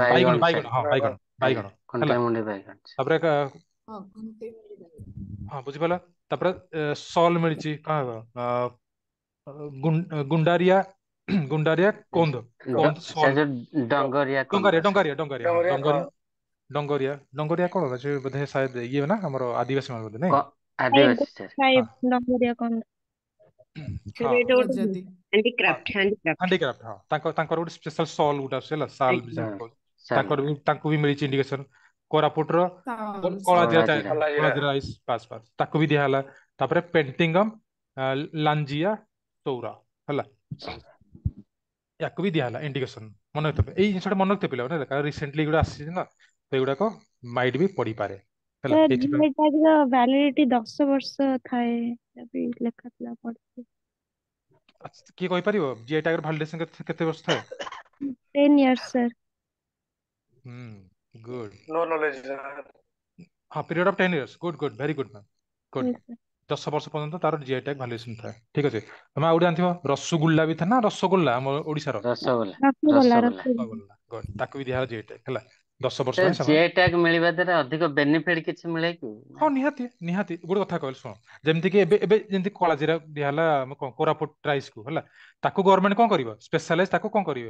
ବାଇଗଣ, ବାଇଗଣ ବାଇଗଣ, ସାର୍। ହଁ ବାଇଗଣ, ଆଜ୍ଞା, ବାଇଗଣ ହେଲା। କଣ୍ଟାଇ ମୁଣ୍ଡି ବାଇଗଣ। ତାପରେ ହଁ, କଣ୍ଟେଇ ମୁଣ୍ଡି ବାଇଗଣ। ହଁ, ବୁଝିପାରିଲ? ତାପରେ ସଲ ମିଳିଛି କଣ ଗୁଣ୍ଡାରିଆ, ଗୁଣ୍ଡାରିଆ କୋନ୍ଦ, କୋନ୍ଦ ସାର୍ ସଲ, ଯୋଉ ଡଙ୍ଗରିଆ ଡଙ୍ଗାରିଆ, କନ୍ଦ ସାର୍। ଡଙ୍ଗାରିଆ, ଡଙ୍ଗାରିଆ, ହଁ ଡଙ୍ଗରିଆ ଡଙ୍ଗରିଆ, ଡଙ୍ଗରିଆ, ଡଙ୍ଗରିଆ କଣ ସେ ବୋଧେ ସାୟଦ ଇଏ ନା ଆମର ଆଦିବାସୀ ମାନେ ବୋଧେ ନାଇଁ। ଆଦିବାସୀ ସାର୍। ହଁ ଡଙ୍ଗରିଆ କନ୍ଧ। ସାର୍ ହଁ ଏଇଟା ଗୋଟେ ଗଜାତି। ହଁ, ହ୍ୟାଣ୍ଡିକ୍ରାଫ୍ଟ, ହ୍ୟାଣ୍ଡିକ୍ରାଫ୍ଟ। ହ୍ୟାଣ୍ଡିକ୍ରାଫ୍ଟ, ହଁ, ତାଙ୍କର ଗୋଟେ ସ୍ପେଶାଲ ସଲ୍ ଗୋଟେ ଆସୁଛି ହେଲା, ସାଲ ଆଜ୍ଞା। ଯାହା ହଁ କହୁଛ। ତାଙ୍କର ସାଲ ବି, ତାଙ୍କୁ ବି ମିଳିଛି ଇଣ୍ଡିକେସନ। କୋରାପୁଟର ସାଲ କଳାଜିରା କଳା ଚା- ଜିରା। କଲା ଜିରା। କଳାଜିରା ରାଇସ୍, ବାସ୍ ବାସ୍, ତାକୁ ବି ଦିଆହେଲା। ତାପରେ ପେଣ୍ଟିଙ୍ଗମ ଲାଞ୍ଜିଆ ଚୌରା, ହେଲା, ୟାକୁ ବି ଦିଆହେଲା ଇଣ୍ଡିକେସନ। ମନେ ରଖିଥିବେ ଏଇ ଜିନିଷଟା, ମନେ ରଖିଥିବେ ପିଲାମାନେ, ହେଲା, କାରଣ ରିସେଣ୍ଟଲି ଏଗୁଡ଼ା ଆସିଛି ନା, ତ ଏଗୁଡାକ ମାଇଟ୍ ବି ପଡିପାରେ, ହେଲା, ସାର୍, ଏଇଥିପାଇଁ। ଜିଆଇ ଟ୍ୟାଗ ର ଭ୍ୟାଲିଡିଟି 10 ବର୍ଷ ଥାଏ, ଏଟା ବି ଲେଖା ଥିଲା, ପଢିଥିଲି। ଆଚ୍ଛା, କିଏ କହିପାରିବ ଜିଆଇ ଟ୍ୟାଗର ଭାଲିଡେସନ କେତେ କେତେ ବର୍ଷ ଥାଏ? 10 years sir. ହୁଁ, ଗୁଡ୍। No knowledge. ହଁ, period of 10 years. Good, good, very good ma'am, good. Yes, sir. 10 ବର୍ଷ ପର୍ଯ୍ୟନ୍ତ ତାର ଜିଆଇ ଟ୍ୟାଗ ଭାଲିଡେସନ ଥାଏ। ଠିକ ଅଛି, ତମେ ଆଉ ଗୋଟେ ଜାଣିଥିବ ରସଗୋଲ୍ଲା ବି ଥାଏ ନା, ରସଗୋଲ୍ଲା ଆମ ଓଡିଶାର। ରସଗୋଲା। ରସଗୋଲା। ରସଗୋଲା। ରସଗୋଲା। ରସଗୋଲା, ଗୁଡ୍, ତାକୁ ବି ଦିଆହେଲା ଜିଆଇ ଟ୍ୟାଗ, ହେଲା, 10 ବର୍ଷ ସେ ପାଇଁ ସେମାନେ। ଜିଆଇ ଟ୍ୟାଗ ମିଳିବା ଦ୍ୱାରା ଅଧିକ ବେନିଫିଟ କିଛି ମିଳେ କି ନା? ହଁ, ନିହାତି ନିହାତି। ଗୋଟେ କଥା କହିଲି ଶୁଣ, ଯେମିତି କି ଏବେ ଏବେ ଯେମିତି କଳାଜିରା ଦିଆହେଲା ଆମ କଣ କୋରାପୁଟ ରାଇସ୍ କୁ, ହେଲା, ତାକୁ ଗଭର୍ଣ୍ଣମେଣ୍ଟ କଣ କରିବ? ସ୍ପେଶାଲାଇଜ ତାକୁ କଣ କରିବ?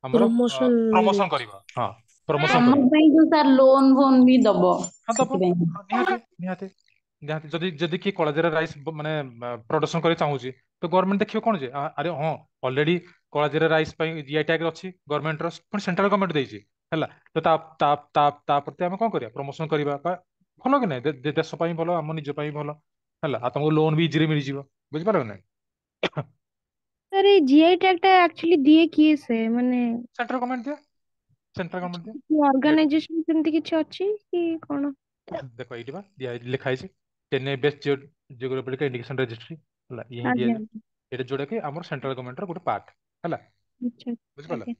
ଆମର ପ୍ରମୋସନ ପ୍ରମୋସନ କରିବ। ହଁ, ପ୍ରମୋସନ ଆମ କରିବ। ପାଇଁ ଯୋଉ ସାର୍ ଲୋନ ଫୋନ ବି ଦବ ହଁ, ଦବ। ସେଥିପାଇଁ। ହଁ, ନିହାତି ନିହାତି ନିହାତି। ଯଦି ଯଦି କିଏ କଳାଜିରା ରାଇସ୍ ମାନେ ପ୍ରଡକ୍ସନ କରିବାକୁ ଚାହୁଁଛି, ତ ଗଭର୍ଣ୍ଣମେଣ୍ଟ ଦେଖିବ କଣ ଯେ ଆରେ ହଁ, ଅଲରେଡି କଳାଜିରା ରାଇସ୍ ପାଇଁ ଜିଆଇ ଟ୍ୟାଗ ଅଛି ଗଭର୍ଣ୍ଣମେଣ୍ଟର, ପୁଣି ସେଣ୍ଟ୍ରାଲ ଗଭର୍ଣ୍ଣମେଣ୍ଟ ଦେଇଛି, ହେଲା, ତ ତା ତା ତା ତା ପ୍ରତି ଆମେ କଣ କରିବା? ପ୍ରମୋସନ କରିବା ବା ଭଲ କି ନାହିଁ? ଦେଶ ପାଇଁ ଭଲ, ଆମ ନିଜ ପାଇଁ ଭଲ, ହେଲା, ଆଉ ତମକୁ ଲୋନ ବି ଇଜିରେ ମିଳିଯିବ। ବୁଝିପାରିଲ କି ନାଇଁ? ସାର୍, ଏଇ ଜିଆଇ ଟ୍ୟାଗ ଟା ଆକ୍ଚୁଆଲି ଦିଏ କିଏ ସେ ମାନେ? ସେଣ୍ଟ୍ରାଲ ଗଭର୍ଣ୍ଣମେଣ୍ଟ ଦିଏ, ସେଣ୍ଟ୍ରାଲ ଗଭର୍ଣ୍ଣମେଣ୍ଟ ଦିଏ। ଅର୍ଗାନାଇଜେସନ ସେମିତି କିଛି ଅଛି କି କଣ? ଦେଖ, ଏଇଠି ବା ଦିଆ ଲେଖା ହେଇଛି Chennai based geographical indication registry, ହେଲା, ଇଏ ହିଁ ଦିଆଯାଏ। ଏଇଟା ଯୋଉଟା କି ଆମର ସେଣ୍ଟ୍ରାଲ ଗଭର୍ଣ୍ଣମେଣ୍ଟର ଗୋଟେ ପାର୍ଟ, ହେଲା। ବୁଝିପାରିଲ? ଆଜ୍ଞା।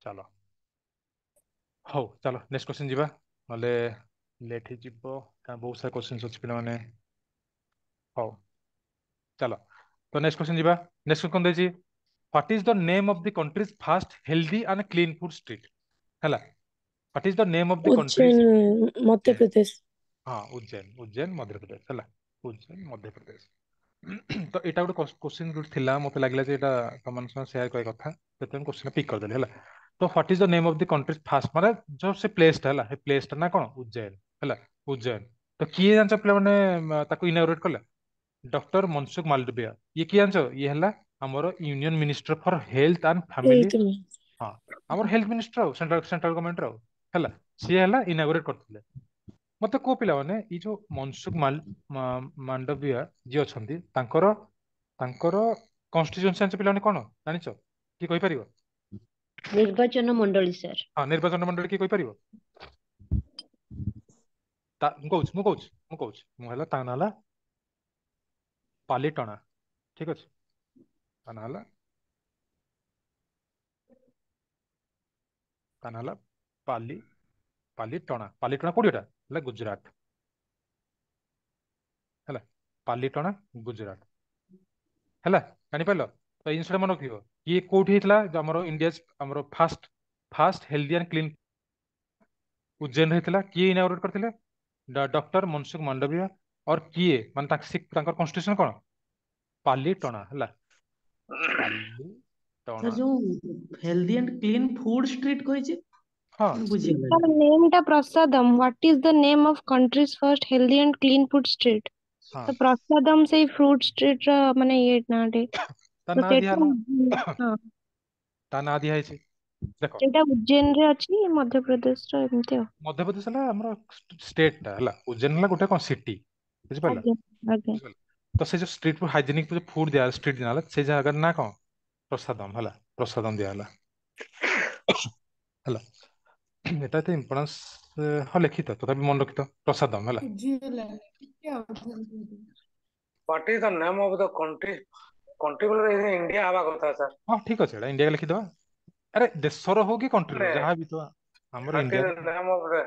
ଚାଲ, ହଉ ଚାଲ, ନେକ୍ସଟ କ୍ୱେଶ୍ଚନ ଯିବା, ନହେଲେ ଲେଟ୍ ହେଇଯିବ, କାରଣ ବହୁତ ସାରା କ୍ୱେଶ୍ଚନ୍ସ ଅଛି ପିଲାମାନେ। ହଉ ଚାଲ, ତ ନେକ୍ସଟ କ୍ୱେଶ୍ଚନ ଯିବା। ନେକ୍ସଟ କଣ ଦେଇଛି? What is the name of the country's first healthy and clean food street? ହେଲା, what is the name of the country's Ujjain, Madhya Pradesh. ହଁ, ଉଜ୍ଜୈନ, ଉଜ୍ଜୈନ ମଧ୍ୟପ୍ରଦେଶ, ହେଲା, ଉଜ୍ଜୈନ ମଧ୍ୟପ୍ରଦେଶ। ତ ଏଇଟା ଗୋଟେ କ୍ୱେଶ୍ଚିନ୍ ଗୋଟେ ଥିଲା, ମତେ ଲାଗିଲା ଯେ ଏଇଟା ତମମାନଙ୍କ ସହ ସେୟାର କରିବା କଥା, ସେଥିପାଇଁ କ୍ୱେଶ୍ଚିନ୍ ପିକ୍ କରିଦେଲି, ହେଲା। ତ what is the name of the country first, ମାନେ ଯୋଉ ସେ ପ୍ଲେସଟା, ହେଲା, ସେ ପ୍ଲେସଟା ନା କଣ? ଉଜ୍ଜୈନ, ହେଲା, ଉଜ୍ଜୈନ। ତ କିଏ ଜାଣିଛ ପିଲାମାନେ ତାକୁ ଇନାଗୁରେଟ କଲା? ଡକ୍ଟର ମନସୁଖ ମାଲବିୟା। ଇଏ କିଏ ଜାଣିଛ? ଇଏ ହେଲା ଆମର Union Minister for Health and Family. Health. ହଁ, ଆମର ହେଲ୍ଥ ମିନିଷ୍ଟର ଆଉ ସେଣ୍ଟ୍ରାଲ ସେଣ୍ଟ୍ରାଲ ଗଭର୍ଣ୍ଣମେଣ୍ଟର ଆଉ, ହେଲା, ସିଏ ହେଲା ଇନାଗୁରେଟ କରିଥିଲେ। ମତେ କୁହ ପିଲାମାନେ, ଏଇ ଯୋଉ ମନସୁଖ ମାଣ୍ଡବିୟା ଯିଏ ଅଛନ୍ତି, ତାଙ୍କର ତାଙ୍କର କନଷ୍ଟିଟ୍ୟୁନ୍ସି ଜାଣିଛ ପିଲାମାନେ କଣ ଜାଣିଛ? କିଏ କହିପାରିବ? ନିର୍ବାଚନ ମଣ୍ଡଳୀ ସାର୍। ହଁ, ନିର୍ବାଚନ ମଣ୍ଡଳୀ କିଏ କହିପାରିବ? ମୁଁ କହୁଛି, ମୁଁ କହୁଛି, ମୁଁ କହୁଛି, ମୁଁ ହେଲା, ତା ନାଁ ହେଲା ପାଲିଟଣା। ଠିକ ଅଛି, ତା ନାଁ ହେଲା, ତା ନାଁ ହେଲା ପାଲିଟଣା। ପାଲିଟଣା କୋଉଠି ଏଟା? ହେଲା ଗୁଜୁରାଟ, ହେଲା, ପାଲିଟଣା ଗୁଜୁରାଟ, ହେଲା, ଜାଣିପାରିଲ? ତ ଏଇ ଜିନିଷଟା ମନେ ରଖିବ। ଇଏ କୋଉଠି ହେଇଥିଲା? ଯୋଉ ଆମର ଇଣ୍ଡିଆ ଆମର first first healthy and clean Ujjain ହେଇଥିଲା। କିଏ ଇନାଗୁରେଟ କରିଥିଲେ? ଡକ୍ଟର ମନସୁଖ ମାଣ୍ଡବିୟା। और କିଏ ମାନେ ତାଙ୍କର କନଷ୍ଟିଟ୍ୟୁସନ କଣ? ପାଲିଟଣା, ହେଲା, ପାଲିଟଣା। ସାର୍, ଯୋଉ healthy and clean food street କହିଛି, ହଁ। ବୁଝିହେଲାନି। ସାର୍, ନେମ୍ ଟା ପ୍ରସାଦମ। What is the name of country's first healthy and clean food street? ହଁ। ତ ପ୍ରସାଦମ ସେଇ ଫୁଡ ଷ୍ଟ୍ରିଟ୍ ର ମାନେ ଇଏ ନାଁଟେ। ତା ତ ନାଁ ସେଟା ଦିଆହେଲା। ହଁ। ତା ନାଁ ଦିଆ ହେଇଛି, ଦେଖ। ସେଇଟା ଉଜ୍ଜୈନ ରେ ଅଛି, ମଧ୍ୟପ୍ରଦେଶ ର, ଏମିତି ଆଉ। ମଧ୍ୟପ୍ରଦେଶ ହେଲା ଆମର ଷ୍ଟେଟ ଟା, ହେଲା, ଉଜ୍ଜୈନ ହେଲା ଗୋଟେ କଣ ସିଟି, ବୁଝିପାରିଲ? ଆଜ୍ଞା ଆଜ୍ଞା। ବୁଝିପାରିଲ? ତ ସେ ଯୋଉ ଷ୍ଟ୍ରିଟ୍ ହାଇଜେନିକ ଯୋଉ ଫୁଡ ଦିଆ ଷ୍ଟ୍ରିଟ୍ ଦିଆହେଲା, ସେଇ ଜାଗାର ନାଁ କଣ? ପ୍ରସାଦମ, ହେଲା, ପ୍ରସାଦମ ଦିଆହେଲା, ହେଲା। ଏଟା ଏତେ ଇମ୍ପୋର୍ଟାନ୍ସ, ହଁ, ଲେଖିତ, ତଥାପି ମନେ ରଖିଥ ପ୍ରସାଦମ, ହେଲା। ବୁଝିହେଲାନି, ଟିକେ ଆଉ ଥରେ କୁହନ୍ତୁ। What is the name of the country, country ବୋଲେ ଇଣ୍ଡିଆ ହବା କଥା ସାର୍। ହଁ, ଠିକ ଅଛି, ଏଇଟା ଇଣ୍ଡିଆ ଲେଖିଦବା। ଆରେ ଦେଶର ହଉ କି କଣ୍ଟ୍ରିର, ମାନେ ଯାହା ବି ତ ଆମର what is ଇଣ୍ଡିଆରେ। The name of the,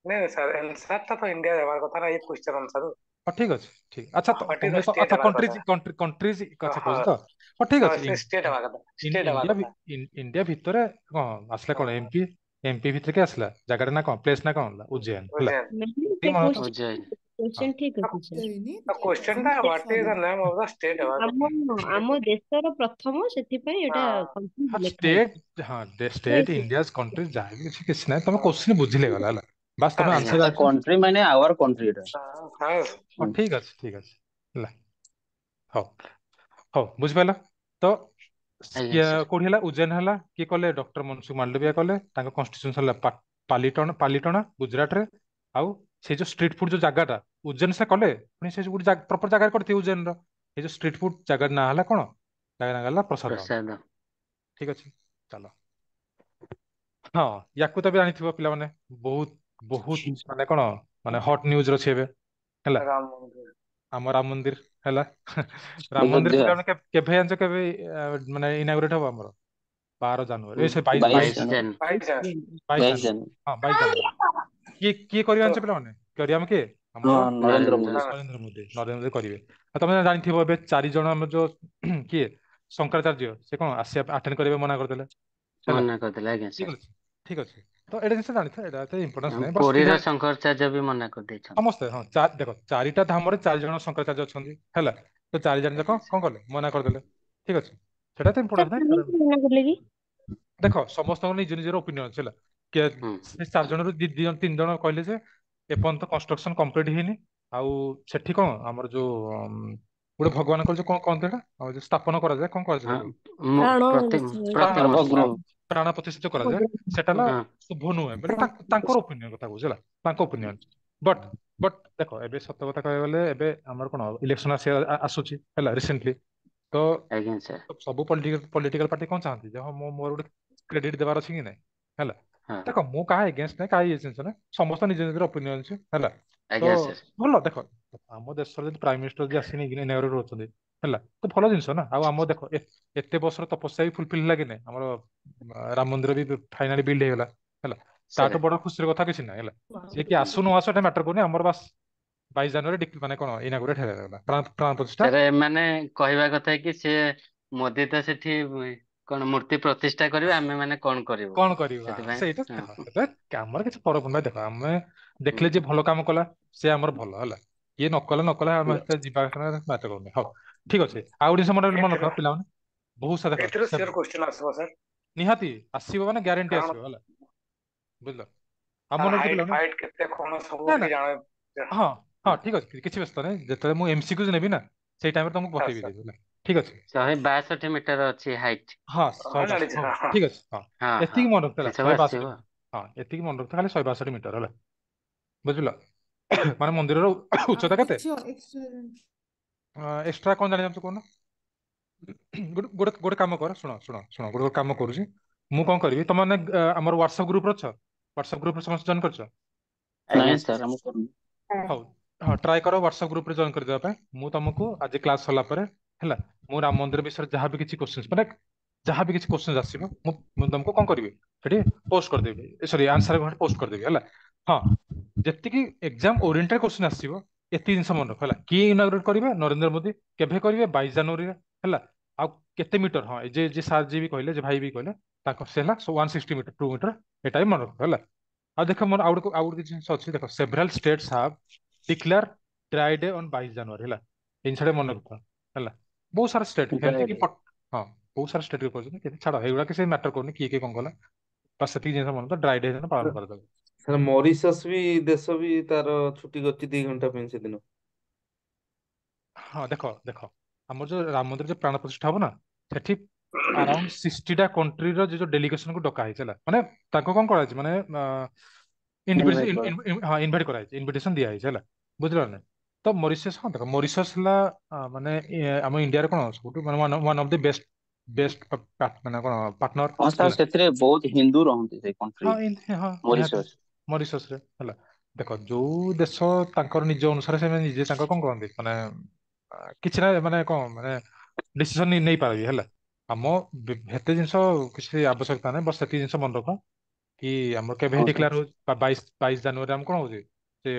ନାଇଁ ନାଇଁ ସାର୍, ଆନ୍ସର ଟା ତ ଇଣ୍ଡିଆ ହେବାର କଥା ନା ଏଇ କ୍ୱେଶ୍ଚନ ଅନୁସାରେ। ହଁ, ଠିକ ଅଛି, ଠିକ। ଆଚ୍ଛା, what is ତମେ ଦ ତ ଷ୍ଟେଟ୍ ଆଚ୍ଛା, ହେବାର କଣ୍ଟ୍ରିଜ କଥା। କଣ୍ଟ୍ରି କଣ୍ଟ୍ରିଜ କଥା ହଁ। କହୁଛ ତ? ହଁ, ଠିକ ହଁ, ଅଛି। ସେ ଷ୍ଟେଟ୍ ହେବା କଥା, ଷ୍ଟେଟ୍ ହେବା ଇଣ୍ଡିଆ କଥା। ଇଣ୍ଡିଆ ଭିତରେ କଣ ଆସିଲା? କଣ ଏମପି, ଏମପି ଭିତରେ କି ଆସିଲା? ଜାଗାଟା ନା କଣ, ପ୍ଲେସ ନା କଣ ହେଲା? ଉଜ୍ଜୈନ, ହେଲା। ଉଜ୍ଜୈନ। ମ୍ୟାମ୍, ଠିକ ସେ ମନେ ରଖ। କ୍ୱେଶ୍ଚନ ଉଜ୍ଜୈନ। ହଁ। କ୍ୱେଶ୍ଚନ ଠିକ ଅଛି ସାର୍। ଉଜ୍ଜୟିନୀ କ୍ୱେଶ୍ଚନ ଟା what is the name of the state ହେବା ଆମ କଥା। ଆମ ଦେଶର ପ୍ରଥମ, ସେଥିପାଇଁ ଏଇଟା ହଁ। କଣ୍ଟ୍ରି ହଁ, ଲେଖା ହେଇଛି। ଷ୍ଟେଟ, ହଁ, ଷ୍ଟେଟ, ଇଣ୍ଡିଆ କଣ୍ଟ୍ରି, ଯାହା ବି କିଛି କିଛି ନାହିଁ, ତମେ କ୍ୱେଶ୍ଚିନ୍ ବୁଝିଲେ ଗଲା, ହେଲା, ବାସ୍ ତମେ ହଁ ଆନ୍ସର ସାର୍। ଜାଣିଛ। କଣ୍ଟ୍ରି ମାନେ ଆୱାର କଣ୍ଟ୍ରି ଏଟା। ହଁ। ହଁ, ଠିକ ଅଛି, ଠିକ ଅଛି, ହେଲା, ହଉ ହଉ, ବୁଝିପାରିଲ ତ? ଆଜ୍ଞା ସାର୍। କୋଉଠି ହେଲା? ଉଜ୍ଜୈନ ହେଲା। କିଏ କଲେ? ଡକ୍ଟର ମନସୁଖ ମାଣ୍ଡବିଆ କଲେ। ତାଙ୍କ କନଷ୍ଟିଟ୍ୟୁନ୍ସ ହେଲା ପାଲିଟଣା, ପାଲିଟଣା ଗୁଜୁରାଟରେ। ଆଉ ସେଇ ଯୋଉ ଷ୍ଟ୍ରିଟ୍ ଫୁଡ ଯୋଉ ଜାଗାଟା ଉଜ୍ଜୈନ ସେ କଲେ, ପୁଣି ସେ ଯୋଉ ଗୋଟେ ପ୍ରପର ଜାଗାରେ କରିଥିବେ ଉଜ୍ଜୈନର, ଏଇ ଯୋଉ ଷ୍ଟ୍ରିଟ୍ ଫୁଡ ଜାଗାର ନାଁ ହେଲା କଣ? ଜାଗା ନାଁ ହେଲା ପ୍ରସାଦ। ପ୍ରସାଦ। ଠିକ ଅଛି, ଚାଲ। ହଁ, ୟାକୁ ତ ବି ଜାଣିଥିବ ପିଲାମାନେ, ବହୁତ ବହୁତ ମାନେ କଣ ମାନେ ହଟ୍ ନ୍ୟୁଜ ଅଛି ଏବେ, ହେଲା। ରାମ ମନ୍ଦିର। ଆମ ରାମ ମନ୍ଦିର ହେଲା। ରାମ ମନ୍ଦିର ଅଯୋଧ୍ୟା। ପିଲାମାନେ କେବେ ଜାଣିଛ କେବେ ମାନେ ଇନାଗୁରେଟ ହବ ଆମର? 12 ଜାନୁଆରୀ, ଏ ସେ 22 22 22 ଜାନୁଆରୀ। ଜାନୁଆରୀ। 22 ଜାନୁଆରୀ। 22 22 ଜାନୁଆରୀ। ଜାନୁଆରୀ। ହଁ, 22 ଜାନୁଆରୀ। କିଏ କିଏ କରିବ ତ ଜାଣିଛ ପିଲାମାନେ? କରିବ ଆମେ କିଏ? ଆମର ହଁ, ନରେନ୍ଦ୍ର ନରେନ୍ଦ୍ର। ମୋଦି। ନରେନ୍ଦ୍ର ମୋଦି, ନରେନ୍ଦ୍ର ମୋଦି କରିବେ। ଆଉ ତମେ ଜାଣିଥିବ ଏବେ 4 ଜଣ ଆମର ଯୋଉ କିଏ ଶଙ୍କରାଚାର୍ଯ୍ୟ, ସେ କଣ ଆସିବା ଆଟେଣ୍ଡ କରିବେ ମନା କରିଦେଲେ, ହେଲା। ମନା କରିଦେଲେ, ଆଜ୍ଞା ଠିକ ସାର୍। ଅଛି, ଠିକ ଅଛି। ତ ଏଇଟା ଜିନିଷ ଜାଣିଥିବ, ଏଇଟା ଏତେ ଇମ୍ପୋର୍ଟାନ୍ସ ନାହିଁ, ବସ୍ ପୁରୀର ଏଇଟା ଶଙ୍କରାଚାର୍ଯ୍ୟ ବି ମନା କରିଦେଇଛନ୍ତି। ସମସ୍ତେ। ହଁ, ଦେଖ 4ଟା ଧାମରେ 4 ଜଣ ଶଙ୍କରାଚାର୍ଯ୍ୟ ଅଛନ୍ତି, ହେଲା। ତ 4 ଜଣ ଯାକ ଆଜ୍ଞା ସାର୍। କଣ କଲେ? ମନା କରିଦେଲେ। ଠିକ ଅଛି, ସେଟା ତ ସାର୍ ଇମ୍ପୋର୍ଟାନ୍ସ ନାହିଁ। କାହିଁକି ମନା କଲେ କି? ଦେଖ ସମସ୍ତଙ୍କର ନିଜ ନିଜର ଓପିନିଅନ ଅଛି, ହେଲା। କିଏ ହୁଁ। ସେ 4 ଜଣରୁ 2 ଜଣ 3 ଜଣ କହିଲେ ଯେ ଏପର୍ଯ୍ୟନ୍ତ କନଷ୍ଟ୍ରକ୍ସନ କମ୍ପ୍ଲିଟ ହେଇନି, ଆଉ ସେଠି କଣ ଆମର ଯୋଉ ଗୋଟେ ଭଗବାନଙ୍କର ଯୋଉ କଣ କହନ୍ତି ଏଟା, ଆଉ ଯୋଉ ସ୍ଥାପନ କରାଯାଏ, କଣ କରାଯାଏ ହଁ, ତାକୁ? ପ୍ରାଣ ପ୍ରତିମୂର୍ତ୍ତି। ଗର୍ଭଗୃହ। ପ୍ରାଣ ପ୍ରତିଷ୍ଠିତ କରାଯାଏ, ସେଟା ହେଲା ହଁ। ଶୁଭ ନୁହେଁ ବୋଲି ତାଙ୍କର ଓପିନିଅନ କଥା କହୁଛି, ହେଲା, ତାଙ୍କ ଓପିନିଅନ। ବଟ୍ ବଟ୍ ଦେଖ ଏବେ ସତ କଥା କହିବାକୁ ଗଲେ ଏବେ ଆମର କଣ ଇଲେକ୍ସନ ଆସୁଛି, ହେଲା, ରିସେଣ୍ଟଲି। ତ ଆଜ୍ଞା ସାର୍। ସବୁ ପଲିଟିକାଲ ପଲିଟିକାଲ ପାର୍ଟି କଣ ଚାହାନ୍ତି ଯେ ହଁ ମୁଁ ମୋର ଗୋଟେ କ୍ରେଡିଟ ଦେବାର ଅଛି କି ନାଇଁ, ହେଲା। ହଁ। ଦେଖ ମୁଁ କାହା ଏଗେନ୍ଷ୍ଟ ନାହିଁ, କାହା ଇଏ ଜିନିଷ ନାହିଁ, ସମସ୍ତ ନିଜ ନିଜର ଓପିନିଅନ ଅଛି, ହେଲା। ତ ଆଜ୍ଞା ସାର୍। ଭଲ, ଦେଖ ଆମ ଦେଶର ଯଦି ପ୍ରାଇମ ମିନିଷ୍ଟର ଯଦି ଆସିନି ଇନାଗୁରେଟ ଅଛନ୍ତି, ହେଲା, ତ ଭଲ ଜିନିଷ ନା। ଆଉ ଆମ ଦେଖ ଏତେ ବର୍ଷର ତପସ୍ୟା ବି ଫୁଲଫିଲ ହେଲା କି ନାଇଁ? ଆମର ରାମ ମନ୍ଦିର ବି ଫାଇନାଲି ବିଲ୍ଡ ହେଇଗଲା, ହେଲା। ତାଠୁ ସାର୍। ବଡ ଖୁସିର କଥା କିଛି ନାହିଁ, ହେଲା। ସିଏ କି ଆସୁ ନ ଆସୁ ଏଟା ମ୍ୟାଟର କରୁନି, ଆମର ବାସ୍ 22 ଜାନୁଆରୀ ମାନେ କଣ ଇନାଗୁରେଟ ହେଇଗଲା, ପ୍ରାଣ ପ୍ରାଣ ପ୍ରତିଷ୍ଠା। ସାର୍, ଏମାନେ କହିବା କଥା କି ସେ ମୋଦି ତ ସେଠି କଣ ମୂର୍ତ୍ତି ପ୍ରତିଷ୍ଠା କରିବେ, ଆମେ ମାନେ କଣ କରିବୁ? କଣ କରିବା ସେଥିପାଇଁ ସେଇଟା ହଁ। ଦେଖ, ସେଟା ଆମର କିଛି ଫରକ ନାହିଁ। ଦେଖ ଆମେ ହୁଁ। ଦେଖିଲେ ଯିଏ ଭଲ କାମ କଲା ସେ ଆମର ଭଲ ହେଲା, କିଏ ନ କଲା ନ କଲା ଆମେ ଏତେ ଯିବା ମ୍ୟାଟର କରୁନି। ହଉ ଠିକ ଅଛି, ଆଉ ଗୋଟେ ଜିନିଷ ମନେ ମନେ ଏଥିରୁ ରଖ ପିଲାମାନେ, ବହୁତ ସାରା ଦେଖ ଏଥିରୁ ସିଓର କ୍ୱେଶ୍ଚନ ଆସିବ ସାର୍। ନିହାତି ଆସିବ, ମାନେ ଗ୍ୟାରେଣ୍ଟି କାରଣ ଆସିବ, ହେଲା, ବୁଝିଲ? ଆଉ ତାର ମନେ ରଖ ହାଇଟ୍ ପିଲାମାନେ, ଫାଇଟ୍ କେତେ କଣ ସବୁ ନା ନା ଟିକେ ଜାଣ। ହଁ ହଁ ଠିକ ଅଛି, କିଛି ବ୍ୟସ୍ତ ନାହିଁ, ଯେତେବେଳେ ମୁଁ ଏମସିକ୍ୟୁ ନେବି ନା ସେଇ ଟାଇମରେ ତମକୁ ହଁ ବତେଇବି ସାର୍। ଦେବି, ହେଲା। ଠିକ ଅଛି। 162 ମିଟର ଅଛି ହାଇଟ୍। ହଁ, ହଁ 162, ଜାଣିଛି। ହଁ ହଁ ହଁ। ଠିକ ଅଛି, ହଁ ହଁ ହଁ, ଏତିକି ମନେ ସେ ରଖିଥିଲା, ସବୁ 162। ଆସିବ। ହଁ, ଏତିକି ମନେ ରଖିଥିଲା ଖାଲି 162 ମିଟର, ହେଲା, ବୁଝିଲ? ମାନେ ମନ୍ଦିରର ଆଉ ଉଚ୍ଚତା କେତେ? କିଛି ଏକ୍ସଟ୍ରା ଏକ୍ସଟ୍ରା କଣ ଜାଣିବାକୁ କହୁନ? ଗୋଟେ ଗୋଟେ ଗୋଟେ କାମ କର, ଶୁଣ ଶୁଣ ଶୁଣ, ଗୋଟେ ଗୋଟେ କାମ କରୁଛି ମୁଁ, କଣ କରିବି, ତମେ ମାନେ ଆମର ହ୍ୱାଟ୍ସଆପ ଗ୍ରୁପରେ ଅଛ? ହ୍ୱାଟ୍ସଆପ ଗ୍ରୁପରେ ସମସ୍ତେ ଜଏନ୍ କରିଛ? ଆଜ୍ଞା ନାଇଁ ସାର୍। ସାର୍, ଆମେ କରୁନୁ। ହଉ, ହଁ, ଟ୍ରାଏ କର ହ୍ୱାଟ୍ସଆପ ଗ୍ରୁପରେ ଜଏନ୍ କରିଦେବା ପାଇଁ। ମୁଁ ତମକୁ ଆଜି କ୍ଲାସ ସରିଲା ପରେ, ହେଲା, ମୁଁ ରାମ ମନ୍ଦିର ବିଷୟରେ ଯାହା ବି କିଛି କ୍ୱେଶ୍ଚିନ୍ସ, ମାନେ ଯାହା ବି କିଛି କ୍ୱେଶ୍ଚିନ୍ସ ଆସିବ, ମୁଁ ମୁଁ ତମକୁ କଣ କରିବି, ସେଠି ପୋଷ୍ଟ କରିଦେବି, ସରି ଆନ୍ସର ପୋଷ୍ଟ କରିଦେବି, ହେଲା। ହଁ, ଯେତିକି ଏକ୍ଜାମ ଓରିଏଣ୍ଟେଡ କ୍ୱେଶ୍ଚିନ୍ ଆସିବ ଏତିକି ଜିନିଷ ମନେ ରଖ, ହେଲା। କିଏ ଇନାଗୁରେଟ କରିବେ? ନରେନ୍ଦ୍ର ମୋଦି। କେବେ କରିବେ? 22 ଜାନୁଆରୀରେ, ହେଲା। ଆଉ କେତେ ମିଟର? ହଁ, ଏ ଯେ ଯେ ସାର୍ ଯିଏ ବି କହିଲେ, ଯେ ଭାଇ ବି କହିଲେ, ତାଙ୍କ ସେ ହେଲା 160 ମିଟର 2 ମିଟର, ଏଟା ବି ମନେ ରଖ, ହେଲା। ଆଉ ଦେଖ ମୋର ଆଉ ଗୋଟେ କିଛି ଜିନିଷ ଅଛି, ଦେଖ several states have declare dry day on 22 ଜାନୁଆରୀ, ହେଲା, ଏ ଜିନିଷଟା ମନେ ରଖ, ହେଲା। ବହୁତ ସାରା ଷ୍ଟେଟ୍ ଡ୍ରାଏ ଏମିତି କି ଡେ। ହଁ, ବହୁତ ସାରା ଷ୍ଟେଟ୍ କରୁଛନ୍ତି, କିନ୍ତୁ ଛାଡ ଏଗୁଡ଼ା କିଛି ମ୍ୟାଟର କରୁନି କିଏ କିଏ କଣ କଲା, ବାସ୍ ସେତିକି ଜିନିଷ ମନେ ରଖ, ଡ୍ରାଇ ଡେ ଦିନ ପାଳନ କରାଯାଏ। ସାର୍, ମରିସସ୍ ବି ଦେଶ ବି ତାର ଛୁଟି କରିଛି 2 ଘଣ୍ଟା ପାଇଁ ସେଦିନ। ହଁ, ଦେଖ ଦେଖ ଆମର ଯୋଉ ରାମ ମନ୍ଦିର ଯୋଉ ପ୍ରାଣ ପ୍ରତିଷ୍ଠା ହବ ନା, ସେଠି ଆରାଉଣ୍ଡ 60ଟା କଣ୍ଟ୍ରିର ଯୋଉ ଡେଲିଗେସନ କୁ ଡକା ହେଇଛି, ହେଲା, ମାନେ ତାଙ୍କୁ କଣ କରାଯାଇଛି, ମାନେ ଇନଭାଇଟ୍ କର। ହଁ, ଇନଭାଇଟ କରାଯାଇଛି, ଇନଭିଟେସନ ଦିଆହେଇଛି, ହେଲା, ବୁଝିଲ ନା? ତ ମରିସସ୍, ହଁ ଦେଖ ମରିସସ୍ ହେଲା ମାନେ ଆମ ଇଣ୍ଡିଆର କଣ ସବୁଠୁ ମାନେ one of the best best ମାନେ କଣ ପାର୍ଟନର, ହଁ ସାର୍, ହେଲା। ସେଥିରେ ବହୁତ ହିନ୍ଦୁ ରହନ୍ତି ସେଇ କଣ୍ଟ୍ରି ହଁ, ହଁ ନିହାତି ମରିସସ୍। ମରିସସ୍ ରେ, ହେଲା। ଦେଖ ଯୋଉ ଦେଶ ତାଙ୍କର ନିଜ ଅନୁସାରେ ସେମାନେ ନିଜେ ତାଙ୍କର କଣ କରନ୍ତି, ମାନେ କିଛି ନା ମାନେ କଣ ମାନେ ଡିସିସନ ନେଇପାରିବେ, ହେଲା। ଆମ ହେତେ ଜିନିଷ କିଛି ଆବଶ୍ୟକତା ନାହିଁ, ବସ୍ ସେତିକି ଜିନିଷ ମନେ ରଖ କି ଆମର କେବେ ହଁ ସାର୍। ଡିକ୍ଲେୟାର ହଉଛି, 22 ଜାନୁଆରୀ ଆମ କଣ ହଉଛି, ସେ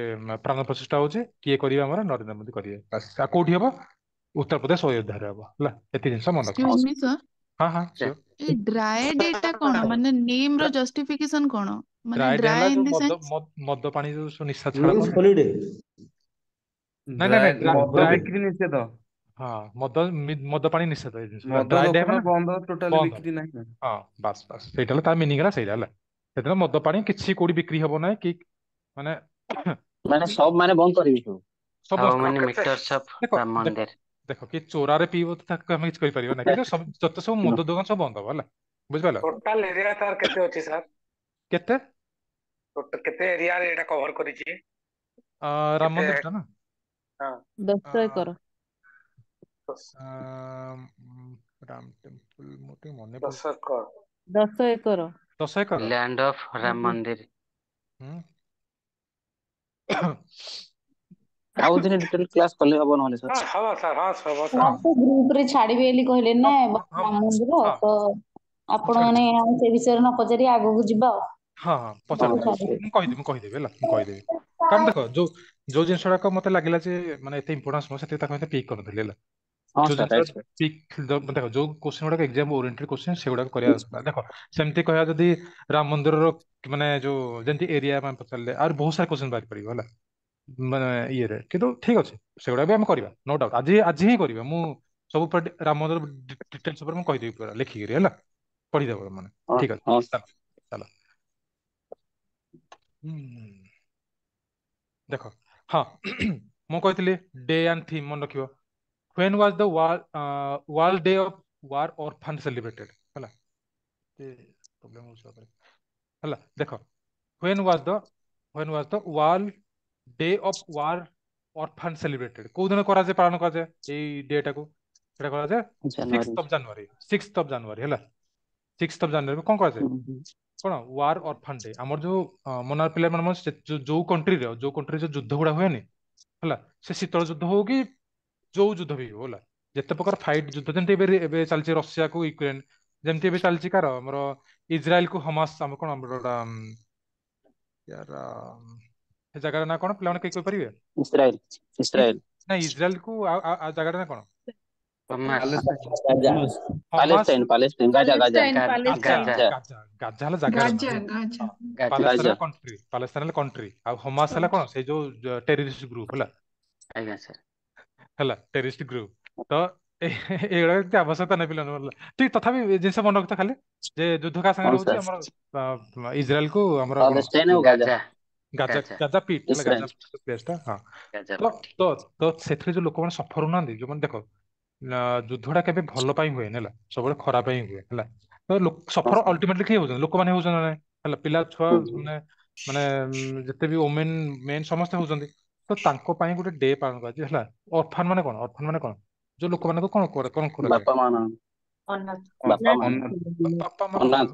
ପ୍ରାଣ ପ୍ରତିଷ୍ଠା ହଉଛି, କିଏ କରିବେ? ଆମର ନରେନ୍ଦ୍ର ମୋଦି କରିବେ, ବାସ୍। ଆଉ କୋଉଠି ହବ? ଉତ୍ତରପ୍ରଦେଶ ଅଯୋଧ୍ୟାରେ ହବ, ହେଲା, ଏତିକି ଜିନିଷ ମନେ ରଖ। ହଁ ଏକ୍ସକ୍ୟୁଜ ମି ସାର୍। ହଁ ହଁ, ସିଓର। ଏଇ ଡ୍ରାଏ ଡେ ଟା କଣ, ମାନେ ନେମ୍ ର ଜଷ୍ଟିଫିକେସନ କଣ, ମାନେ ଡ୍ରାଏ ଡେ ହେଲା ଡ୍ରାଏ ଇନ ଯୋଉ ଦି ମଦ ସେନ୍ସ? ମଦ ପାଣି ଯୋଉ ସବୁ ନିଶା ଛାଡ ମିନ୍ସ କହନ୍ତି। ହଲିଡେ। ନାଇଁ ନାଇଁ ଡ୍ରାଏ ନାଇଁ, ଡ୍ରାଏ ମଦ ଡ୍ରାଏ ବିକ୍ରି ନିଷେଧ। ହଁ, ମଦ ମଦ ପାଣି ନିଷେଧ ଏଇ ଜିନିଷ ହେଲା ମଦ ଡ୍ରାଏ ଡେ ଦୋକାନ ମାନେ ବନ୍ଦ, ଟୋଟାଲି ବନ୍ଦ। ବିକ୍ରି ନାହିଁ ନା। ହଁ, ବାସ୍ ବାସ୍, ସେଇଟା ହେଲା ତାର ମିନିଂ, ହେଲା ସେଇଟା ହେଲା ସେଦିନ ମଦ ପାଣି କିଛି କୋଉଠି ବିକ୍ରି ହବ ନାହିଁ କି ମାନେ ମାନେ ସବ ମାନେ ବନ୍ଦ କରିବି ସବୁ। ହାଉ ସମସ୍ତେ ମେନି ଆଉ କେତେ ମିଟର୍ସ ଅଫ ଦେଖ ରାମ ଦେଖ ମନ୍ଦିର? ଦେଖ, କିଏ ଚୋରାରେ ପିଇବ ତ ତାକୁ ଆମେ କିଛି କରିପାରିବା ନାହିଁ, କିନ୍ତୁ ସବୁ ଯତେ ସବୁ ମଦ ଦୋକାନ ସବୁ ବନ୍ଦ ହବ, ହେଲା, ବୁଝିପାରିଲ? ଟୋଟାଲ ଏରିଆ ତାର କେତେ ଅଛି ସାର୍? କେତେ? ଟୋଟାଲ କେତେ ଏରିଆରେ ଏଇଟା କଭର କରିଛି? ରାମ କେତେ? ମନ୍ଦିରଟା ନା? ହଁ। 10 ଏକର। ରାମ ଟେମ୍ପଲ ମୁଁ ଟିକେ ମନେ 10 ପଡୁଛି। Acre. 10 acre. 10 acre. Land of Ram ମନ୍ଦିର। ହୁଁ। ଆଉ ଦିନେ ଡିଟେଲ କ୍ଲାସ କଲେ ହବ ନହେଲେ ହଁ ସାର୍। ହବ ସାର୍, ହଁ ହବ ସାର୍ ସାର୍। ତ ଗ୍ରୁପ ରେ ଛାଡିବେ ବୋଲି କହିଲେ ହଁ ନା ହଁ ରାମ ମନ୍ଦିର ହଁ ତ, ମୁଁ ଆପଣ ମାନେ ଛାଡ଼ିଦେବି। ଆଉ ସେ ବିଷୟରେ ନ ପଚାରି ଆଗକୁ ଯିବା ଆଉ। ହଁ ହଁ, ହଁ ପଚାରିଦେବି, ସାର୍। ମୁଁ କହିଦେବି, ମୁଁ କହିଦେବି, ହେଲା, ମୁଁ କହିଦେବି। କାରଣ ଦେଖ, ଯୋଉ ଯୋଉ ଜିନିଷ ଗୁଡାକ ମତେ ଲାଗିଲା ଯେ ମାନେ ଏତେ ଇମ୍ପୋର୍ଟାନ୍ସ ନୁହଁ, ସେଥିରେ ତାକୁ ଏତେ ପିକ୍ କରିନଥିଲି, ହେଲା। ହଁ ଯୋଉ ସାର୍, ଜିନିଷ ରାଇଟ୍ ସାର୍। ପିକ୍, ଦେଖ, ଯୋଉ କ୍ୱେଶ୍ଚନ ଗୁଡାକ ଏକ୍ସାମ ଓରିଏଣ୍ଟେଡ କ୍ୱେଶ୍ଚନ, ସେଗୁଡାକ କରିବା ଦରକାର। ଦେଖ, ସେମିତି କହିବା ଯଦି ରାମ ମନ୍ଦିରର ମାନେ ଯୋଉ ଯେମିତି ଏରିଆ ମାନେ ପଚାରିଲେ ଆହୁରି ବହୁତ ସାରା କ୍ୱେଶ୍ଚନ ବାହାରି ପାରିବ, ହେଲା, ମାନେ ଇଏରେ। କିନ୍ତୁ ଠିକ ଅଛି, ସେଗୁଡା ବି ଆମେ କରିବା, ନୋ ଡାଉଟ। ଆଜି ଆଜି ହିଁ କରିବା। ମୁଁ ସବୁ ରାମ ମନ୍ଦିର ଡିଟେଲ୍ସ ଉପରେ ମୁଁ କହିଦେବି ପୁରା ଲେଖିକିରି, ହେଲା, ପଢିଦେବ ମାନେ। ହଁ। ଠିକ ଅଛି। ହଁ। ଚାଲ ଚାଲ। ହୁଁ, ଦେଖ, ହଁ, ମୁଁ କହିଥିଲି ଡେ ଆଣ୍ଡ ଥିମ୍ ମନେ ରଖିବ। When was the world day of war orphan celebrated? ହେଲା, ପ୍ରୋବ୍ଲେମ ହଉଛି ତାପରେ, ହେଲା। ଦେଖ, when was the when was the world day of war orphan celebrated? କୋଉ ଦିନ କରାଯାଏ, ପାଳନ କରାଯାଏ ଏଇ ଡେ ଟାକୁ? ସେଟା କରାଯାଏ ଜାନୁଆରୀ। 6th of January, 6th of January, ହେଲା। 6th of January କଣ କରାଯାଏ? ହୁଁ ହୁଁ। କଣ ୱାର ଅର୍ଫାନ ଡେ। ଆମର ଯୋଉ ମନାର ପିଲା ମାନେ, ଯୋଉ କଣ୍ଟ୍ରିରେ ଯୋଉ ଯୁଦ୍ଧ ଗୁଡା ହୁଏନି, ହେଲା, ସେ ଶୀତଳ ଯୁଦ୍ଧ ହଉ କି ଯୋଉ ଯୁଦ୍ଧ ବି ହଉ, ହେଲା, ଯେତେ ପ୍ରକାର ଫାଇଟ ଯୁଦ୍ଧ, ଯେମିତି ଏବେ ଏବେ ଚାଲିଛି ରଷିଆକୁ ୟୁକ୍ରେନ, ଯେମିତି ଏବେ ଚାଲିଛି କାର ଆମର ଇଜ୍ରାଏଲ କୁ ହମାସ, ଆମର କଣ ଆମର ଗୋଟା ୟାର ସେ ଜାଗାର ନାଁ କଣ ପିଲାମାନେ କେହି କହିପାରିବେ? Israel, Israel. ନାଇଁ, ଇଜ୍ରାଏଲ କୁ ଆଉ ଜାଗାର ନାଁ କଣ? Hamas. Gaza. Hamas. Palestine, Palestine, Gaza, Gaza. Palestine, Gaza. Palestine. Gaza. Gaza, Gaza ହେଲା ଜାଗାର ନାଁ, ଗାଜା, ହେଲା। ଗାଜା। ହଁ। ଗାଜା। Palestine Gaza. ହେଲା କଣ୍ଟ୍ରି, ପାଲେଷ୍ଟାଇନ ହେଲା କଣ୍ଟ୍ରି, ଆଉ ହମାସ ହେଲା କଣ ସେଇ ଯୋଉ ଟେରରିଷ୍ଟ ଗ୍ରୁପ, ହେଲା। ଆଜ୍ଞା ସାର୍। ହେଲା, ଟେରରିଷ୍ଟ ଗ୍ରୁପ। ତ ଏଇଗୁଡାକ ଏତେ ଆବଶ୍ୟକତା ନାହିଁ ପିଲାମାନଙ୍କୁ, ଠିକ। ତଥାପି ଏ ଜିନିଷ ମନେ ରଖିଥା ଖାଲି ଯେ ଯୁଦ୍ଧ କାହା ସାଙ୍ଗରେ ହଁ ହଉଛି ସାର୍। ଆମର ଇସ୍ରାଏଲ କୁ ଆମର କଣ ପାଲେଷ୍ଟାଇନ ଆଉ Gaza. Gaza. Gaza. Gaza. Gaza ପିଟ୍ ହେଲା, ଗାଜା ଇସ୍ରାଏଲ। ପ୍ଲେସ ଟା, ହଁ। ଗାଜା ତ ପଟ୍ଟି। ତ ତ ସେଥିରେ ଯୋଉ ଲୋକମାନେ ସଫର ହଉନାହାନ୍ତି, ଯୋଉମାନେ, ଦେଖ, ଯୁଦ୍ଧଟା କେବେ ଭଲ ପାଇଁ ହୁଏନି, ହେଲା, ସବୁବେଳେ ଖରାପ ପାଇଁ ହୁଏ, ହେଲା। ତ ହଁ ସଫର ସାର୍। ଅଲଟିମେଟଲି କିଏ ହଉଛନ୍ତି? ଲୋକମାନେ ହଉଛନ୍ତି ନା ନାଇଁ? ହେଲା, ପିଲା ଛୁଆ, ହୁଁ ହୁଁ। ମାନେ ମାନେ ଯେତେ ବି ଓମେନ ମେନ୍ ସମସ୍ତେ ହଉଛନ୍ତି। ତ ତାଙ୍କ ପାଇଁ ଗୋଟେ ଡେ ପାଳନ କରାଯାଏ, ହେଲା। ଅର୍ଫାନ ମାନେ କଣ? ଅର୍ଫାନ ମାନେ କଣ? ଯୋଉ ଲୋକମାନଙ୍କୁ କଣ କଣ କରାଯାଏ? ବାପା ମା ନାହାନ୍ତି। ଅନାଥ। ବାପା ମା ଅନାଥ। ବାପା ମା ଅନାଥ।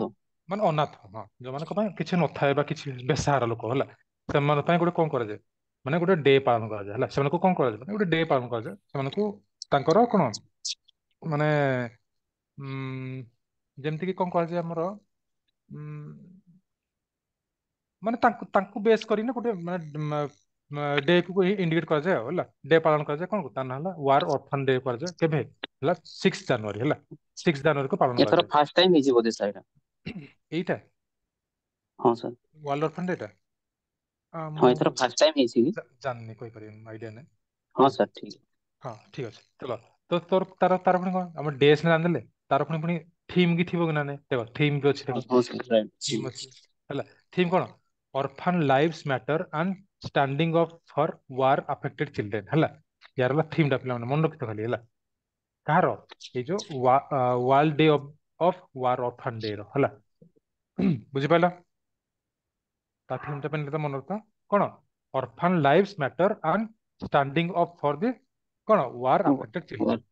ମାନେ ଅନାଥ, ହଁ, ଯୋଉମାନଙ୍କ ପାଇଁ କିଛି ନଥାଏ ବା କିଛି ବେସାହାରା ଲୋକ, ହେଲା, ସେମାନଙ୍କ ପାଇଁ ଗୋଟେ କଣ କରାଯାଏ? ମାନେ ଗୋଟେ ଡେ ପାଳନ କରାଯାଏ, ହେଲା। ସେମାନଙ୍କୁ କଣ କରାଯାଏ? ମାନେ ଗୋଟେ ଡେ ପାଳନ କରାଯାଏ ସେମାନଙ୍କୁ, ତାଙ୍କର କଣ ମାନେ ଯେମିତି କି କଣ କରାଯାଏ ଆମର ମାନେ ତାଙ୍କୁ ତାଙ୍କୁ ବେସ୍ କରିକିନା ଗୋଟେ ମାନେ ଡେ କୁ ଇଣ୍ଡିକେଟ କରାଯାଏ ଆଉ, ହେଲା। ଡେ ପାଳନ କରାଯାଏ କଣ, ତା ନାଁ ହେଲା ୱାର ଅର୍ଫାନ ଡେ। କରାଯାଏ କେବେ? ହେଲା 6 ଜାନୁଆରୀ, ହେଲା, 6 ଜାନୁଆରୀକୁ ପାଳନ ଏଥର କରାଯାଏ। ଫାର୍ଷ୍ଟ ଟାଇମ ହେଇଛି ବୋଧେ ସାର୍ ଏଇଟା? ଏଇଟା? ହଁ ସାର୍। ୱାର୍ଲଡ ଅର୍ଫାନ ଡେ ଟା? ହଁ, ମୁଁ ଏଥର ଫାର୍ଷ୍ଟ ଟାଇମ ହେଇଛି କି? ଜାଣିନି, କହିପାରିବିନି, ଆଇଡିଆ ନାହିଁ। ହଁ ସାର୍, ଠିକ। ହଁ, ଠିକ ଅଛି, ଚାଲ। ତ ତୋର ତାର ତାର ପୁଣି କଣ ଆମ ଡେ ସିନା ଜାଣିଦେଲେ, ତାର ପୁଣି ପୁଣି ଥିମ୍ କି ଥିବ କି ନା ନାଇଁ? ଦେଖ, ଥିମ୍ ବି ଅଛି, ଦେଖ। ହଁ ସାର୍, ରାଇଟ୍। ଥିମ୍ ଅଛି, ହେଲା। ଥିମ୍ କଣ? Orphan lives matter and standing up for war affected children, ହେଲା। ୟାର ହେଲା ଥିମ୍ ଟା, ପିଲାମାନେ ମନେ ରଖିଥ ଖାଲି, ହେଲା। କାହାର? ଏଇ ଯୋଉ world day of war orphan day ର, ହେଲା, ବୁଝିପାରିଲ? ତା ଥିମ୍ ଟା ପାଇଁ ମନେ ରଖିଥ କଣ? Orphan lives matter and standing up for the କଣ ୱାର ଆଫେକ୍ଟେଡ ଚିଲଡ୍ରେନ୍,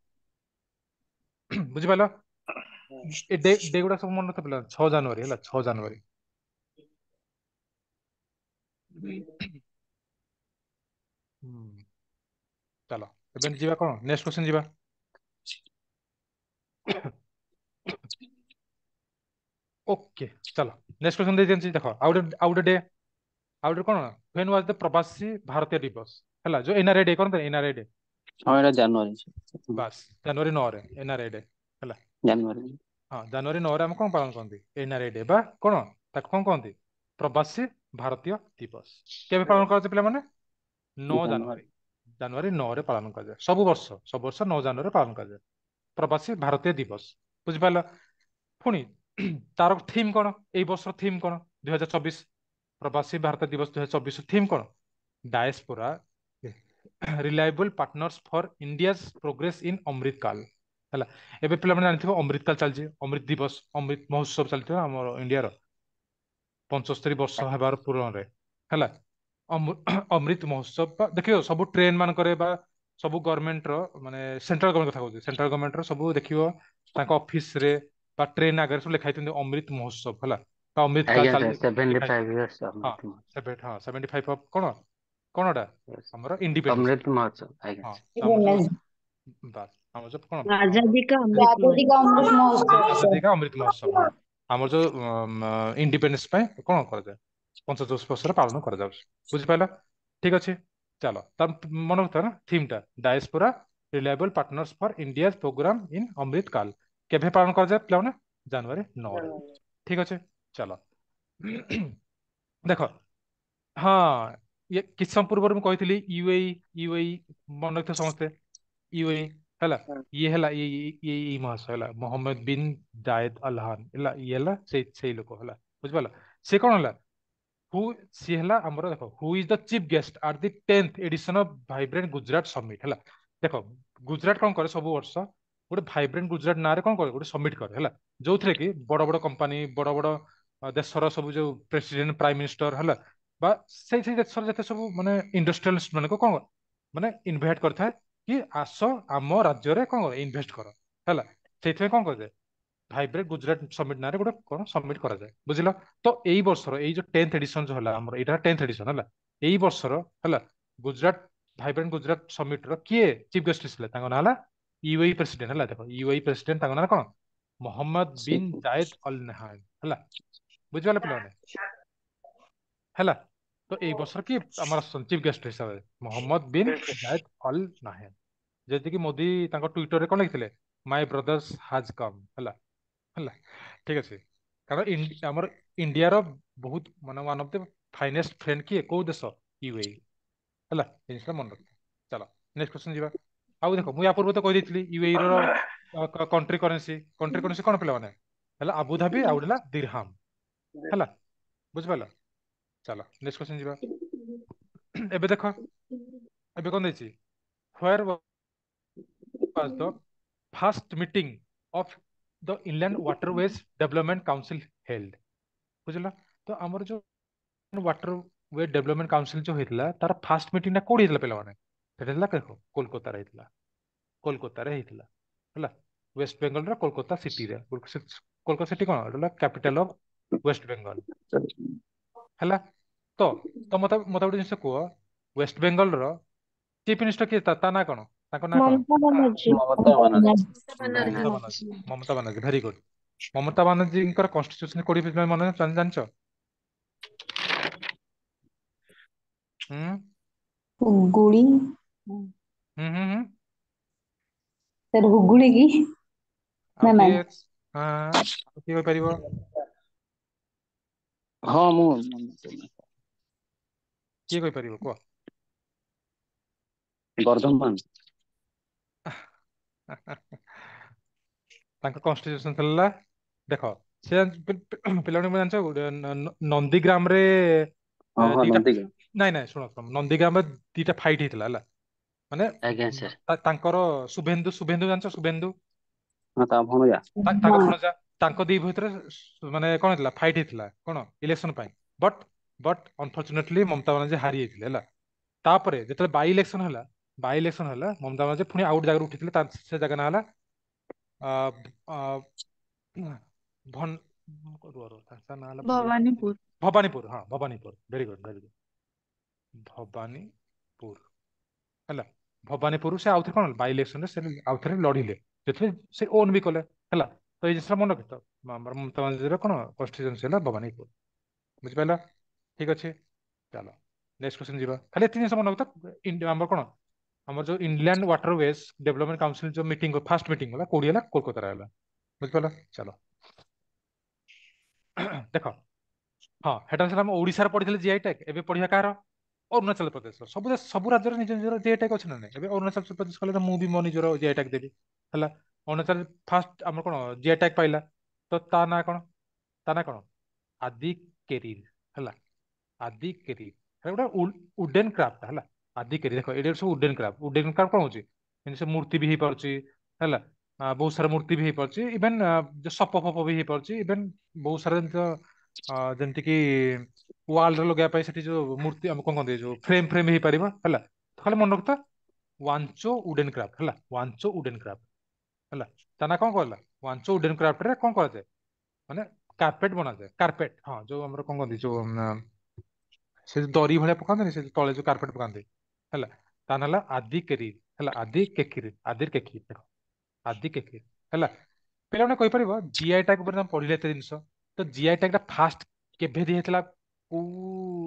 ବୁଝିପାରିଲ? ଏ ଡେ ଡେ ଗୁଡା ସବୁ ମନେ ରଖିଥ ପିଲା। 6 ଜାନୁଆରୀ, ହେଲା, 6 ଜାନୁଆରୀ। ହୁଁ, ଚାଲ, ଏବେ ଯିବା କଣ ନେକ୍ସଟ କ୍ୱେଶ୍ଚନ ଯିବା। ଓକେ, ଚାଲ, ନେକ୍ସଟ କ୍ୱେଶ୍ଚନ ଦେଇ ଦିଅନ୍ତି। ଦେଖ, ଆଉ ଗୋଟେ ଡେ, ଆଉ ଗୋଟେ କଣ, when was the ପ୍ରବାସୀ ଭାରତୀୟ ଦିବସ, ହେଲା, ଯୋଉ ଏନଆରଆଇ ଡେ କଣ, ଏନଆରଆଇ ଡେ? ହଁ, ଏଇଟା ଜାନୁଆରୀ। ବାସ୍, ଜାନୁଆରୀ 9ରେ ଏନଆରଆଇ ଡେ, ହେଲା। ଜାନୁଆରୀ। ହଁ, ଜାନୁଆରୀ 9ରେ ଆମେ କଣ ପାଳନ କରନ୍ତି? ଏନଆରଆଇ ଡେ ବା କଣ ତାକୁ କଣ କହନ୍ତି? ପ୍ରବାସୀ ଭାରତୀୟ ଦିବସ କେବେ ପାଳନ କରାଯାଏ ପିଲାମାନେ? 9 ଜାନୁଆରୀ। ଜାନୁଆରୀ, ଜାନୁଆରୀ 9ରେ ପାଳନ କରାଯାଏ ସବୁ ବର୍ଷ। ସବୁ ବର୍ଷ 9 ଜାନୁଆରୀରେ ପାଳନ କରାଯାଏ ପ୍ରବାସୀ ଭାରତୀୟ ଦିବସ, ବୁଝିପାରିଲ? ପୁଣି ତାର ଥିମ୍ କଣ? ଏଇ ବର୍ଷର ଥିମ୍ କଣ? 2024 ପ୍ରବାସୀ ଭାରତ ଦିବସ 2024 ଥିମ୍ କଣ? Diaspora reliable partners for India's progress in Amrit Kaal। ହେଲା, ଏବେ ପିଲାମାନେ ଜାଣିଥିବ ଅମୃତ କାଲ ଚାଲିଛି, ଅମୃତ ଦିବସ, ଅମୃତ ମହୋତ୍ସବ ଚାଲିଥିବ ଆମର ଇଣ୍ଡିଆର 75 ବର୍ଷ ହେବାର ପୂରଣରେ। ହେଲା, ଅମୃତ ମହୋତ୍ସବ ବା ଦେଖିବ ସବୁ ଟ୍ରେନ ମାନଙ୍କରେ ବା ସବୁ ଗଭର୍ଣ୍ଣମେଣ୍ଟର, ମାନେ ସେଣ୍ଟ୍ରାଲ ଗଭର୍ଣ୍ଣମେଣ୍ଟ କଥା କହୁଛି, ସେଣ୍ଟ୍ରାଲ ଗଭର୍ଣ୍ଣମେଣ୍ଟର ସବୁ ଦେଖିବ ତାଙ୍କ ଅଫିସରେ ବା ଟ୍ରେନ ଆଗରେ ସବୁ ଲେଖା ହେଇଛନ୍ତି ଅମୃତ ମହୋତ୍ସବ, ହେଲା, ବା ଅମୃତ କାଲ ଆଜ୍ଞା ଚାଲି ସାର୍, ସେଭେଣ୍ଟି ଲେଖା ହେଇଛି। ଫାଇଭ ଇୟର୍ସ ହଁ, ଅମୃତ ହଁ, 75 ଅଫ କଣ କଣ ଏଟା ଆମର ଇଣ୍ଡିପେଣ୍ଡେନ୍ସ। ଅମୃତ ମହୋତ୍ସବ, ଆଜ୍ଞା ହଁ, ସାର୍। ତ ଆମର ଯୋଉ ବାସ୍ ଆମର ଯୋଉ କଣ ଆମର आजादी का अमृत आजादी का अमृत महोत्सव। ଆଜାଦି କା ଅମୃତ ମହୋତ୍ସବ। ହଁ, ଆମର ଯୋଉ ଇଣ୍ଡିପେଣ୍ଡେନ୍ସ ପାଇଁ କଣ କରାଯାଏ, 75 ବର୍ଷର ପାଳନ କରାଯାଉଛି। ବୁଝିପାରିଲ? ଠିକ ଅଛି, ଚାଲ। ତାର ମନେ ରଖିଥା ନା ଥିମ୍ ଟା, diaspora reliable partners for India programme in Amrit Kaal। କେବେ ପାଳନ କରାଯାଏ ପିଲାମାନେ? ଜାନୁଆରୀ 9ରେ। ଠିକ ଅଛି, ଚାଲ ଦେଖ। ହଁ, ଇଏ କିଛି ସମୟ ପୂର୍ବରୁ ମୁଁ କହିଥିଲି ୟୁଏଇ, ୟୁଏଇ ମନେ ରଖିଥିବ ସମସ୍ତେ, ୟୁଏଇ ହେଲା। ଇଏ ହେଲା ଇଏ ଇଏ ଇଏ ମହାଶୟ ହେଲା ମୋହମ୍ମଦ ବିନ୍ ଜାୟଦ ଅଲହାନ ହେଲା, ଇଏ ହେଲା ସେଇ ସେଇ ଲୋକ ହେଲା, ବୁଝିପାରିଲ? ସେ କଣ ହେଲା, ହୁ ସିଏ ହେଲା ଆମର, ଦେଖ, who is the chief guest at the 10th edition of Vibrant Gujarat Summit? ହେଲା, ଦେଖ, ଗୁଜରାଟ କଣ କରେ, ସବୁ ବର୍ଷ ଗୋଟେ ଭାଇବ୍ରେଣ୍ଟ ଗୁଜରାଟ ନାଁରେ କଣ କରେ, ଗୋଟେ ସମିଟ୍ କରେ, ହେଲା, ଯୋଉଥିରେ କି ବଡ ବଡ କମ୍ପାନୀ, ବଡ ବଡ ଦେଶର ସବୁ ଯୋଉ ପ୍ରେସିଡେଣ୍ଟ, ପ୍ରାଇମ ମିନିଷ୍ଟର, ହେଲା, ବା ସେଇ ସେଇ ଦେଶର ଯେତେ ସବୁ ମାନେ ଇଣ୍ଡଷ୍ଟ୍ରିଆଲିଷ୍ଟ ମାନଙ୍କୁ କଣ ମାନେ ଇନଭାଇଟ କରିଥାଏ କି ଆସ ଆମ ରାଜ୍ୟରେ କଣ କର, ଇନଭେଷ୍ଟ କର। ହେଲା, ସେଇଥିପାଇଁ କଣ କରାଯାଏ, ଭାଇବ୍ରେଣ୍ଟ ଗୁଜରାଟ ସମିଟ୍ ନାଁରେ ଗୋଟେ କଣ ସମିଟ୍ କରାଯାଏ, ବୁଝିଲ? ତ ଏଇ ବର୍ଷର ଏଇ ଯୋଉ 10th edition ଯୋଉ ହେଲା ଆମର, ଏଇଟା 10th edition ହେଲା। ଏଇ ବର୍ଷର ହେଲା ଗୁଜରାଟ ଭାଇବ୍ରେଣ୍ଟ ଗୁଜରାଟ ସମିଟ୍ ର କିଏ ଚିଫ ଗେଷ୍ଟ ଥିଲେ? ତାଙ୍କ ନାଁ ହେଲା ୟୁଏଇ ପ୍ରେସିଡେଣ୍ଟ। ହେଲା, ଦେଖ, ୟୁଏଇ ପ୍ରେସିଡେଣ୍ଟ, ତାଙ୍କ ନାଁ କଣ? Mohammed bin Zayed Al Nahyan. ହେଲା, ବୁଝିପାରିଲେ ପିଲାମାନେ? ହେଲା, ତ ଏଇ ବର୍ଷର କିଏ ଆମର ଚିଫ ଗେଷ୍ଟ ହିସାବରେ? Mohammed bin Zayed Al Nahyan. ଯେତିକି ମୋଦି ତାଙ୍କ ଟ୍ୱିଟରରେ କଣ ଲେଖିଥିଲେ? "My brothers has come"। ହେଲା ହେଲା ଠିକ ଅଛି। କାରଣ ଆମର ଇଣ୍ଡିଆର ବହୁତ ମାନେ one of the finest friend କିଏ, କୋଉ ଦେଶ? ୟୁଏଇ। ହେଲା, ଏ ଜିନିଷଟା ମନେ ରଖିବ। ଚାଲ ନେକ୍ସଟ କ୍ୱେଶ୍ଚନ ଯିବା। ଆଉ ଦେଖ, ମୁଁ ୟା ପୂର୍ବରୁ ତ କହିଦେଇଥିଲି ୟୁଏଇ ର କଣ୍ଟ୍ରି କରେନ୍ସି, କଣ୍ଟ୍ରି କରେନ୍ସି କଣ ପିଲାମାନେ? ହେଲା ଆବୁଧାବି, ଆଉ ଗୋଟେ ହେଲା ଦିରହାମ। ହେଲା, ବୁଝିପାରିଲ? ଚାଲ ନେକ୍ସଟ କ୍ୱେଶ୍ଚନ ଯିବା। ଏବେ ଦେଖ, ଏବେ କଣ ଦେଇଛି? Where was the first meeting of the Inland Waterways Development Council held? ବୁଝିଲ? ତ ଆମର ଯୋଉ ୱାଟର we development council ଯୋଉ ହେଇଥିଲା, ତାର ଫାଷ୍ଟ ମିଟିଂ ଟା କୋଉଠି ହେଇଥିଲା ପିଲାମାନେ? ସେଟା ହେଲା, ଦେଖ, କୋଲକାତାରେ ହେଇଥିଲା, କୋଲକାତାରେ ହେଇଥିଲା। ହେଲା, ୱେଷ୍ଟ ବେଙ୍ଗଲର କୋଲକାତା ସିଟିରେ। କୋଲକାତା ସିଟି କଣ? ଏଟା ହେଲା କ୍ୟାପିଟାଲ ଅଫ ୱେଷ୍ଟ ବେଙ୍ଗଲ। ହେଲା, ତ ତ ମତେ ମତେ ଗୋଟେ ଜିନିଷ କୁହ, ୱେଷ୍ଟ ବେଙ୍ଗଲର ଚିଫ ମିନିଷ୍ଟର କିଏ? ତା ନାଁ କଣ? ତାଙ୍କ ନାଁ କଣ? ମମତା ବାନାର୍ଜୀ। ମମତା ବାନାର୍ଜୀ। Mamata Banerjee, Mamata Banerjee, very good. ମମତା ବାନାର୍ଜୀଙ୍କର କନଷ୍ଟିଟ୍ୟୁସନ କୋଉଠି ମନେ ଜାଣିଛ? ହୁଁ। ହୁଗୁଳି। ହୁଁ ହୁଁ ହୁଁ ସାର୍, ହୁଗୁଳି କି? ଆଉ ନା ନା। କିଏ? ହଁ, ଆଉ କିଏ କହିପାରିବ? ହଁ, ମୁଁ। କିଏ କହିପାରିବ କୁହ? ବର୍ଧମାନ। ତାଙ୍କ କନଷ୍ଟିଟ୍ୟୁସନ ଥିଲା, ଦେଖ, ସେ ପିଲାମାନେ ଜାଣିଛ ଗୋଟେ ନନ୍ଦୀଗ୍ରାମରେ ହଁ ହଁ ଦିଟା ନନ୍ଦୀଗ୍ରାମ। ନାଇଁ ନାଇଁ, ଶୁଣ ଶୁଣ, ନନ୍ଦୀଗ୍ରାମରେ ଦିଟା ଫାଇଟ୍ ହେଇଥିଲା, ହେଲା, ମାନେ ଆଜ୍ଞା ସାର୍। ତାଙ୍କର ଶୁଭେନ୍ଦୁ, ଶୁଭେନ୍ଦୁ ଜାଣିଛ, ଶୁଭେନ୍ଦୁ? ହଁ, ତା ଭଣଜା। ତାଙ୍କ ଭଣଜା, ତାଙ୍କ ଦି ଭିତରେ ମାନେ କଣ ହେଇଥିଲା, ଫାଇଟ୍ ହେଇଥିଲା କଣ ଇଲେକ୍ସନ ପାଇଁ। But but unfortunately Mamata Banerjee ହାରି ଯାଇଥିଲେ। ହେଲା, ତାପରେ ଯେତେବେଳେ ବାଇ ଇଲେକ୍ସନ ହେଲା, ବାଇ ଇଲେକ୍ସନ ହେଲା, ମମତା ବାନାର୍ଜୀ ପୁଣି ଆଉ ଗୋଟେ ଜାଗାରୁ ଉଠିଥିଲେ। ସେ ଜାଗା ନାଁ ହେଲା ଆ, ଆ, ଭନ ରୁହ ରୁହ, ତା ନାଁ ହେଲା ଭୁଲି ଯାଇଛି। ଭବାନୀପୁର। ଭବାନୀପୁର, ହଁ, Bhawanipur. Very good, very good. Bhawanipur ହେଲା, ଭବାନୀପୁର ସେ ଆଉଥରେ କଣ ବାଇ ଇଲେକ୍ସନରେ ସେ ଆଉଥରେ ଲଢିଲେ, ସେଥିରେ ସେ ଓନ୍ ବି କଲେ। ହେଲା, ତ ଏଇ ଜିନିଷଟା ମନେ ରଖିଥ, ଆମର ମମତା ବାନାର୍ଜୀର କଣ କନଷ୍ଟିଟ୍ୟୁଏନ୍ସି ହେଲା ଭବାନୀପୁର। ବୁଝିପାରିଲ? ଠିକ ଅଛି, ଚାଲ ନେକ୍ସଟ କ୍ୱେଶ୍ଚନ ଯିବା। ଖାଲି ଏତିକି ଜିନିଷ ମନେ ରଖିଥ, ଆମର କଣ ଆମର ଯୋଉ ଇନଲ୍ୟାଣ୍ଡ ୱାଟରୱେଜ ଡେଭଲପମେଣ୍ଟ କାଉନସିଲ ଯୋଉ ମିଟିଂ, ଫାଷ୍ଟ ମିଟିଂ ହେଲା କୋଉଠି ହେଲା? କୋଲକାତାରେ ହେଲା। ବୁଝିପାରିଲ? ଚାଲ ଦେଖ। ହଁ, ସେଟା ଥିଲା ଆମ ଓଡିଶାରେ ପଢିଥିଲେ ଜିଆଇ ଟ୍ୟାଗ। ଏବେ ପଢିବା କାହାର? ଅରୁଣାଚଳ ପ୍ରଦେଶର। ସବୁ ଦେଶ, ସବୁ ରାଜ୍ୟର ନିଜ ନିଜର ଜିଆଇ ଟ୍ୟାଗ ଅଛି ନା ନାଇଁ? ଏବେ ଅରୁଣାଚଳ ପ୍ରଦେଶ କଲେ ତ ମୁଁ ବି ମୋ ନିଜର ଜିଆଇ ଟ୍ୟାଗ ଦେବି। ହେଲା, ଅରୁଣାଚଳ ଫାଷ୍ଟ ଆମର କଣ ଜିଆଇ ଟ୍ୟାଗ ପାଇଲା, ତ ତା ନାଁ କଣ? ତା ନାଁ କଣ? ଆଦି କେରିର। ହେଲା, ଆଦି କେରିର, ସେଟା ଗୋଟେ ଉଡେନ କ୍ରାଫ୍ଟ। ହେଲା, ଆଦି କେରି। ଦେଖ, ଏଇଟା ସବୁ ଉଡେନ କ୍ରାଫ୍ଟ। ଉଡେନ କ୍ରାଫ୍ଟ କଣ ହଉଛି? ଏମିତି ସେ ମୂର୍ତ୍ତି ବି ହେଇପାରୁଛି, ହେଲା। ବହୁତ ସାରା ମୂର୍ତ୍ତି ବି ହେଇପାରୁଛି, ଇଭେନ ଯୋଉ ସପ ଫପ ବି ହେଇପାରୁଛି, ଇଭେନ ବହୁତ ସାରା ଜିନିଷ, ଯେମିତି କି ୱାଲରେ ଲଗେଇବା ପାଇଁ ସେଠି ଯୋଉ ମୂର୍ତ୍ତି, ଆମେ କଣ କହନ୍ତି, ଯୋଉ ଫ୍ରେମ ଫ୍ରେମ ହେଇପାରିବ, ହେଲା। ଖାଲି ମନେ ରଖିଥା ୱାଞ୍ଚୋ ଉଡେନ କ୍ରାଫ୍ଟ, ହେଲା। ୱାଞ୍ଚୋ ଉଡେନ କ୍ରାଫ୍ଟ ହେଲା। ତା ନା କଣ କହିଲା? ୱାଞ୍ଚୋ ଉଡେନ କ୍ରାଫ୍ଟ ରେ କଣ କରାଯାଏ? ମାନେ କାର୍ପେଟ ବନାଯାଏ, କାର୍ପେଟ। ହଁ, ଯୋଉ ଆମର କଣ କହନ୍ତି, ଯୋଉ ସେ ଯୋଉ ଦରି ଭଳିଆ ପକାନ୍ତିନି, ସେ ଯୋଉ ତଳେ ଯୋଉ କାର୍ପେଟ ପକାନ୍ତି, ହେଲା। ତା ନା ହେଲା ଆଦି କେରି, ହେଲା। ଆଦି କେକିରି, ଆଦିର କେକି, ଦେଖ, ଆଦି କେକିରି, ହେଲା। ପିଲାମାନେ କହିପାରିବ, ଜିଆଇ ଟ୍ୟାଗ ଉପରେ ତମେ ପଢିଲେ ଏତେ ଜିନିଷ, ତ ଜିଆଇ ଟ୍ୟାଗ ଟା ଫାଷ୍ଟ କେବେ ଦିଆହେଇଥିଲା, କୋଉ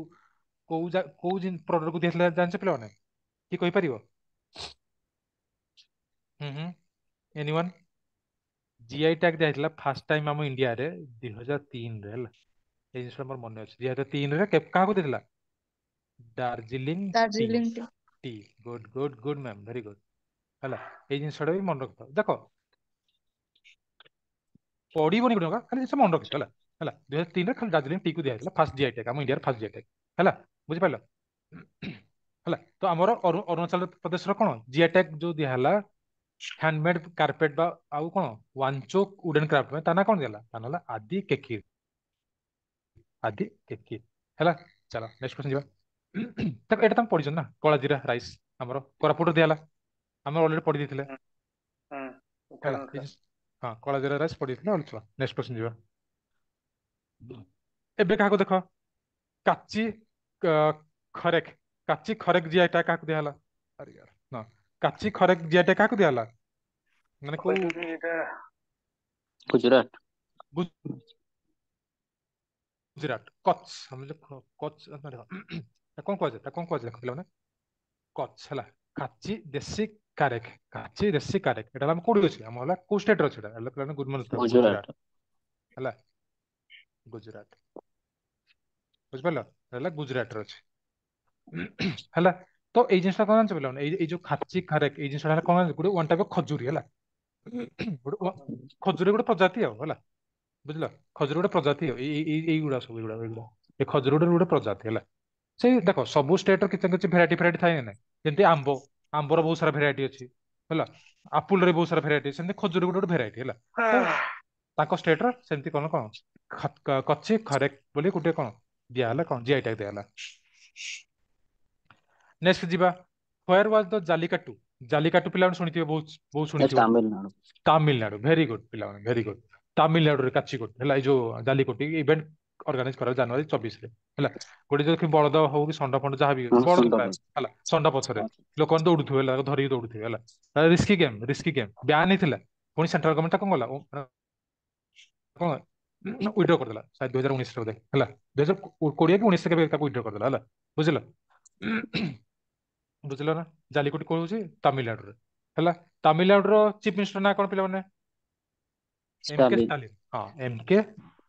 କୋଉ କୋଉ ପ୍ରଡକ୍ଟ କୁ ଦିଆହେଇଥିଲା, ଜାଣିଛ ପିଲାମାନେ? କିଏ କହିପାରିବ? ହୁଁ ହୁଁ ଏନିୱାନ୍? ଜିଆଇ ଟ୍ୟାଗ ଦିଆହେଇଥିଲା ଫାଷ୍ଟ ଟାଇମ ଆମ ଇଣ୍ଡିଆରେ 2003ରେ, ହେଲା। ଏଇ ଜିନିଷଟା ମୋର ମନେ ଅଛି। 2003ରେ କାହାକୁ ଦେଇଥିଲା? ଦାର୍ଜିଲିଂ ଟି। ଦାର୍ଜିଲିଂ ଟି। ଟି। Good, good, good ma'am, very good, ହେଲା। ଏଇ ଜିନିଷଟା ବି ମନେ ରଖିଥାଅ। ଦେଖ, ପଡିବନି ଗୋଟେ ଟଙ୍କା, ଖାଲି ଜିନିଷ ମନେ ରଖିଥାଅ, ହେଲା। ହେଲା, 2003ରେ ଖାଲି ଦାର୍ଜିଲିଂ ଟି କୁ ଦିଆହେଇଥିଲା ଫାଷ୍ଟ ଜିଆଇ ଟ୍ୟାଗ, ଆମ ଇଣ୍ଡିଆର ଫାଷ୍ଟ ଜିଆଇ ଟ୍ୟାଗ, ହେଲା। ବୁଝିପାରିଲ? ହେଲା। ତ ଆମର ଅରୁଣାଚଳ ପ୍ରଦେଶର କଣ ଜିଆଇ ଟ୍ୟାଗ ଯୋଉ ଦିଆହେଲା ହ୍ୟାଣ୍ଡମେଡ କାର୍ପେଟ ବା ଆଉ କଣ ୱାଞ୍ଚୋ ଉଡେନ କ୍ରାଫ୍ଟ ପାଇଁ, ତା ନା କଣ ଦିଆହେଲା? ତା ନା ହେଲା ଆଦି କେକିର, ଆଦି କେକିର, ହେଲା। ଚାଲ, ନେକ୍ସଟ କ୍ୱେଶ୍ଚନ ଯିବା। ଦେଖ, ଏଇଟା ତମେ ପଢିଛ ନା, କଳା ଜିରା ରାଇସ୍ ଆମର କୋରାପୁଟରେ ଦିଆହେଲା, ଆମେ ଅଲରେଡି ପଢି ଦେଇଥିଲେ। ହେଲା। ଏଇ ହଁ, କଳା ଜିରା ରାଇସ୍ ପଢିଥିଲେ। ଚାଲ, ନେକ୍ସଟ କ୍ୱେଶ୍ଚନ ଯିବା। ଏବେ କାହାକୁ ଦେଖ, କାଚି ଖରେକ, କାଚି ଖରେକ ଜିଆଇ ଟ୍ୟାଗ କାହାକୁ ଦିଆହେଲା? ଆରେ ୟାର, ହଁ, କାଚି ଖରେକ ଜିଆଇ ଟ୍ୟାଗ କାହାକୁ ଦିଆହେଲା? ମାନେ କୋଉ କହିଲୁ ଏଇଟା? ଗୁଜୁରାଟ। ଗୁଜୁରାଟ, କଚ୍। ଆମେ ଯୋଉ କଚ୍, ତାକୁ କଣ କୁହାଯାଏ? ତାକୁ କଣ କୁହାଯାଏ? ଦେଖ ପିଲାମାନେ, କଚ୍ ହେଲା କାଚି ଦେଶୀ କାରେକ, କାଚି ଦେଶୀ କାରେକ। ଏଟା ହେଲା ଆମ କୋଉଠି ଅଛି? ଆମ ହେଲା କୋଉ ଷ୍ଟେଟ ରେ ଅଛି ଏଟା? ହେଲା ପିଲାମାନେ, ଗୁଡ ମର୍ଣ୍ଣିଂ। ଗୁଜୁରାଟ। ଗୁଜୁରାଟ, ହେଲା, ଗୁଜୁରାଟ। ବୁଝିପାରିଲ? ହେଲା, ଗୁଜୁରାଟରେ ଅଛି, ହେଲା। ତ ଏଇ ଜିନିଷଟା କଣ ଜାଣିଛ ପିଲାମାନେ? ଏଇ ଏଇ ଯୋଉ ଖାଚି ଖାରେକ, ଏଇ ଜିନିଷଟା ହେଲା କଣ ଜାଣିଛ? ଗୋଟେ ୱାନ୍ ଟାଇପ ଅଫ ଖଜୁରୀ, ହେଲା। ଗୋଟେ ଖଜୁରୀ ଗୋଟେ ପ୍ରଜାତି ଆଉ, ହେଲା। ବୁଝିଲ? ଖଜୁରୀ ଗୋଟେ ପ୍ରଜାତି ଆଉ। ଏଇ ଏଇ ଏଇଗୁଡା ସବୁ, ଏଇଗୁଡା ଏଇଗୁଡା ଏ ଖଜୁରୀ ଗୋଟେ ଗୋଟେ ପ୍ରଜାତି, ହେଲା। ସେଇ ଦେଖ, ସବୁ ଷ୍ଟେଟ ର କିଛି ନା କିଛି ଭେରାଇଟି ଭେରାଇଟି ଥାଏ ନା ନାଇଁ? ଯେମିତି ଆମ୍ବ, ଆମ୍ବର ବହୁତ ସାରା ଭେରାଇଟି ଅଛି, ହେଲା। ଆପୁଲ ରେ ବହୁତ ସାରା ଭେରାଇଟି, ସେମିତି ଖଜୁରୀ ଗୋଟେ ଗୋଟେ ଭେରାଇଟି, ହେଲା। ତ ତାଙ୍କ ଷ୍ଟେଟ ର ସେମିତି କଣ କଣ କଚି ଖରେକ ବୋଲି ଗୋଟେ କଣ ଦିଆହେଲା, କଣ ଜିଆଇ ଟ୍ୟାଗ ଦିଆହେଲା। ନେକ୍ସଟ ଯିବା। Where was the Jallikattu? Jallikattu ପିଲାମାନେ ଶୁଣିଥିବେ, ବହୁତ ବହୁତ ଶୁଣିଥିବ। ତାମିଲନାଡୁ। ତାମିଲନାଡୁ, ଭେରି ଗୁଡ ପିଲାମାନେ, ଭେରି ଗୁଡ। ତାମିଲନାଡୁରେ କାଚିକୋଟ ହେଲା। ଏଇ ଯୋଉ ଜାଲିକୋଟି ଇଭେଣ୍ଟ ଅର୍ଗାନାଇଜ କରା ଜାନୁଆରୀ 24ରେ, ହେଲା। ଗୋଟେ ଯୋଉ ବଳଦ ହଉ କି ଷଣ୍ଢ ଫଣ୍ଡ ଯାହା ବି, ବଳଦ ଷଣ୍ଢ ପ୍ରାୟ, ହେଲା, ଷଣ୍ଢ ପଛରେ ଲୋକମାନେ ଦୌଡୁଥିବେ, ହେଲା, ତାକୁ ଧରିକି ଦୌଡୁଥିବେ, ହେଲା। Risky game, risky game, ban ହେଇଥିଲା। ପୁଣି ସେଣ୍ଟ୍ରାଲ ଗଭର୍ଣ୍ଣମେଣ୍ଟ କଣ କଲା? କଣ ୱିଡ୍ର କରିଦେଲା ସାୟଦ 2019ରେ ବୋଧେ, ହେଲା। 2020 କି 19 କେବେ ତାକୁ ୱିଡ୍ର କରିଦେଲା, ହେଲା। ବୁଝିଲ? ବୁଝିଲ ନା? ଜାଲିକୋଟି କୋଉ ହଉଛି? ତାମିଲନାଡୁରେ, ହେଲା। ତାମିଲନାଡୁର ଚିଫ ମିନିଷ୍ଟର ନାଁ କଣ ପିଲାମାନେ? M K Stalin. ଷ୍ଟାଲିନ। ହଁ, M K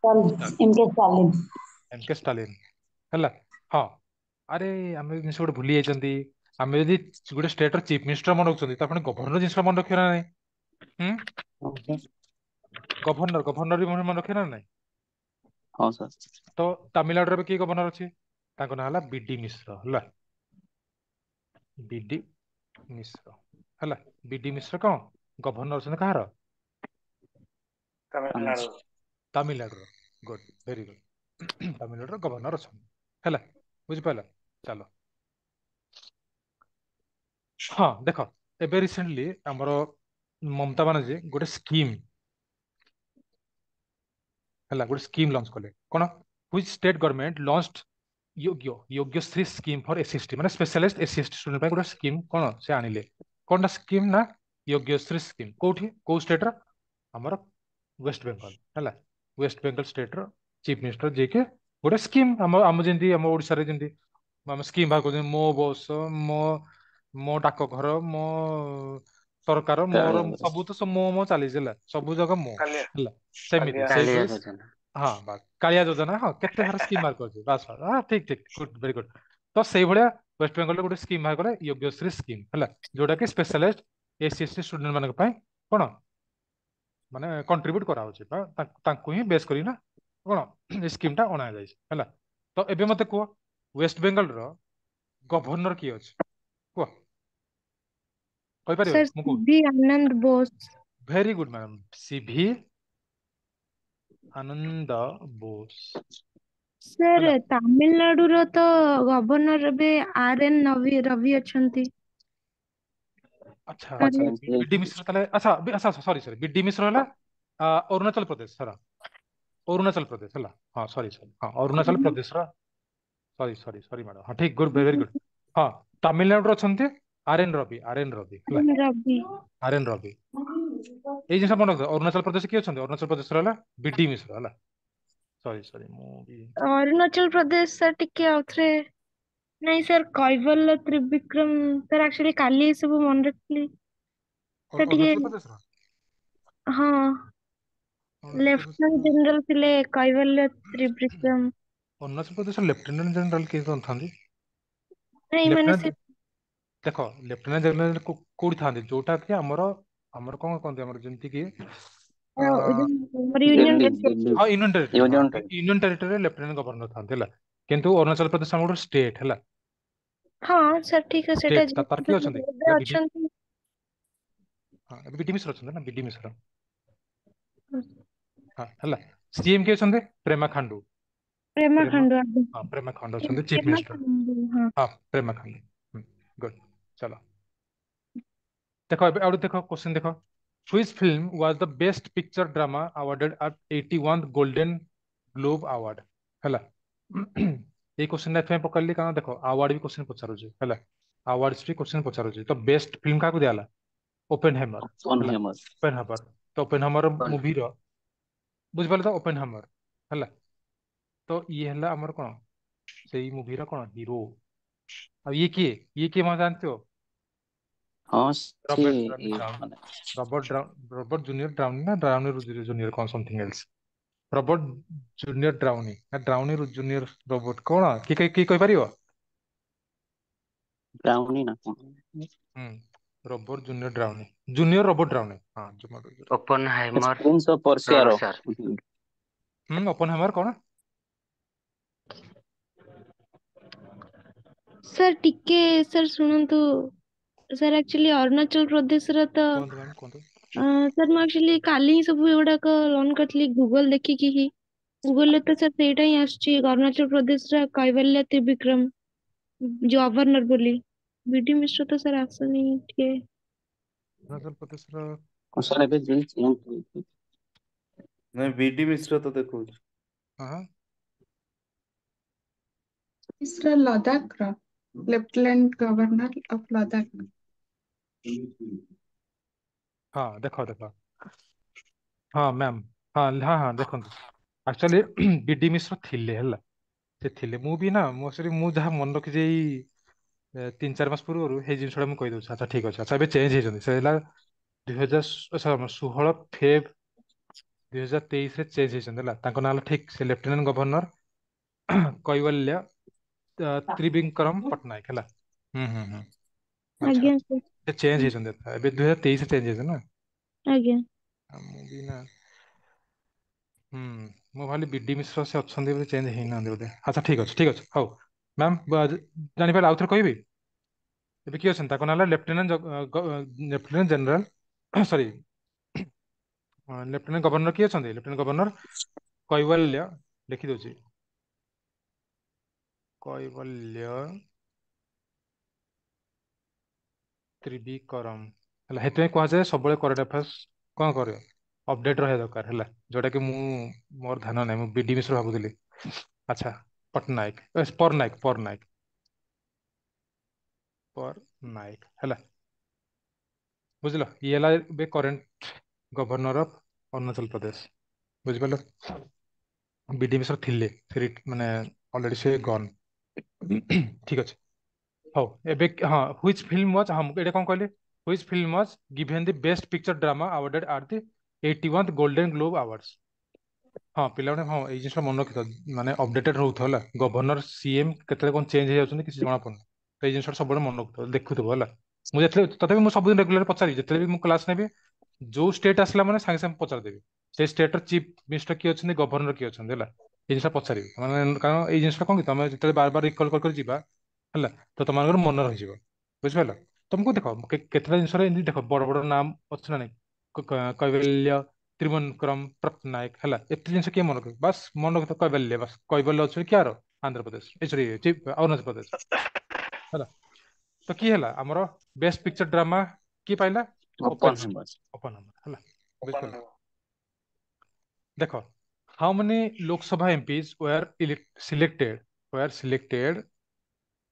M K Stalin. M K Stalin, ହେଲା। ହଁ, ଆରେ ଆମେ ଜିନିଷ ଗୋଟେ ଭୁଲି ଯାଇଛନ୍ତି। ଆମେ ଯଦି ଗୋଟେ ଷ୍ଟେଟ ର ଚିଫ ମିନିଷ୍ଟର ମନେ ରଖୁଛନ୍ତି, ତ ଆପଣ ଗଭର୍ଣ୍ଣର ଜିନିଷ ମନେ ରଖିବେ ନା ନାଇଁ? ହୁଁ? ହଁ। ଗଭର୍ଣ୍ଣର, ଗଭର୍ଣ୍ଣର ବି ମନେ ରଖିବେ ନା ନାଇଁ? ହଁ ସାର୍। ତ ତାମିଲନାଡୁରେ ଏବେ କିଏ ଗଭର୍ଣ୍ଣର ଅଛି? ତାଙ୍କ ନାଁ ହେଲା ବିଡି ମିଶ୍ର, ହେଲା। ବିଡି ମିଶ୍ର, ହେଲା। ବିଡି ମିଶ୍ର କଣ ଗଭର୍ଣ୍ଣର ଅଛନ୍ତି କାହାର? ତାମିଲନାଡୁ। ତାମିଲନାଡୁର। ଗୁଡ, ଭେରି ଗୁଡ। ତାମିଲନାଡୁର ଗଭର୍ଣ୍ଣର ଅଛନ୍ତି, ହେଲା। ବୁଝିପାରିଲ? ଚାଲ। ହଁ, ଦେଖ, ଏବେ ରିସେଣ୍ଟଲି ଆମର ମମତା ବାନାର୍ଜୀ ଗୋଟେ ସ୍କିମ୍, ହେଲା, ଗୋଟେ ସ୍କିମ୍ ଲଞ୍ଚ କଲେ। କଣ? Which state government launched Yogyashree scheme for SC ST? ମାନେ ସ୍ପେଶାଲାଇଜଡ ଏସସି ଏସଟି ଷ୍ଟୁଡେଣ୍ଟ ପାଇଁ ଗୋଟେ ସ୍କିମ୍ କଣ ସେ ଆଣିଲେ। କଣଟା ସ୍କିମ୍ ନା ୟୋଗ୍ୟଶ୍ରୀ ସ୍କିମ୍। କୋଉଠି, କୋଉ ଷ୍ଟେଟ ର? ଆମର ୱେଷ୍ଟ ବେଙ୍ଗଲ, ହେଲା। ୱେଷ୍ଟ ବେଙ୍ଗଲ ଷ୍ଟେଟ ର ଚିଫ ମିନିଷ୍ଟର ଯିଏକି ଗୋଟେ ସ୍କିମ୍, ଆମ ଯେମିତି ଆମ ଓଡିଶାରେ ଯେମିତି ଆମେ ସ୍କିମ୍ ବାହାର କରୁଛନ୍ତି, ମୋ ବସ, ମୋ ମୋ ଡାକଘର, ମୋ ସରକାର, ମୋର କାଳିଆ ଯୋଜନା। ସବୁ ତ ମୋ ମୋ ଚାଲିଛି, ହେଲା। ସବୁ ଜାଗା ମୋ କାଲିଆ। ହେଲା, ସେମିତି କାଲିଆ। କାଳିଆ ସେଇଭଳି। ଯୋଜନା। ହଁ, ବାସ୍, କାଳିଆ ଯୋଜନା। ହଁ, କେତେ ସାରା ସ୍କିମ୍ ବାହାର କରିଛି। ବାସ୍ ବାସ୍, ହଁ, ଠିକ ଠିକ, ଗୁଡ୍, ଭେରି ଗୁଡ୍। ତ ସେଇଭଳିଆ ୱେଷ୍ଟ ବେଙ୍ଗଲରେ ଗୋଟେ ସ୍କିମ୍ ବାହାର କଲେ, ୟୋଗ୍ୟଶ୍ରୀ ସ୍କିମ୍, ହେଲା, ଯୋଉଟା କି ସ୍ପେଶାଲାଇଜଡ ଏସସି ଏସଟି ଷ୍ଟୁଡେଣ୍ଟ ମାନଙ୍କ ପାଇଁ କଣ ମାନେ କଣ୍ଟ୍ରିବ୍ୟୁଟ କରାହଉଛି ବା ତାଙ୍କୁ ହିଁ ବେସ୍ କରି ନା କଣ ଏ ସ୍କିମ୍ ଟା ଅଣାଯାଇଛି, ହେଲା। ତ ଏବେ ମତେ କୁହ, ୱେଷ୍ଟ ବେଙ୍ଗଲର ଗଭର୍ଣ୍ଣର କିଏ ଅଛି? କୁହ, କହିପାରିବ? ସାର୍, ମୁଁ କହୁଛି। C V Ananda Bose. Very good madam, C V Ananda Bose. Sir, ହେଲା। ତାମିଲନାଡୁର ତ ଗଭର୍ଣ୍ଣର ଏବେ ଆର ଏନ ରବି ଅଛନ୍ତି। ଆଚ୍ଛା। ତାହେଲେ ବିଡି ମିଶ୍ର ତାହେଲେ। ଆଚ୍ଛା ଆଚ୍ଛା, ସରି ସରି, ବିଡି ମିଶ୍ର ହେଲା ଅରୁଣାଚଳ ପ୍ରଦେଶ ହେଲା, ଅରୁଣାଚଳ ପ୍ରଦେଶ ହେଲା। ହଁ, ସରି ସରି, ହଁ, ଅରୁଣାଚଳ ପ୍ରଦେଶର। ସରି ସରି ସରି ମ୍ୟାଡାମ, ହଁ ଠିକ, ଗୁଡ୍, ଭେରି ଗୁଡ୍। ହଁ, ତାମିଲନାଡୁର ଅଛନ୍ତି ଆର ଏନ ରବି, ଆର ଏନ ରବି ହେଲା। ରବି। ଆର ଏନ ରବି। ଏଇ ଜିନିଷ ମନେ ରଖିଥାଅ। ଅରୁଣାଚଳ ପ୍ରଦେଶ କିଏ ଅଛନ୍ତି? ଅରୁଣାଚଳ ପ୍ରଦେଶର ହେଲା ବିଡି ମିଶ୍ର ହେଲା। ସରି ସରି, ମୁଁ ବି ଅରୁଣାଚଳ ପ୍ରଦେଶ ସାର୍, ଟିକେ ଆଉଥରେ। ନାଇଁ ସାର୍, କୈବଲ୍ୟ ତ୍ରିବିକ୍ରମ ସାର୍, ଆକ୍ଚୁଆଲି କାଲି ଏ ସବୁ ମନେ ରଖିଥିଲି ସାର୍ ଟିକେ। ଅରୁଣାଚଳ ପ୍ରଦେଶର? ହଁ। ଅରୁଣାଚଳ ଲେଫ୍ଟନାଣ୍ଟ ପ୍ରଦେଶର ଜେନେରାଲ ଥିଲେ କୈବଲ୍ୟ ତ୍ରିବିକ୍ରମ। ଅରୁଣାଚଳ ପ୍ରଦେଶର ଲେଫ୍ଟନାଣ୍ଟ ଜେନେରାଲ କିଏ କଣ ଥାନ୍ତି? ନାଇଁ, ମାନେ ସେ ଲେଫ୍ଟନାଣ୍ଟ, ଦେଖ, ଲେଫ୍ଟନାଣ୍ଟ ଜେନେରାଲ କୋଉଠି ଥାନ୍ତି? ଯୋଉଟା କି ଆମର କଣ କହନ୍ତି, ଆମର ଯେମିତି କି ଯୋଉ ଆମର ୟୁନିୟନ ଦିଲ୍ଲୀ, ଦିଲ୍ଲୀ। ହଁ, ୟୁନିୟନ ଟେରିଟୋରି, ହଁ। Union territory. Union ଟେରିଟୋରିରେ ଲେଫ୍ଟନାଣ୍ଟ ଗଭର୍ଣ୍ଣର ଥାନ୍ତି ହେଲା। କିନ୍ତୁ ଅରୁଣାଚଳ ପ୍ରଦେଶ ଆମର ଗୋଟେ ଷ୍ଟେଟ ହେଲା। ହଁ ସାର୍, ଠିକ ଅଛି, ସେଟା ଷ୍ଟେଟ ତାର କିଏ ଅଛନ୍ତି? ଏବେ ହେଲା ବିଡି ଅଛନ୍ତି। ହଁ, ଏବେ ବିଡି ମିଶ୍ର ଅଛନ୍ତି ନା, ବିଡି ମିଶ୍ର। ହଁ, ହେଲା। ସିଏମ କିଏ ଅଛନ୍ତି? ପ୍ରେମା ଖାଣ୍ଡୁ। ପ୍ରେମା ପ୍ରେମା ଖାଣ୍ଡୁ, ଆଜ୍ଞା। ହଁ, ପ୍ରେମା ଖାଣ୍ଡୁ ଅଛନ୍ତି ଚିଫ ପ୍ରେମା ମିନିଷ୍ଟର। ଖାଣ୍ଡୁ, ହଁ। ହଁ, ପ୍ରେମା ଖାଣ୍ଡୁ। ଗୁଡ୍। ଚାଲ ଦେଖ, ଏବେ ଆଉ ଦେଖ, କ୍ୱେଶ୍ଚନ ଦେଖ। Which film was the best picture drama awarded at 81 Golden Globe Award? ହେଲା। ଏଇ କ୍ୱେଶ୍ଚନ ଏଥିପାଇଁ ପକାଇଲି କାରଣ ଦେଖ, ଆୱାର୍ଡ ବି କ୍ୱେଶ୍ଚନ ପଚାରୁଛି ହେଲା, ଆୱାର୍ଡ ବି କ୍ୱେଶ୍ଚନ ପଚାରୁଛି। ତ ବେଷ୍ଟ ଫିଲ୍ମ କାହାକୁ ଦିଆହେଲା? ଓପେନ ହ୍ୟାମର ହେଲା। ଓପନହେମର। Oppenheimer. ତ ଓପେନ ହ୍ୟାମର ମୁଭିର, ବୁଝିପାରିଲେ ତ? ଓପେନ ହ୍ୟାମର ହେଲା। ତ ଇଏ ହେଲା ଆମର କଣ, ସେଇ ମୁଭିର କଣ ହିରୋ। ଆଉ ଇଏ କିଏ? ଇଏ କିଏ ମତେ ଜାଣିଥିବ? ହଁ, ସେ ରବର୍ଟ ଡ୍ରାଉନି ଇଏ ଡ୍ରାଉନି ମାନେ ରବର୍ଟ ରବର୍ଟ ଜୁନିୟର ଡ୍ରାଉନି ନା ଡ୍ରାଉନି ଜୁନିୟର କଣ something else, Robert junior ଡ୍ରାଉନି ନା ଡ୍ରାଉନି ଜୁନିୟର ରବର୍ଟ କଣ, କିଏ କିଏ କିଏ କହିପାରିବ? ବ୍ରାଉନି ନା କଣ? ହୁଁ, ରବର୍ଟ ଜୁନିୟର ଡ୍ରାଉନି, ଜୁନିୟର ରବର୍ଟ ଡ୍ରାଉନି, ହଁ, ଜୁନିୟର। ଓପନହାଇମର ପ୍ରିନ୍ସ ଅଫ ର ପର୍ସିଆର। ସାର୍। ହୁଁ, ଓପନ ହ୍ୟାମର କଣ? ସାର୍, ଟିକେ ସାର୍ ଶୁଣନ୍ତୁ ସାର୍, ଆକ୍ଚୁଆଲି ଅରୁଣାଚଳ ପ୍ରଦେଶର ତ କୁହନ୍ତୁ ମ୍ୟାମ୍, କୁହନ୍ତୁ। ସାର୍, ମୁଁ ଆକ୍ଚୁଆଲି କାଲି ହିଁ ସବୁ ଏଗୁଡାକ ଲର୍ନ କରିଥିଲି ଗୁଗଲ ଦେଖିକି ହିଁ। ଗୁଗଲରେ ତ ସାର୍ ସେଇଟା ହିଁ ଆସୁଛି, ଅରୁଣାଚଳ ପ୍ରଦେଶର କୈବଲ୍ୟ ତ୍ରିବିକ୍ରମ ଯୋଉ ଗଭର୍ଣ୍ଣର ବୋଲି। ବିଡି ମିଶ୍ର ତ ସାର୍ ଆସୁନି ଟିକେ। ଅରୁଣାଚଳ ପ୍ରଦେଶର ସାର୍, ଏବେ ଯେମିତି ଚେଞ୍ଜ ହେଇଛି। ନାଇଁ, ବିଡି ମିଶ୍ର ତ ଦେଖଉଛି। ହଁ। ମିଶ୍ର ଲଦାଖର, ଲେଫ୍ଟନାଣ୍ଟ ଗଭର୍ଣ୍ଣର ଅଫ ଲଦାଖ। ହଁ, ଦେଖ ଦେଖ, ହଁ ମ୍ୟାମ୍, ହଁ ହଁ ହଁ, ଦେଖନ୍ତୁ, ଆକ୍ଚୁଆଲି ବିଡି ମିଶ୍ର ଥିଲେ ହେଲା, ସେ ଥିଲେ। ମୁଁ ବି ନା, ମୁଁ ଆକ୍ଚୁଆଲି ମୁଁ ଯାହା ମନେ ରଖିଛି ଏଇ 3-4 ମାସ ପୂର୍ବରୁ ସେଇ ଜିନିଷଟା ମୁଁ କହିଦଉଛି। ଆଚ୍ଛା, ଠିକ ଅଛି। ଆଚ୍ଛା, ଏବେ ଚେଞ୍ଜ ହେଇଛନ୍ତି। ସେ ହେଲା 2016 ଫେବ୍ 2023ରେ ଚେଞ୍ଜ ହେଇଛନ୍ତି ହେଲା। ତାଙ୍କ ନାଁ ହେଲା, ଠିକ, ସେ ଲେଫ୍ଟନାଣ୍ଟ ଗଭର୍ଣ୍ଣର କୈବଲ୍ୟ ତ୍ରିବିକ୍ରମ ପଟ୍ଟନାୟକ ହେଲା। ହୁଁ ହୁଁ ହୁଁ ଆଚ୍ଛା। ଆଜ୍ଞା ସାର୍। ସେ ଚେଞ୍ଜ ହେଇଛନ୍ତି ଏବେ, 2023ରେ ଚେଞ୍ଜ ହେଇଛନ୍ତି ନା? ଆଜ୍ଞା। ଆଉ ମୁଁ ବି ନା, ହୁଁ, ମୁଁ ଭାବିଲି ବିଡି ମିଶ୍ର ସେ ଅଛନ୍ତି ବୋଲି, ଚେଞ୍ଜ ହେଇନାହାନ୍ତି ବୋଧେ। ଆଚ୍ଛା, ଠିକ ଅଛି, ଠିକ ଅଛି। ହଉ ମ୍ୟାମ୍, ଜାଣିପାରିଲେ? ଆଉଥରେ କହିବି, ଏବେ କିଏ ଅଛନ୍ତି? ତାଙ୍କ ନାଁ ହେଲା ଲେଫ୍ଟନାଣ୍ଟ ଜେନେରାଲ, ସରି, ଲେଫ୍ଟନାଣ୍ଟ ଗଭର୍ଣ୍ଣର କିଏ ଅଛନ୍ତି? ଲେଫ୍ଟନାଣ୍ଟ ଗଭର୍ଣ୍ଣର କୈବଲ୍ୟ, ଲେଖିଦଉଛି, କୈବଲ୍ୟ ତ୍ରିବିକ୍ରମ ହେଲା। ସେଥିପାଇଁ କୁହାଯାଏ ସବୁବେଳେ କରେଣ୍ଟ ଆଫେୟାର୍ସ କଣ କରିବ, ଅପଡେଟ ରହିବା ଦରକାର ହେଲା। ଯୋଉଟା କି ମୁଁ ମୋର ଧ୍ୟାନ ନାହିଁ, ମୁଁ ବିଡି ମିଶ୍ର ଭାବୁଥିଲି। ଆଚ୍ଛା, ପଟ୍ଟନାୟକ, ପରନାୟକ, ପରନାୟକ, ପରନାୟକ ହେଲା। ବୁଝିଲ? ଇଏ ହେଲା ଏବେ current governor of Arunachal Pradesh, ବୁଝିପାରିଲ? ବିଡି ମିଶ୍ର ଥିଲେ, ସେ ମାନେ ଅଲରେଡି ସେ ଗନ୍। ଠିକ ଅଛି, ହଉ। ଏବେ ହଁ, which film was, ହଁ, ମୁଁ ଏଇଟା କଣ କହିଲି? Which film was given the best picture drama awarded at the 81 Golden Globe Awards? ହଁ ପିଲାମାନେ, ହଁ, ଏଇ ଜିନିଷଟା ମନେ ରଖିଥାଅ, ମାନେ ଅପଡେଟେଡ ରହୁଥିବ ହେଲା। ଗଭର୍ଣ୍ଣର, ସିଏମ କେତେବେଳେ କଣ ଚେଞ୍ଜ ହେଇଯାଉଛନ୍ତି କିଛି ଜଣା ପଡୁନି। ତ ଏଇ ଜିନିଷଟା ସବୁବେଳେ ମନେ ରଖୁଥିବ, ଦେଖୁଥିବ ହେଲା। ମୁଁ ଯେତେବେଳେ, ତଥାପି ମୁଁ ସବୁଦିନ ରେଗୁଲାର ପଚାରିବି। ଯେତେବେଳେ ବି ମୁଁ କ୍ଲାସ ନେବି, ଯୋଉ ଷ୍ଟେଟ ଆସିଲା ମାନେ ସାଙ୍ଗେ ସାଙ୍ଗେ ପଚାରିଦେବି, ସେଇ ଷ୍ଟେଟର ଚିଫ ମିନିଷ୍ଟର କିଏ ଅଛନ୍ତି, ଗଭର୍ଣ୍ଣର କିଏ ଅଛନ୍ତି ହେଲା। ଏଇ ଜିନିଷଟା ପଚାରିବି ମାନେ କାରଣ ଏଇ ଜିନିଷଟା କଣ କି, ତମେ ଯେତେବେଳେ ବାର ବାର ରିକଲ କରି କରି ଯିବା ହେଲା, ତ ତମମାନଙ୍କର ମନେ ରହିଯିବ। ବୁଝିପାରିଲ? ତମକୁ ଦେଖ, କେତେଟା ଜିନିଷରେ ଏମିତି ଦେଖ ବଡ ବଡ ନାମ ଅଛି ନା ନାଇଁ? କୈବଲ୍ୟ ତ୍ରିବନକ୍ରମ ପଟ୍ଟନାୟକ ହେଲା, ଏତେ ଜିନିଷ କିଏ ମନେ ରଖିବ? ବାସ୍ ମନେ ରଖିଥ କୈବଲ୍ୟ, ବାସ୍। କୈବଲ୍ୟ ଅଛି କିଆର? ଆନ୍ଧ୍ରପ୍ରଦେଶ, ଏ ସରି, ଅରୁଣାଚଳ ପ୍ରଦେଶ। ହେଲା, ତ କିଏ ହେଲା ଆମର ବେଷ୍ଟ ପିକ୍ଚର ଡ୍ରାମା? କିଏ ପାଇଲା? ଓପନ ଓପନ ଓପନ ହେଲା, ବୁଝିପାରିଲ? ଦେଖ, how many Lok Sabha MPs were selected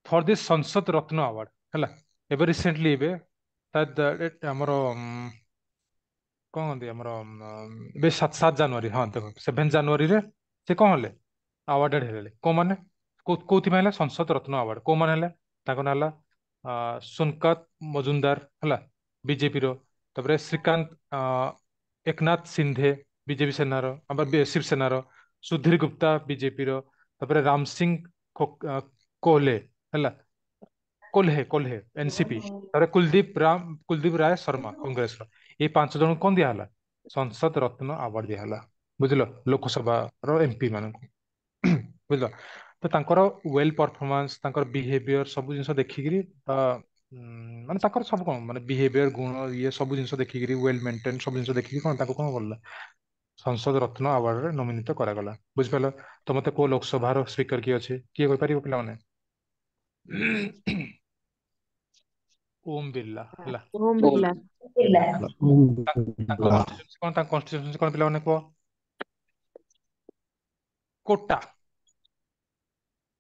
for this Sansad Ratna Award? ହେଲା, ଏବେ ରିସେଣ୍ଟଲି ଏବେ ଆମର କଣ କହନ୍ତି ଆମର ଏବେ 7 ଜାନୁଆରୀ, ହଁ ଦେଖ, 7 ଜାନୁଆରୀରେ ସେ କଣ ହେଲେ? ଆୱାର୍ଡେଡ ହେଲେ। କୋଉମାନେ, କୋଉଥିପାଇଁ ହେଲା? ସଂସଦ ରତ୍ନ ଆୱାର୍ଡ କୋଉମାନେ ହେଲେ? ତାଙ୍କ ନାଁ ହେଲା ସୁକାନ୍ତ ମଜୁମଦାର, ହେଲା, ବିଜେପିର। ତାପରେ ଶ୍ରୀକାନ୍ତ ଏକନାଥ ସିନ୍ଧେ, ବିଜେପି ସେନାର, ଆମର ଶିବସେନାର। ସୁଧୀର ଗୁପ୍ତା, ବିଜେପିର। ତାପରେ ରାମ ସିଂ କୋହଲେ, ହେଲା, କୋହ୍ଲେ କୋହ୍ଲେ, ଏନସିପି। ତାପରେ କୁଲଦୀପ ରାୟ ଶର୍ମା, କଂଗ୍ରେସର। ଏଇ 5 ଜଣଙ୍କୁ କଣ ଦିଆହେଲା? ସଂସଦ ରତ୍ନ ଆୱାର୍ଡ ଦିଆହେଲା, ବୁଝିଲ? ଲୋକସଭାର ଏମପି ମାନଙ୍କୁ, ବୁଝିଲ? ତ ତାଙ୍କର ୱେଲ ପରଫର୍ମାନ୍ସ, ତାଙ୍କର ବିହେଭିୟର, ସବୁ ଜିନିଷ ଦେଖିକିରି ମାନେ ତାଙ୍କର ସବୁ କଣ ମାନେ ବିହେଭିୟର, ଗୁଣ, ଇଏ ସବୁ ଜିନିଷ ଦେଖିକିରି, ୱେଲ ମେଣ୍ଟେନ ସବୁ ଜିନିଷ ଦେଖିକି କଣ ତାଙ୍କୁ କଣ କଲା? ସଂସଦ ରତ୍ନ ଆୱାର୍ଡରେ ନୋମିନିତ କରାଗଲା, ବୁଝିପାରିଲ? ତ ମତେ କୁହ, ଲୋକସଭାର ସ୍ପିକର କିଏ ଅଛି? କିଏ କହିପାରିବ ପିଲାମାନେ? ଓମ ବିର୍ଲା, ହେଲା। ଓମ ବିର୍ଲା। ତାଙ୍କ କନଷ୍ଟିଟ୍ୟୁନ୍ସି କଣ? ତାଙ୍କ କନଷ୍ଟିଟ୍ୟୁନ୍ସି କଣ ପିଲାମାନେ କୁହ? କୋଟା,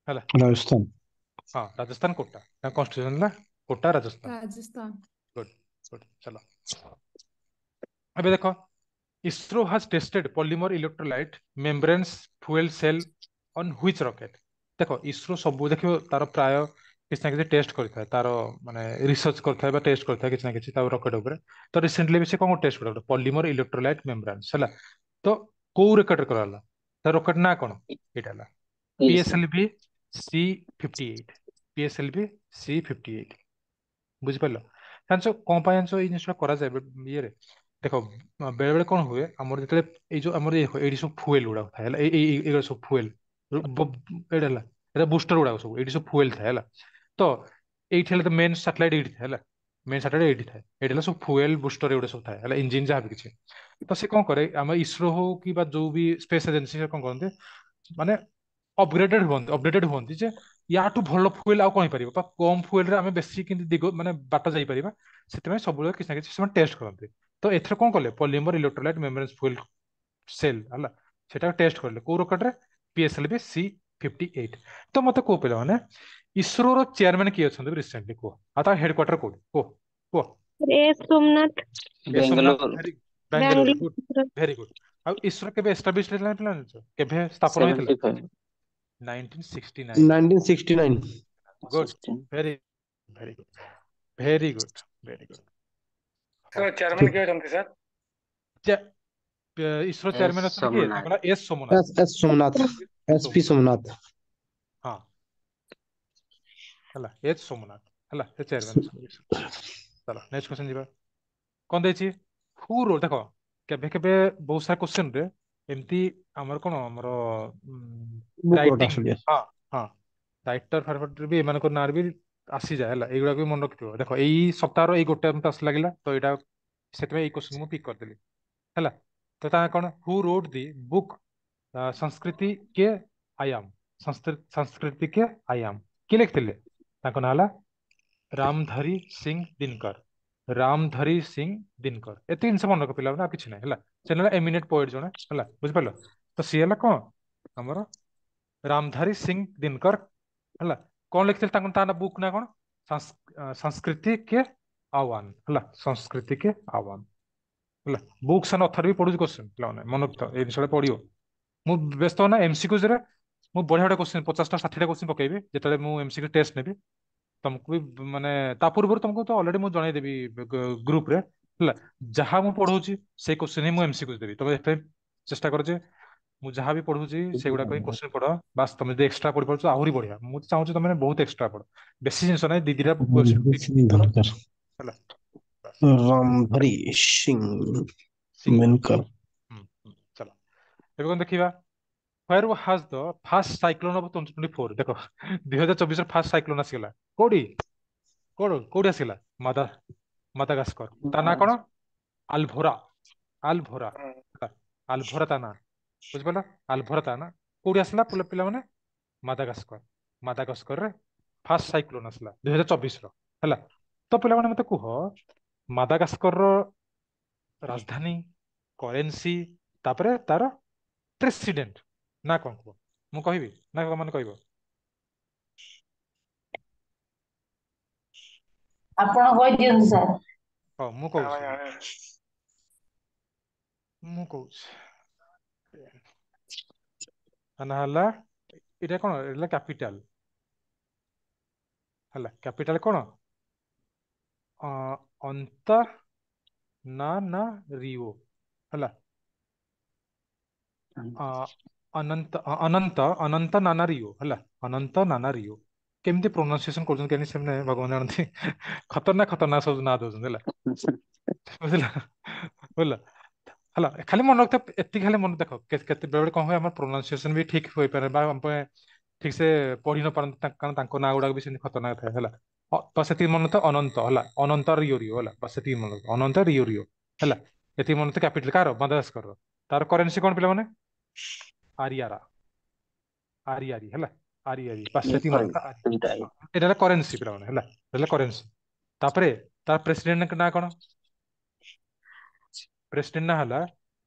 ହେଲା। ରାଜସ୍ଥାନ। ହଁ, ରାଜସ୍ଥାନ କୋଟା। ତାଙ୍କ କନଷ୍ଟିଟ୍ୟୁସନ ହେଲା କୋଟା, ରାଜସ୍ଥାନ। ରାଜସ୍ଥାନ। Good good. ଚାଲ, ଏବେ ଦେଖ, ISRO has tested polymer electrolyte membranes fuel cell on which rocket? ଦେଖ, ଇସ୍ରୋ ସବୁ ଦେଖିବ ତାର ପ୍ରାୟ କିଛି ନା କିଛି ଟେଷ୍ଟ କରିଥାଏ, ତାର ମାନେ ରିସର୍ଚ୍ଚ କରିଥାଏ ବା ଟେଷ୍ଟ କରିଥାଏ କିଛି ନା କିଛି ତା ରକେଟ ଉପରେ। ତ ରିସେଣ୍ଟଲି ବି ସେ କଣ ଟେଷ୍ଟ କଲା? ପଲିମର ଇଲେକ୍ଟ୍ରୋଲାଇଟ ମେମ୍ବ୍ରେନ୍ସ, ହେଲା। ତ କୋଉ ରକେଟ କରାହେଲା? ତା ରକେଟ ନା କଣ? ଏଇଟା ହେଲା ପିଏସଏଲଭି C-58, PSLV C-58, ବୁଝିପାରିଲ? ଜାଣିଛ କଣ ପାଇଁ ଜାଣିଛ ଏଇ ଜିନିଷଟା କରାଯାଏ ଇଏରେ? ଦେଖ, ବେଳେ ବେଳେ କଣ ହୁଏ, ଆମର ଯେତେବେଳେ ଏଇ ଯୋଉ ଆମର ଏଇଠି ସବୁ ଫୁଏଲ ଗୁଡାକ ଥାଏ, ହେଲା, ଏଇ ଏଇ ଏଇଗୁଡ଼ା ସବୁ ଫୁଏଲ। ଏଇଟା ହେଲା, ଏଇଟା ବୁଷ୍ଟର ଗୁଡାକ ସବୁ, ଏଇଠି ସବୁ ଫୁଏଲ ଥାଏ, ହେଲା। ତ ଏଇଠି ହେଲା ତ ମେନ୍ ସାଟେଲାଇଟ ଏଇଠି ଥାଏ, ହେଲା। ମେନ୍ ସାଟେଲାଇଟ ଏଇଠି ଥାଏ। ଏଇଠି ହେଲା ସବୁ ଫୁଏଲ, ବୁଷ୍ଟର, ଏଗୁଡ଼ା ସବୁ ଥାଏ, ହେଲା, ଇଞ୍ଜିନ ଯାହା ବି କିଛି। ତ ସେ କଣ କରେ, ଆମ ଇସ୍ରୋ ହଉ କି ବା ଯୋଉ ବି ସ୍ପେସ୍ ଏଜେନ୍ସି, କଣ କରନ୍ତି ମାନେ ଅପଗ୍ରେଡେଡ ହୁଅନ୍ତି, ଅପଡେଟେଡ ହୁଅନ୍ତି ଯେ ୟାଠୁ ଭଲ ଫୁଏଲ ଆଉ କଣ ହେଇପାରିବ ବା କମ ଫୁଏଲରେ ଆମେ ବେଶୀ କେମିତି ଦିଗ ମାନେ ବାଟ ଯାଇପାରିବା। ସେଥିପାଇଁ ସବୁବେଳେ କିଛି ନା କିଛି ସେମାନେ ଟେଷ୍ଟ କରନ୍ତି। ତ ଏଥର କଣ କଲେ? ପଲିମର ଇଲେକ୍ଟ୍ରୋଲାଇଟ ମେମ୍ବ୍ରେନ୍ସ ଫୁଏଲ ସେଲ୍, ହେଲା, ସେଟା ଟେଷ୍ଟ କଲେ କୋଉ ରକେଟରେ? PSLV C-58। ତ ମତେ କୁହ ପିଲାମାନେ, ଇସ୍ରୋର ଚେୟାରମ୍ୟାନ କିଏ ଅଛନ୍ତି ରିସେଣ୍ଟଲି କୁହ, ଆଉ ତା ହେଡକ୍ୱାର୍ଟର କୋଉଠି କୁହ, କୁହ। S Somnath. S Somnath. Bengaluru. Very Bangalore. Good. Bangalore. Very good. ଆଉ ଇସ୍ରୋ କେବେ ଏଷ୍ଟାବ୍ଲିଶ ହେଇଥିଲା ପିଲା ଜାଣିଛ? କେବେ ସ୍ଥାପନ ହେଇଥିଲା? 75। 1969। 1969। Good. 16। Very very good, very good, very good. Sir, chairman କିଏ ଅଛନ୍ତି ସାର୍? ଇସ୍ରୋ ଏସ୍ ଚେୟାରମ୍ୟାନ ଅଛନ୍ତି କିଏ? ସୋମନାଥ। ତାଙ୍କର S Somnath. S S Somnath, S P Somnath. Somnath. ହଁ, ହେଲା, ଏଚ୍ ସୋମନାଥ ହେଲା, ସେ ଚେୟାରମ୍ୟାନ ଅଛନ୍ତି। ଚାଲ, ନେକ୍ସଟ କ୍ୱେଶ୍ଚନ ଯିବା। କଣ ଦେଇଛି? ହୁ ରୋ ଦେଖ, କେବେ କେବେ ବହୁତ ସାରା କ୍ୱେଶ୍ଚନ ରେ ଏମିତି ଆମର କଣ ଆମର ବୁକ୍ ଗୋଟେ ରାଇଟିଂ ଆସୁଛି। ହଁ, ରାଇଟର ଫାଇଟର ବି ଏମାନଙ୍କ ନାଁରେ ବି ଆସିଯାଏ, ହେଲା। ଏଇଗୁଡାକ ବି ମନେ ରଖିଥିବ। ଦେଖ, ଏଇ ସପ୍ତାହର ଏଇ ଗୋଟେ ମତେ ଆସି ଲାଗିଲା, ତ ଏଇଟା ସେଥିପାଇଁ ଏଇ କ୍ୱେଶ୍ଚନ ମୁଁ ପିକ୍ କରିଦେଲି, ହେଲା। ତ ତା କଣ, who wrote the book ସଂସ୍କୃତି କେ ଆୟାମ? ସଂସ୍କୃତି କେ ଆୟାମ କିଏ ଲେଖିଥିଲେ? ତାଙ୍କ ନାଁ ହେଲା ରାମଧାରୀ ସିଂ ଦିନକର, ରାମଧାରୀ ସିଂ ଦିନକର। ଏତେ ଜିନିଷ ମନେ ରଖ ପିଲାମାନେ, ଆଉ କିଛି ନାହିଁ, ହେଲା। ସେ ହେଲା ଏମିନେଣ୍ଟ ପୋଏଟ ଜଣେ, ହେଲା, ବୁଝିପାରିଲ? ତ ସିଏ ହେଲା କଣ ଆମର ରାମଧାରୀ ସିଂ ଦିନକର, ହେଲା। କଣ ଲେଖିଥିଲେ ତାଙ୍କ ତା ବୁକ୍ ନା କଣ? ସଂସ୍କୃତି କେ ଆହ୍ୱାନ, ହେଲା, ସଂସ୍କୃତି କେ ଆହ୍ୱାନ, ହେଲା। ବୁକ୍ସ ଆଣ୍ଡ ଅଥର ବି ପଢୁଛି କ୍ୱେଶ୍ଚନ ପିଲାମାନେ, ମନେ ରଖିଥାଅ, ଏଇ ଜିନିଷଟା ପଢିବ। ମୁଁ ବ୍ୟସ୍ତ ନା, ଏମସିକ୍ୟୁଜ ରେ ମୁଁ ବଢିଆ ବଢିଆ କ୍ୱେଶ୍ଚନ, 50ଟା 60ଟା କ୍ୱେଶ୍ଚନ ପକେଇବି ଯେତେବେଳେ ମୁଁ ଏମସିକ୍ୟୁ ଟେଷ୍ଟ ନେବି ତମକୁ ବି। ମାନେ ତା ପୂର୍ବରୁ ତମକୁ ତ ଅଲରେଡି ମୁଁ ଜଣେଇଦେବି ଗ୍ରୁପ ରେ, ହେଲା। ଯାହା ମୁଁ ପଢଉଛି ସେଇ କ୍ୱେଶ୍ଚନ ହିଁ ମୁଁ ଏମସିକ୍ୟୁ ଦେବି। ତମେ ଏଥିପାଇଁ ଚେଷ୍ଟା କର ଯେ ମୁଁ ଯାହା ବି ପଢୁଛି ସେଗୁଡାକ ହିଁ କ୍ୱେଶ୍ଚନ ପଢ, ବାସ୍। ତମେ ଯଦି ଏକ୍ସଟ୍ରା ପଢିପାରୁଛ ଆହୁରି ବଢିଆ। ମୁଁ ତ ଚାହୁଁଛି ତମେ ବହୁତ ଏକ୍ସଟ୍ରା ପଢ, ବେଶୀ ଜିନିଷ ନାହିଁ, ଦି ଦିଟା କ୍ୱେଶ୍ଚନ ପିକ୍ କର, ଦରକାର। ହେଲା, ବାସ୍। ରାମଧାରୀ ସିଂ ସିଂ। ଦିନକର। ହୁଁ, ଚାଲ, ଏବେ କଣ ଦେଖିବା? Where has the first cyclone of 2024? ଦେଖ, 2024 ର ଫାଷ୍ଟ ସାଇକ୍ଲୋନ ଆସିଗଲା କୋଉଠି? କୋଉଠୁ କୋଉଠି ଆସିଲା? ମାଦାଗାସ୍କର। ତା ନାଁ କଣ? ଆଲଭୋରା। ଆଲଭୋରା ହେଲା, ଆଲଭୋରା ତା ନାଁ, ବୁଝିପାରିଲ? ଆଲଭୋରା ତା ନାଁ। କୋଉଠି ଆସିଲା ପିଲାମାନେ? ମାଦାଗାସ୍କର। ମାଦାଗାସ୍କରରେ ଫାଷ୍ଟ ସାଇକ୍ଲୋନ ଆସିଲା 2024 ର। ହେଲା, ତ ପିଲାମାନେ ମତେ କୁହ, ମାଦାଗାସ୍କରର ରାଜଧାନୀ, କରେନ୍ସି, ତାପରେ ତାର ପ୍ରେସିଡେଣ୍ଟ ନା କଣ କୁହ? ମୁଁ କହିବି ନା ମାନେ କହିବ? ଆପଣ କହିଦିଅନ୍ତୁ ସାର୍। ହଁ, ମୁଁ ଆମେ କହୁଛି, ଜାଣିନୁ। ମୁଁ କହୁଛି। ତା ନାଁ ହେଲା, ଏଇଟା କଣ? ଏଇଟା ହେଲା କ୍ୟାପିଟାଲ। ହେଲା, କ୍ୟାପିଟାଲ କଣ? ଅ, ଅନ୍ତା ନା ନା ରିଓ। ହେଲା, ଅ, ଅନନ୍ତ ଅନନ୍ତ ଅନନ୍ତ ନାନା ରିଓ। ହେଲା, ଅନନ୍ତ ନାନା ରିଓ। କେମିତି ପ୍ରୋନାଉନ୍ସିଏସନ କରୁଛନ୍ତି କେମିତି ସେମାନେ ଭଗବାନ ଜାଣନ୍ତି। ଖତରନାକ ଖତରନାକ ସବୁ ନାଁ ଦଉଛନ୍ତି। ହେଲା, ବୁଝିଲ? ବୁଝିଲ? ହେଲା, ଖାଲି ମନେ ରଖିଥା ଏତିକି, ଖାଲି ମନେ ଦେଖ। କେତେ ବେଳେ କଣ ହୁଏ, ଆମର ପ୍ରୋନାଉନ୍ସିଏସନ ବି ଠିକ ହୋଇପାରେ ବା ଆମ ପାଇଁ ଠିକ ସେ ପଢି ନ ପାରନ୍ତି, କାରଣ ତାଙ୍କ ନାଁ ଗୁଡାକ ବି ସେମିତି ଖତରନାକ ଥାଏ। ହେଲା, ତ ସେତିକି ମନେ ତ ଅନନ୍ତ ହେଲା, ଅନନ୍ତ ରିଓ ରିଓ। ହେଲା, ବାସ୍ ସେତିକି ମନେ ରଖ, ଅନନ୍ତ ରିଓ ରିଓ। ହେଲା, ଏତିକି ମନେ ତ। କ୍ୟାପିଟାଲ କାହାର? ମାଦାଗାସ୍କରର। ତାର କରେନ୍ସି କଣ ପିଲାମାନେ? ଆରିଆରା, ଆରିଆରି। ହେଲା, ଆରିଆରି, ବାସ୍ ସେତିକି ମନେ ରଖ। ଦୁଇଟା। ଏଇଟା ହେଲା କରେନ୍ସି ପିଲାମାନେ। ହେଲା, ଏଇଟା ହେଲା କରେନ୍ସି। ତାପରେ ତାର ପ୍ରେସିଡେଣ୍ଟ ନାଁ କଣ? ପ୍ରେସିଡେଣ୍ଟ ନାଁ ହେଲା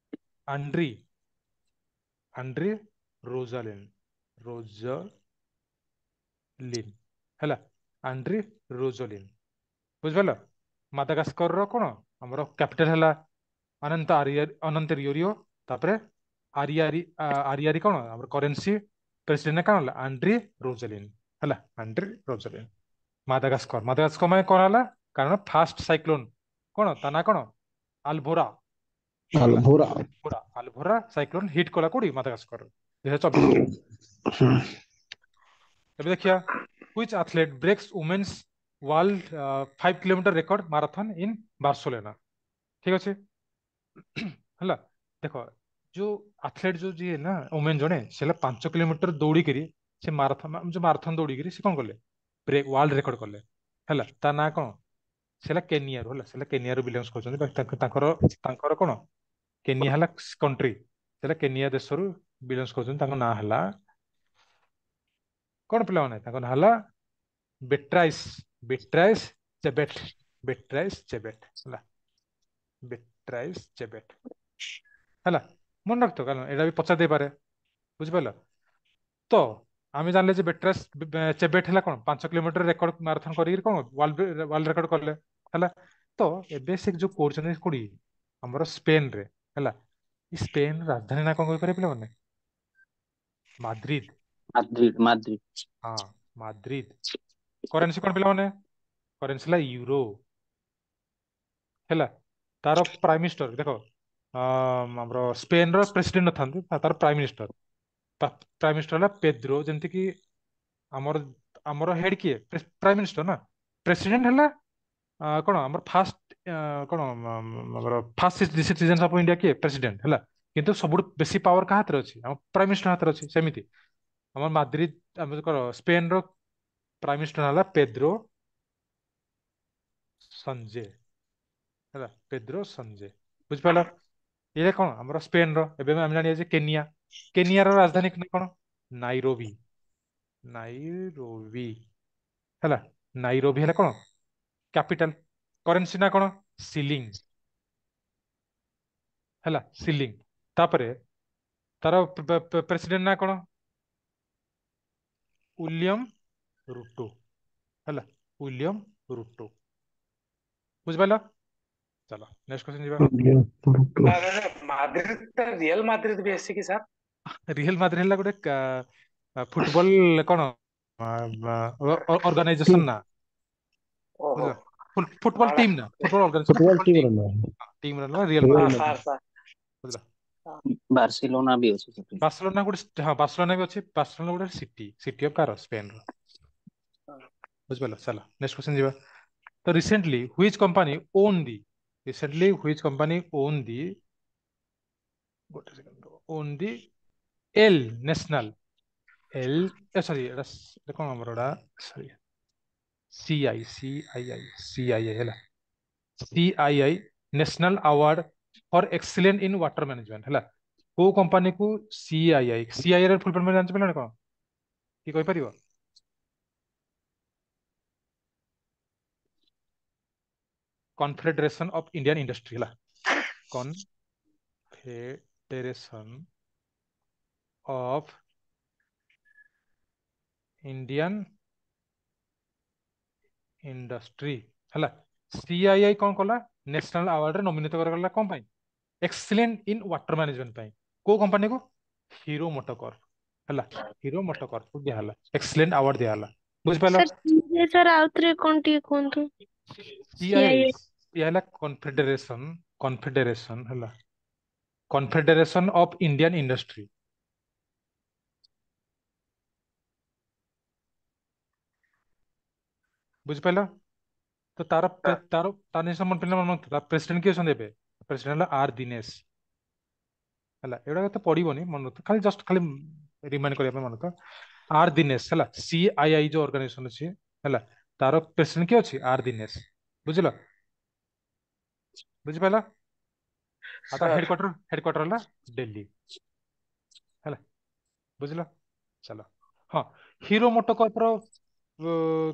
ଆଣ୍ଡ୍ରି ଆଣ୍ଡ୍ରି ରୋଜାଲିନ, ରୋଜଲିନ। ହେଲା, ଆଣ୍ଡ୍ରି ରୋଜଲିନ, ବୁଝିପାରିଲ? ମାଦାଗାସ୍କର ର କଣ ଆମର କ୍ୟାପିଟାଲ ହେଲା ଅନନ୍ତ ଆରିଆ, ଅନନ୍ତ ରିଓରିଓ। ତାପରେ ଆରିଆରି, ଆରିଆରି କଣ ଆମର କରେନ୍ସି। ପ୍ରେସିଡେଣ୍ଟ କଣ ହେଲା? ଆଣ୍ଡ୍ରି ରୋଜଲିନ। ହେଲା, ଆଣ୍ଡ୍ରି ରୋଜଲିନ। ମାଦାଗାସ୍କର, ମାଦାଗାସ୍କର ମାନେ କଣ ହେଲା? କାରଣ ଫାଷ୍ଟ ସାଇକ୍ଲୋନ କଣ, ତା ନାଁ କଣ? ଆଲଭୋରା। ହେଲା, ଆଲଭୋରା। ଆଲଭୋରା, ଆଲଭୋରା ସାଇକ୍ଲୋନ ହିଟ୍ କଲା କୋଉଠି? ମାଦାଗାସ୍କର, 2024। ଏବେ ଦେଖିବା, which athlete breaks women's world 5 kilometer record marathon in Barcelona? ଠିକ ଅଛି। ହେଲା, ଦେଖ, ଯୋଉ ଆଥଲେଟ ଯୋଉ ଯିଏ ନା ଓମେନ ଜଣେ, ସେ ହେଲା 5 କିଲୋମିଟର ଦୌଡ଼ିକିରି, ସେ ମାରାଥନ, ଯୋଉ ମାରାଥନ ଦୌଡ଼ିକିରି ସେ କଣ କଲେ? ବ୍ରେକ୍ ୱାର୍ଲଡ ରେକର୍ଡ କଲେ। ହେଲା, ତା ନାଁ କଣ? ସେ ହେଲା କେନିଆରୁ। ହେଲା, ସେ ହେଲା କେନିଆରୁ ବିଲଙ୍ଗସ କରୁଛନ୍ତି। ବାକି ତାଙ୍କର ତାଙ୍କର କଣ, କେନିଆ ହେଲା କଣ୍ଟ୍ରି, ସେ ହେଲା କେନିଆ ଦେଶରୁ ବିଲଙ୍ଗସ କରୁଛନ୍ତି। ତାଙ୍କ ନାଁ ହେଲା କଣ ପିଲାମାନେ? ତାଙ୍କ ନାଁ ହେଲା ବେଟ୍ରାଇସ୍, ବେଟ୍ରାଇସ୍ ଚେବେଟ, ବେଟ୍ରାଇସ୍ ଚେବେଟ। ହେଲା, ବେଟ୍ରାଇସ୍ ଚେବେଟ। ହେଲା, ମନେ ରଖିଥ, କାରଣ ଏଇଟା ବି ପଚାରି ଦେଇପାରେ, ବୁଝିପାରିଲ? ତ ଆମେ ଜାଣିଲେ ଯେ ବେଟ୍ରାଇସ୍ ଚେବେଟ ହେଲା କଣ 5 କିଲୋମିଟର ରେକର୍ଡ ମାରାଥନ କରିକି କଣ ୱାର୍ଲଡ ୱାର୍ଲଡ ରେକର୍ଡ କଲେ। ହେଲା, ତ ଏବେ ସେ ଯୋଉ କରୁଛନ୍ତି କୋଉଠି? ଆମର ସ୍ପେନରେ। ହେଲା, ଏଇ ସ୍ପେନ ରାଜଧାନୀ ନା କଣ କହିପାରିବେ ପିଲାମାନେ? ମାଦ୍ରିଦ। Madrid, Madrid. ହଁ, ମାଦ୍ରିଦ। କରେନ୍ସି କଣ ପିଲାମାନେ? କରେନ୍ସି ହେଲା ୟୁରୋ। ହେଲା, ତାର ପ୍ରାଇମ ମିନିଷ୍ଟର ଦେଖ, ଆମର ସ୍ପେନ ର ପ୍ରେସିଡେଣ୍ଟ ନଥାନ୍ତି, ତାର ପ୍ରାଇମ ମିନିଷ୍ଟର, ପ୍ରାଇମ ମିନିଷ୍ଟର ହେଲା ପେଦ୍ରୋ। ଯେମିତି କି ଆମର ଆମର ହେଡ କିଏ? ପ୍ରାଇମ ମିନିଷ୍ଟର ନା। ପ୍ରେସିଡେଣ୍ଟ ହେଲା କଣ ଆମର ଫାଷ୍ଟ କଣ ଆମର ଫାଷ୍ଟ ସିଟିଜେନ ଅଫ ଇଣ୍ଡିଆ କିଏ? ପ୍ରେସିଡେଣ୍ଟ ହେଲା। କିନ୍ତୁ ସବୁଠୁ ବେଶୀ ପାୱାର କାହା ହାତରେ ଅଛି? ଆମ ପ୍ରାଇମ ମିନିଷ୍ଟର ହାତରେ ଅଛି। ସେମିତି ଆମର ମାଦ୍ରିଦ, ଆମର କଣ ସ୍ପେନ ର ପ୍ରାଇମ ମିନିଷ୍ଟର ହେଲା ପେଦ୍ରୋ ସଞ୍ଜେ। ହେଲା, ପେଦ୍ରୋ ସଞ୍ଜେ, ବୁଝିପାରିଲ? ଏଇଟା କଣ ଆମର ସ୍ପେନ ର। ଏବେ ଆମେ ଜାଣିବା ଯେ କେନିଆ, କେନିଆର ରାଜଧାନୀ କଣ? Nairobi, Nairobi. ହେଲା, ନାଇରୋବି ହେଲା କଣ କ୍ୟାପିଟାଲ। କରେନ୍ସି ନା କଣ? ସିଲିଂ। ହେଲା, ସିଲିଂ। ତାପରେ ତାର ପ୍ରେସିଡେଣ୍ଟ ନା କଣ? William Ruto. ହେଲା, ୱିଲିୟମ ରୁଟୋ, ବୁଝିପାରିଲ? ଚାଲ ନେକ୍ସଟ କ୍ୱେଶ୍ଚନ ଯିବା। ମାଦ୍ରିଦ, ରିଅଲ ମାଦ୍ରିଦ ବି ଆସିଛି କି ସାର୍? ରିଅଲ ମାଦ୍ରିଦ ହେଲା ଗୋଟେ ଫୁଟବଲ କଣ ଅର୍ଗାନାଇଜେସନ ନା। ଓହୋ। ବୁଝିଲ? ଫୁଟବଲ ଟିମ୍ ନା, football organisation, football football team team ର ନା। ଟିମ୍ ର ନା ରିଅଲ ହଁ ମାଦ୍ରିଦ। Sir, sir. ବୁଝିଲ? ବାର୍ସିଲୋନା ବି ଅଛି ସେଠି। ବାର୍ସଲୋନା ଗୋଟେ, ହଁ ବାର୍ସଲୋନା ବି ଅଛି। ବାର୍ସଲୋନା ଗୋଟେ ସିଟି, ସିଟି ଅଫ କାର ସ୍ପେନ ର, ବୁଝିପାରିଲ? ଚାଲ ନେକ୍ସଟ କ୍ୱେଶ୍ଚନ ଯିବା। ତ recently which company won the, recently which company won the, ଗୋଟେ second, won the El Nacional, El sorry, ଏଟା କଣ ଆମର ଏଟା, ସରି। CI CII CII ହେଲା, CII national award for excellent in water management ହେଲା। କୋଉ କମ୍ପାନୀକୁ ସିଆଇଆଇ? ସିଆଇଆଇ ର ଫୁଲ ଫର୍ମ ଜାଣିଛ ପିଲାମାନେ କଣ? କି କହିପାରିବ? କନଫେଡେରେସନ ଅଫ ଇଣ୍ଡିଆନ ଇଣ୍ଡଷ୍ଟ୍ରି ହେଲା, କନଫେଡେରେସନ ଅଫ ଇଣ୍ଡିଆନ ଇଣ୍ଡଷ୍ଟ୍ରି ହେଲା। ସିଆଇଆଇ କଣ କଲା? ନ୍ୟାସନାଲ ଆୱାର୍ଡରେ ନୋମିନେଟ କରାଗଲା କଣ ପାଇଁ? ଏକ୍ସେଲେଣ୍ଟ ଇନ୍ ୱାଟର ମ୍ୟାନେଜମେଣ୍ଟ ପାଇଁ। କୋଉ କମ୍ପାନୀକୁ? ହିରୋ ମୋଟୋକର୍ପ ହେଲା, ହିରୋ ମୋଟୋକର୍ପ ଦିଆହେଲା, ଏକ୍ସେଲେଣ୍ଟ ଆୱାର୍ଡ ଦିଆହେଲା। ବୁଝିପାରିଲ? ସାର୍ ସାର୍ ଆଉ ଥରେ କଣ ଟିକେ କୁହନ୍ତୁ। ସିଆଇଆଇ ସିଆଇଆଇ ହେଲା କନଫେଡେରେସନ, କନଫେଡେରେସନ ହେଲା, କନଫେଡେରେସନ ଅଫ ଇଣ୍ଡିଆନ ଇଣ୍ଡଷ୍ଟ୍ରି। ବୁଝିପାରିଲ? ତ ତାର ସାର୍ ତାର ତାର ନିଶ୍ଚୟ ମନେ ପିଲା ମନେ ରଖିଥିବ। ପ୍ରେସିଡେଣ୍ଟ କିଏ ଅଛନ୍ତି ଏବେ? ପ୍ରେସିଡେଣ୍ଟ ହେଲା ଆର ଦିନେଶ ହେଲା। ଏଗୁଡାକ ତ ପଡିବନି, ମନେ ରଖିଥିବ ଖାଲି, ଜଷ୍ଟ ଖାଲି ରିମାଇଣ୍ଡ କରିବା ପାଇଁ ମନେ ରଖିଥିବ। ଆର ଦିନେଶ ହେଲା, ସିଆଇଆଇ ଯୋଉ ଅର୍ଗାନାଇଜେସନ ଅଛି ହେଲା, ତାର ପ୍ରେସିଡେଣ୍ଟ କିଏ ଅଛି? ଆର ଦିନେଶ। ବୁଝିଲ? ବୁଝିପାରିଲ? ଆଉ ତାର ସାର୍ ହେଡକ୍ୱାର୍ଟର, ହେଡକ୍ୱାର୍ଟର ହେଲା ଦିଲ୍ଲୀ ହେଲା। ବୁଝିଲ? ଚାଲ। ହଁ, ହିରୋ ମୋଟୋକର୍ପ ର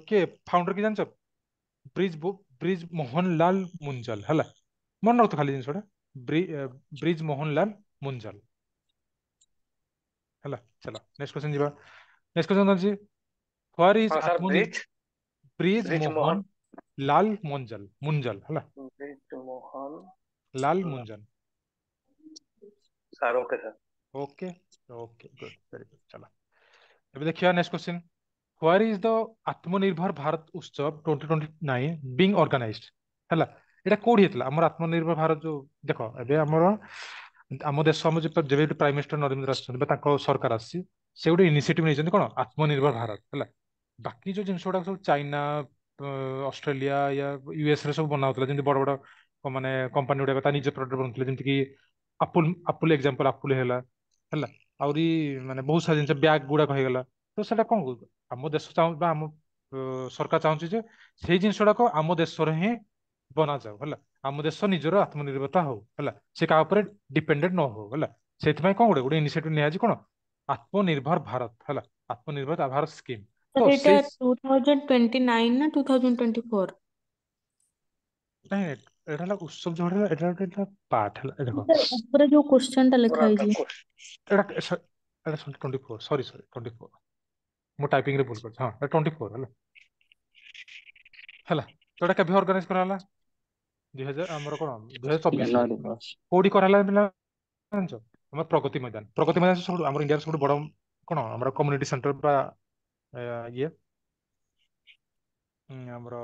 କିଏ ଫାଉଣ୍ଡର କିଏ ଜାଣିଛ? ବ୍ରିଜ ବ୍ରିଜ ମୋହନଲାଲ ମୁଞ୍ଜଲ ହେଲା। ମନେ ରଖ ଖାଲି ଜିନିଷଟା, ବ୍ରିଜ ମୋହନଲାଲ ମୁଞ୍ଜଲ ହେଲା। ଚାଲ ନେକ୍ସଟ କ୍ୱେଶ୍ଚନ ଯିବା। ନେକ୍ସଟ କ୍ୱେଶ୍ଚନ ଅଛି, ହ୍ୱାର is ହଁ ସାର୍, ଆତ୍ମନିର୍ଭର ବ୍ରିଜ ବ୍ରିଜ ବ୍ରିଜ ମୋହନ ମୋହନ ଲାଲ ମୁଞ୍ଜଲ, ମୁଞ୍ଜଲ ହେଲା, Brij Mohan Lal Munjal. Sir okay sir. Okay okay, good, very good. ଚାଲ ଏବେ ଦେଖିବା next question. Where is the Atmanirbhar Bharat Utsav 2029 being organized ହେଲା। ଏଇଟା କୋଉଠି ହେଇଥିଲା ଆମର ଆତ୍ମନିର୍ଭର ଭାରତ? ଯୋଉ ଦେଖ ଏବେ ଆମର ଆମ ଦେଶ, ଆମ ଯେବେ ପ୍ରାଇମ ମିନିଷ୍ଟର ନରେନ୍ଦ୍ର ଆସିଛନ୍ତି ବା ତାଙ୍କ ସରକାର ଆସିଛି, ସେ ଗୋଟେ ଇନିସିଏଟିଭ ନେଇଛନ୍ତି କଣ? ଆତ୍ମନିର୍ଭର ଭାରତ ହେଲା। ବାକି ଯୋଉ ଜିନିଷ ଗୁଡାକ ସବୁ ଚାଇନା, ଅଷ୍ଟ୍ରେଲିଆ ୟା ୟୁଏସ ରେ ସବୁ ବନା ହଉଥିଲା, ଯେମିତି ବଡ ବଡ ମାନେ କମ୍ପାନୀ ଗୁଡାକ ତା ନିଜ ପ୍ରଡକ୍ଟ ବନଉଥିଲେ, ଯେମିତି କି ଆପୁଲ, ଆପୁଲ ଏକ୍ସାମ୍ପଲ ଆପୁଲ ହେଲା ହେଲା, ଆହୁରି ମାନେ ବହୁତ ସାରା ଜିନିଷ ବ୍ୟାଗ ଗୁଡାକ ହେଇଗଲା। ତ ସେଟା କଣ ଆମ ଦେଶ ଚାହୁଁ ବା ଆମ ସରକାର ଚାହୁଁଛି ଯେ ସେଇ ଜିନିଷ ଗୁଡାକ ଆମ ଦେଶରେ ହିଁ ବନାଯାଉ ହେଲା, ଆମ ଦେଶ ନିଜର ଆତ୍ମନିର୍ଭରତା ହଉ ହେଲା, ସେ କାହା ଉପରେ ଡିପେଣ୍ଡେଣ୍ଟ ନ ହଉ ହେଲା। ସେଥିପାଇଁ କଣ ଗୋଟେ ଗୋଟେ ଇନିସିଏଟିଭ ନିଆଯାଇଛି କଣ? ଆତ୍ମନିର୍ଭର ଭାରତ ହେଲା, ଆତ୍ମନିର୍ଭର ଭାରତ ସ୍କିମ୍। ତ ସାର୍ ଏଇଟା ସେଇ 2029 ନା 2024? ନାଇଁ, ଏଇଟା ହେଲା ଉତ୍ସବ ଯୋଉଟା ହେଲା, ଏଇଟା ଗୋଟେ ହେଲା ପାର୍ଟ ହେଲା। ଏ ଦେଖ ସାର୍ ଉପରେ ଯୋଉ କ୍ୱେଶ୍ଚନ ଟା ଲେଖା ପୁରା ହେଇଛି। ଏଇଟା ଏଇଟା 24, ସରି ସରି, 24, ମୁଁ ଟାଇପିଂ ରେ ଭୁଲ କରିଛି। ହଁ, 24 ହେଲା ହେଲା। ତ ଏଇଟା କେବେ ଅର୍ଗାନାଇଜ କରାହେଲା? 2000 ଆମର କଣ 2024ରେ ଜାନୁଆରୀ 10। କୋଉଠି କରାହେଲା ପିଲା ଜାଣିଛ? ଆମର ପ୍ରଗତି ମଇଦାନ। ପ୍ରଗତି ମଇଦାନ ସବୁଠୁ ଆମର ଇଣ୍ଡିଆର ସବୁଠୁ ବଡ କଣ ଆମର କମ୍ୟୁନିଟି ସେଣ୍ଟର ବା ଇଏ ଆମର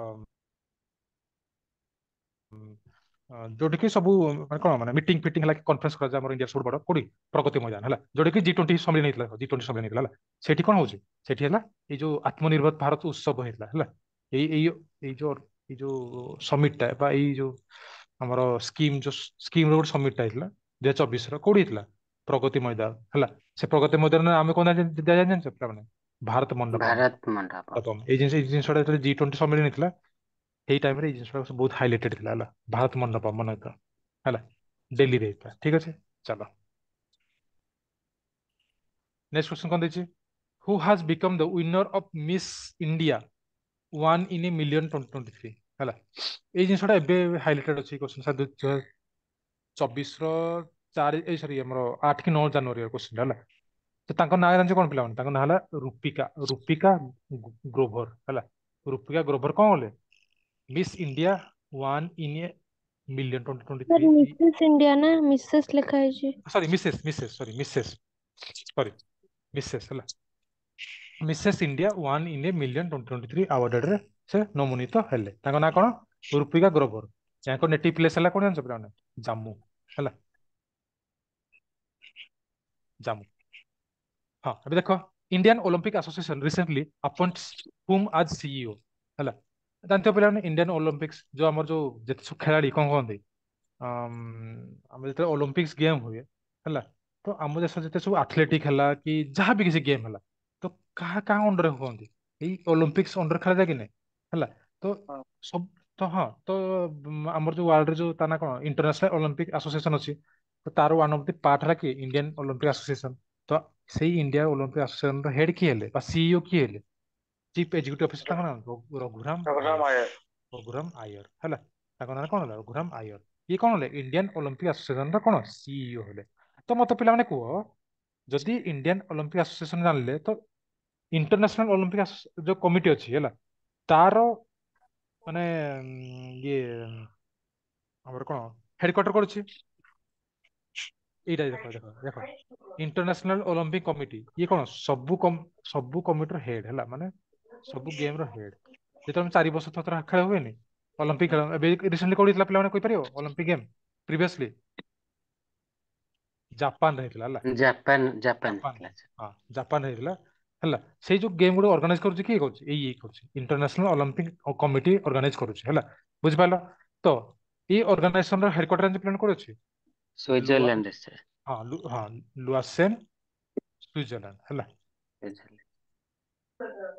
ଯୋଉଠି କି ସବୁ ମାନେ କଣ ମାନେ ମିଟିଂ ଫିଟିଂ ହେଲା କି କନଫରେନ୍ସ କରାଯାଏ ଆମର ଇଣ୍ଡିଆର ସବୁଠୁ ବଡ କୋଉଠି? ପ୍ରଗତି ମଇଦାନ ହେଲା, ଯୋଉଠି କି G20 ସମ୍ମିଳନୀ ହେଇଥିଲା, G20 ସମ୍ମିଳନୀ ହେଇଥିଲା ହେଲା। ସେଠି କଣ ହଉଛି? ସେଠି ହେଲା ଏଇ ଯୋଉ ଆତ୍ମନିର୍ଭର ଭାରତ ଉତ୍ସବ ହେଇଥିଲା ହେଲା। ଏଇ ଏଇ ଏଇ ଯୋଉ ଏଇ ଯୋଉ ସମିଟ ଟା ବା ଏଇ ଯୋଉ ଆମର ସ୍କିମ୍, ଯୋଉ ସ୍କିମ୍ ର ଗୋଟେ ସମିଟ ଟା ହେଇଥିଲା 2024 ର, କୋଉଠି ହେଇଥିଲା? ପ୍ରଗତି ମଇଦାନ ହେଲା। ସେ ପ୍ରଗତି ମଇଦାନରେ ଆମେ କଣ ଦିଆଯାଏ ଜାଣିଛ ପିଲାମାନେ? ଭାରତ ମଣ୍ଡପମ। ଭାରତ ମଣ୍ଡପ। ଏଇ ଜିନିଷ, ଏଇ ଜିନିଷଟା ଯେତେବେଳେ G20 ସମ୍ମିଳନୀ ହେଇଥିଲା ସେଇ ଟାଇମରେ ଏଇ ଜିନିଷଟା ସବୁ ବହୁତ ହାଇଲାଇଟେଡ ଥିଲା ହେଲା। ଭାରତ ମଣ୍ଡପ ମନେ ରଖିଥାଅ ହେଲା, ଦିଲ୍ଲୀରେ ହେଇଥିଲା। ଠିକ ଅଛି, ଚାଲ ନେକ୍ସଟ କ୍ୱେଶ୍ଚନ କଣ ଦେଇଛି? Who has become the winner of Miss India one in a million 2023 ହେଲା। ଏଇ ଜିନିଷଟା ଏବେ ହାଇଲାଇଟେଡ ଅଛି କ୍ୱେଶ୍ଚନ ସାର୍, 2024 ର 4, ଏଇ ସରି ଆମର 8 କି 9 ଜାନୁଆରୀ କ୍ୱେଶ୍ଚନ ହେଲା। ତ ତାଙ୍କ ନାଁ ଜାଣିଛ କଣ ପିଲାମାନେ? ତାଙ୍କ ନାଁ ହେଲା ରୁପିକା, ରୁପିକା ଗ୍ରୋଭର ହେଲା। ରୁପିକା ଗ୍ରୋଭର କଣ କଲେ? Miss India one in a million twenty twenty sir three. Mrs India ନା ମିସେସ୍ ଲେଖା ହେଇଛି। Sorry Mrs, Mrs, sorry Mrs, sorry Mrs ହେଲା। Mrs India one in a million 2023 ଆୱାର୍ଡରେ ସେ ନମୋନିତ ହେଲେ। ତାଙ୍କ ନାଁ କଣ? ରୁପିକା ଗ୍ରୋଭର। ୟାଙ୍କ ନେଟିଭ ପ୍ଲେସ୍ ହେଲା କଣ ଜାଣିଛ ପିଲାମାନେ? ଜାମ୍ମୁ ହେଲା, ଜାମ୍ମୁ। ହଁ, ଏବେ ଦେଖ, Indian Olympic Association recently appoints whom as CEO ହେଲା। ଜାଣିଥିବ ପିଲାମାନେ, ଇଣ୍ଡିଆନ ଅଲିମ୍ପିକ୍ସ ଯୋଉ ଆମର ଯୋଉ ଯେତେ ସବୁ ଖେଳାଳି କଣ କହନ୍ତି, ଆମର ଯେତେବେଳେ ଅଲିମ୍ପିକ୍ସ ଗେମ୍ ହୁଏ ହେଲା, ତ ଆମ ଦେଶ ଯେତେ ସବୁ ଆଥଲେଟିକ ହେଲା କି ଯାହା ବି କିଛି ଗେମ୍ ହେଲା, ତ କାହା କାହା ଅଣ୍ଡରରେ ହୁଅନ୍ତି? ଏଇ ଅଲିମ୍ପିକ୍ସ ଅଣ୍ଡର ଖେଳାଯାଏ କି ନାଇଁ? ହେଲା। ତ ହଁ। ସବୁ ତ ହଁ ତ ଆମର ଯୋଉ ୱାର୍ଲଡରେ ଯୋଉ ତା ନା କଣ ଇଣ୍ଟରନ୍ୟାସନାଲ ଅଲିମ୍ପିକ ଆସୋସିଏସନ ଅଛି, ତ ତାର ୱାନ୍ ଅଫ the part ହେଲା କି ଇଣ୍ଡିଆନ ଅଲିମ୍ପିକ ଆସୋସିଏସନ। ତ ସେଇ ଇଣ୍ଡିଆ ଅଲିମ୍ପିକ ଆସୋସିଏସନ ର ହେଡ କିଏ ହେଲେ ବା ସିଇଓ କିଏ ହେଲେ, ଚିଫ ଏକ୍ଜିକ୍ୟୁଟିଭ ଅଫିସର, ତାଙ୍କ ନାଁ ରଘୁରାମ ରଘୁରାମ ଆୟର। ଆୟର। ରଘୁରାମ ଆୟର ହେଲା। ତାଙ୍କ ନାଁ କଣ ହେଲା? ରଘୁରାମ ଆୟର। ଇଏ କଣ ହେଲେ? ଇଣ୍ଡିଆନ ଅଲିମ୍ପିକ ଆସୋସିଏସନ ର କଣ ସିଇଓ ହେଲେ। ତ ମତେ ପିଲାମାନେ କୁହ, ଯଦି ଇଣ୍ଡିଆନ ଅଲିମ୍ପିକ ଆସୋସିଏସନ ଜାଣିଲେ, ତ ଇଣ୍ଟରନ୍ୟାସନାଲ ଅଲିମ୍ପିକ ଯୋଉ କମିଟି ଅଛି ହେଲା, ତାର ମାନେ ଇଏ ଆମର କଣ ହେଡକ୍ୱାର୍ଟର କରୁଛି ଏଇଟା ଦେଖ ଦେଖ ଦେଖ, ଇଣ୍ଟରନ୍ୟାସନାଲ ଅଲିମ୍ପିକ କମିଟି ଇଏ କଣ ସବୁ ସବୁ କମିଟିର ହେଡ ହେଲା, ମାନେ ସବୁ ଗେମ ର ହେଡ। ଯେତେବେଳେ ଆମେ 4 ବର୍ଷ ଥର ଖେଳ ହୁଏନି ଅଲିମ୍ପିକ ଖେଳ, ଏବେ ରିସେଣ୍ଟଲି କୋଉଠି ହେଇଥିଲା ପିଲାମାନେ କହିପାରିବ? ଅଲିମ୍ପିକ ଗେମ୍ ପ୍ରିଭିୟସଲି ଜାପାନରେ ହେଇଥିଲା ହେଲା। ଜାପାନ, ଜାପାନ ଜାପାନ ହେଇଥିଲା। ହଁ, ଜାପାନ ହେଇଥିଲା ହେଲା। ସେଇ ଯୋଉ ଗେମ୍ ଗୁଡିକ ଅର୍ଗାନାଇଜ କରୁଛି କିଏ କରୁଛି? ଏଇ ଇଏ କରୁଛି, ଇଣ୍ଟରନ୍ୟାସନାଲ ଅଲିମ୍ପିକ କମିଟି ଅର୍ଗାନାଇଜ କରୁଛି ହେଲା। ବୁଝିପାରିଲ? ତ ଏଇ ଅର୍ଗାନାଇଜେସନ ର ହେଡକ୍ୱାର୍ଟର ପିଲାମାନେ କୋଉଠି ଅଛି? ଲୁଆ ସୁଇଜରଲ୍ୟାଣ୍ଡ ସାର୍। ହଁ ହଁ, ଲୁଆସେନ, ସୁଇଜରଲ୍ୟାଣ୍ଡ ହେଲା। ସୁଇଜରଲ୍ୟାଣ୍ଡ।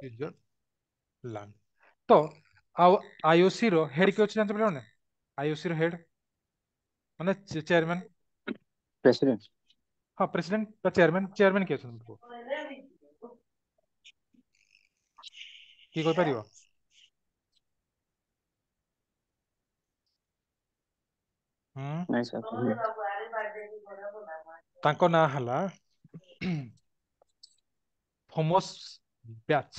ସୁଇଜରଲ୍ୟାଣ୍ଡ। ତ ଆଉ ଆଇଓସି ର ହେଡ କିଏ ଅଛି ଜାଣିଛ ପିଲାମାନେ? ଆଇଓସି ର ହେଡ ମାନେ ଚେୟାରମ୍ୟାନ। ପ୍ରେସିଡେଣ୍ଟ। ହଁ, ପ୍ରେସିଡେଣ୍ଟ ବା ଚେୟାରମ୍ୟାନ। ଚେୟାରମ୍ୟାନ କିଏ ଅଛନ୍ତି କୁହ? କିଏ କହିପାରିବ? ହୁଁ। ନାଇଁ ସାର୍। ତାଙ୍କ ନାଁ ହେଲା ଥୋମସ ବ୍ୟାଚ୍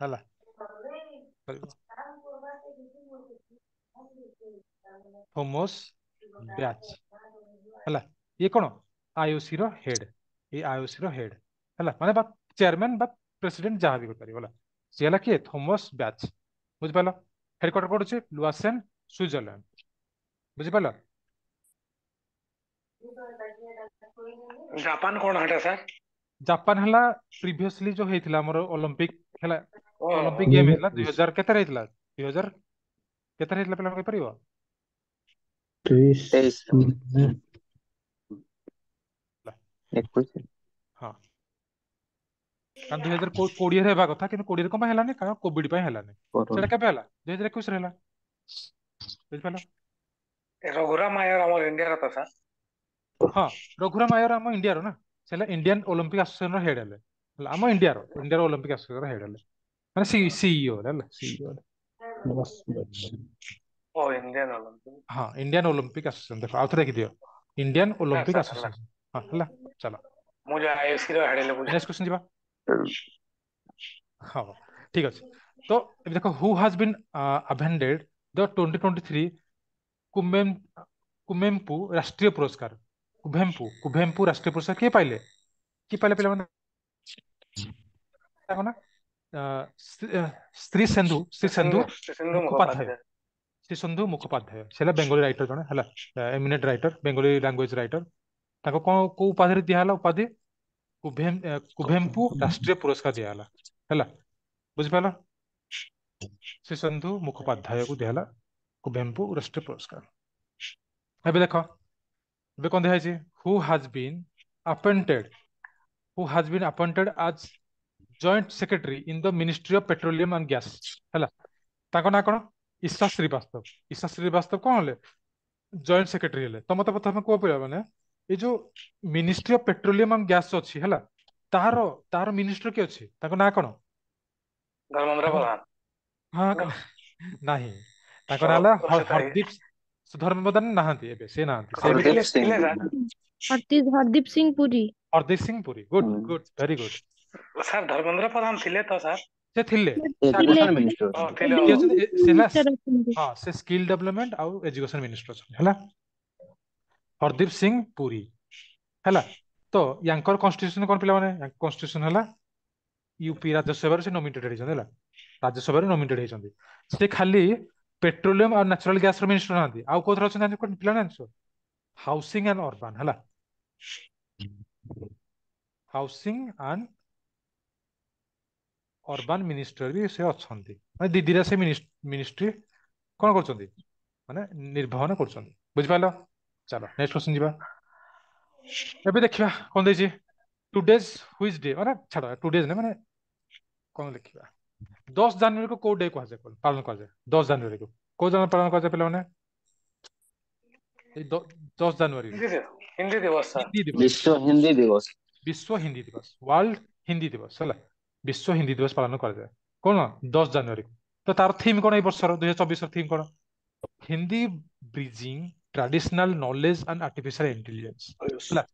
ହେଲା। ଥୋମସ ବ୍ୟାଚ୍ ହେଲା। ଇଏ କଣ ଆଇଓସି ର ହେଡ, ଏଇ ଆଇଓସି ର ହେଡ ହେଲା, ମାନେ ବା ଚେୟାରମ୍ୟାନ ବା ପ୍ରେସିଡେଣ୍ଟ ଯାହା ବି କହିପାରିବ ହେଲା। ସିଏ ହେଲା କିଏ? Thomas batch. ବୁଝିପାରିଲ? ହେଡକ୍ୱାର୍ଟର କୋଉଠି ଅଛି? ଲୁଆସେନ, ସୁଇଜରଲ୍ୟାଣ୍ଡ। ବୁଝିପାରିଲ? ଜାପାନ କଣ ହେଟା ସାର୍? ଜାପାନ ହେଲା ପ୍ରିଭିୟସଲି ଯୋଉ ହେଇଥିଲା ଆମର ଅଲିମ୍ପିକ ହେଲା, ଓହୋ। ଅଲିମ୍ପିକ ଗେମ୍ ହେଇଥିଲା 2000 କେତେରେ ହେଇଥିଲା? 2000 କେତେରେ ହେଇଥିଲା ପିଲା କହିପାରିବ? 23। 23। ହେଲା। 21। ହଁ, କାରଣ 2020ରେ ହେବା କଥା, କିନ୍ତୁ 20ରେ କଣ ପାଇଁ ହେଲାନି? କାରଣ କୋଭିଡ ପାଇଁ ହେଲାନି। ସେଟା କରୋନା। କେବେ ହେଲା? 2021ରେ ହେଲା। ବୁଝିପାରିଲ? ରଘୁରାମ ଆୟର ଆମର ଇଣ୍ଡିଆର ତ ସାର୍? ହଁ, ରଘୁରାମ ଆୟର ଆମ ଇଣ୍ଡିଆର ନା, ସେ ହେଲା ଇଣ୍ଡିଆନ ଅଲିମ୍ପିକ ଆସୋସିଏସନ ର ହେଡ ହେଲେ ହେଲା, ଆମ ଇଣ୍ଡିଆର ଇଣ୍ଡିଆର ଅଲିମ୍ପିକ ଆସୋସିଏସନ ର ହେଡ ହେଲେ, ମାନେ ସିଇଓ ହେଲା, ସିଇଓ ହେଲା। ଓ, ଇଣ୍ଡିଆନ ଅଲିମ୍ପିକ। ହଁ, ଇଣ୍ଡିଆନ ଅଲିମ୍ପିକ ଆସୋସିଏସନ। ଦେଖ, ଆଉଥରେ ଦେଖିଦିଅ, ଇଣ୍ଡିଆନ ସାର୍ ଅଲିମ୍ପିକ ସାର୍ ହେଲା। ଆସୋସିଏସନ। ହଁ ହେଲା, ଚାଲ ମୁଁ ଯୋଉ ଆଇଓସି ର ହେଡ ହେଲେ ବୁଝ ନେକ୍ସଟ କ୍ୱେଶ୍ଚନ ଯିବା। ହଁ, ଠିକ ଅଛି। ତ ଏବେ ଦେଖ, who has been awarded the 2023 କୁମେମ କୁମେମ୍ପୁ ରାଷ୍ଟ୍ରୀୟ ପୁରସ୍କାର? କୁଭେମ୍ପୁ କୁଭେମ୍ପୁ ରାଷ୍ଟ୍ରୀୟ ପୁରସ୍କାର କିଏ ପାଇଲେ? କିଏ ପାଇଲେ ପିଲାମାନେ? ତାଙ୍କ ନା ଶ୍ରୀ ସିନ୍ଧୁ, ଶ୍ରୀ ସିନ୍ଧୁ ସିନ୍ଧୁ ସିନ୍ଧୁ ମୁଖୋପାଧ୍ୟାୟ। ମୁଖୋପାଧ୍ୟାୟ। ଶ୍ରୀ ସିନ୍ଧୁ ମୁଖୋପାଧ୍ୟାୟ ସେ ହେଲା ବେଙ୍ଗଲୀ ରାଇଟର ଜଣେ ହେଲା, ଏମିନେଣ୍ଟ ରାଇଟର, ବେଙ୍ଗଲୀ ଲାଙ୍ଗୁଏଜ ରାଇଟର। ତାଙ୍କୁ କଣ କୋଉ ଉପାଧିରେ ଦିଆହେଲା? ଉପାଧି କୁଭେମ୍ପୁ ରାଷ୍ଟ୍ରୀୟ ପୁରସ୍କାର ଦିଆହେଲା ହେଲା। ବୁଝିପାରିଲ? ଶ୍ରୀ ସିନ୍ଧୁ ମୁଖୋପାଧ୍ୟାୟକୁ ଦିଆହେଲା କୁଭେମ୍ପୁ ରାଷ୍ଟ୍ରୀୟ ପୁରସ୍କାର। ଏବେ ଦେଖ, ଏବେ କଣ ଦିଆହେଇଛି? Who has been appointed who has been appointed as joint secretary in the Ministry of Petroleum and Gas ହେଲା। ତାଙ୍କ ନାଁ କଣ? ଈଶା ଶ୍ରୀବାସ୍ତବ। ଈଶା ଶ୍ରୀବାସ୍ତବ କଣ ହେଲେ? ଜଏଣ୍ଟ ସେକ୍ରେଟାରୀ ହେଲେ। ତ ମତେ ପ୍ରଥମେ କୁହ ପିଲା ମାନେ, ଏଇ ଯୋଉ ministry of petroleum and gas ଅଛି ହେଲା, ତାର ତାର ମିନିଷ୍ଟର କିଏ ଅଛି? ତାଙ୍କ ନାଁ କଣ? ଧର୍ମେନ୍ଦ୍ର ତାଙ୍କ ପ୍ରଧାନ। ହଁ, ନାହିଁ, ତାଙ୍କ ନାଁ ହେଲା ସେ ତ ହରଦୀପ। ଧର୍ମେନ୍ଦ୍ର ପ୍ରଧାନ ନାହାନ୍ତି ଏବେ, ସେ ନାହାନ୍ତି, ସେ ଏବେ ହରଦୀପ ଥିଲେ ସିଂ। ଥିଲେ ସାର୍। ହରଦୀପ ହରଦୀପ ସିଂ ପୁରୀ। ହରଦୀପ ସିଂ ପୁରୀ। ଗୁଡ ହୁଁ। Good, very good. Sir Dharmendra Pradhan ଥିଲେ ତ ସାର୍? ସେ ଥିଲେ, ସେ ଆଗରୁ ଥିଲେ ଏଜୁକେସନ ମିନିଷ୍ଟର ଓ ଅଛନ୍ତି। ଥିଲେ। ଏବେ କିଏ ଅଛନ୍ତି? ସେ ହେଲା ମିନିଷ୍ଟର ଅଛନ୍ତି। ହଁ, ସେ ସ୍କିଲ୍ ଡେଭଲପମେଣ୍ଟ ଆଉ ଏଜୁକେସନ ମିନିଷ୍ଟର ଅଛନ୍ତି ହେଲା, ହରଦୀପ ସିଂ ପୁରୀ ହେଲା। ତ ୟାଙ୍କର କନଷ୍ଟିଟ୍ୟୁସନ କଣ ପିଲାମାନେ? କନଷ୍ଟିଟ୍ୟୁସନ ହେଲା ୟୁପି ରାଜ୍ୟସଭାରୁ ସେ ନୋମିନେଟେଡ ହେଇଛନ୍ତି ହେଲା, ରାଜ୍ୟସଭାରୁ ନୋମିନେଟେଡ ହେଇଛନ୍ତି। ସେ ଖାଲି ପେଟ୍ରୋଲିୟମ ଆଉ ନ୍ୟାଚୁରାଲ ଗ୍ୟାସ ର ମିନିଷ୍ଟର ନାହାନ୍ତି, ଆଉ କୋଉଥିରେ ଅଛନ୍ତି ଜାଣିଛ ପିଲାମାନେ? ଜାଣିଛ? ହାଉସିଂ ଆଣ୍ଡ ଅର୍ବାନ ହେଲା, ହାଉସିଂ ଆଣ୍ଡ ଅର୍ବାନ ମିନିଷ୍ଟର ବି ସେ ଅଛନ୍ତି। ମାନେ ଦିଦିରା ସେ ମିନିଷ୍ଟ୍ରି କଣ କରୁଛନ୍ତି, ମାନେ ନିର୍ବହନ କରୁଛନ୍ତି। ବୁଝିପାରିଲ? ଚାଲ ନେକ୍ସଟ କ୍ୱେଶ୍ଚନ ଯିବା। ଏବେ ଦେଖିବା କଣ ଦେଇଛି। ଟୁଡେଜ which day, ମାନେ ଛାଡ ଟୁଡେଜ ନା, ମାନେ କଣ ଲେଖିବା? 10 ଜାନୁଆରୀକୁ କୋଉ ଡେ କୁହାଯାଏ, ପାଳନ କରାଯାଏ? 10 ଜାନୁଆରୀକୁ କୋଉ ଦିନ ପାଳନ କରାଯାଏ ପିଲାମାନେ? ଏଇ 10 ଜାନୁଆରୀ ହିନ୍ଦୀ ଦିବସ, ହିନ୍ଦୀ ଦିବସ ସାର୍। ହିନ୍ଦୀ ଦିବସ। ବିଶ୍ୱ ହିନ୍ଦୀ ଦିବସ। ବିଶ୍ୱ ହିନ୍ଦୀ ଦିବସ, ୱାର୍ଲଡ ହିନ୍ଦୀ ଦିବସ ହେଲା। ବିଶ୍ୱ ହିନ୍ଦୀ ଦିବସ ପାଳନ କରାଯାଏ କଣ 10 ଜାନୁଆରୀକୁ। ତ ତାର ଥିମ୍ କଣ ଏଇ ବର୍ଷର 2024 ର ଥିମ୍ କଣ? Hindi bridging traditional knowledge and artificial intelligence ହେଲା।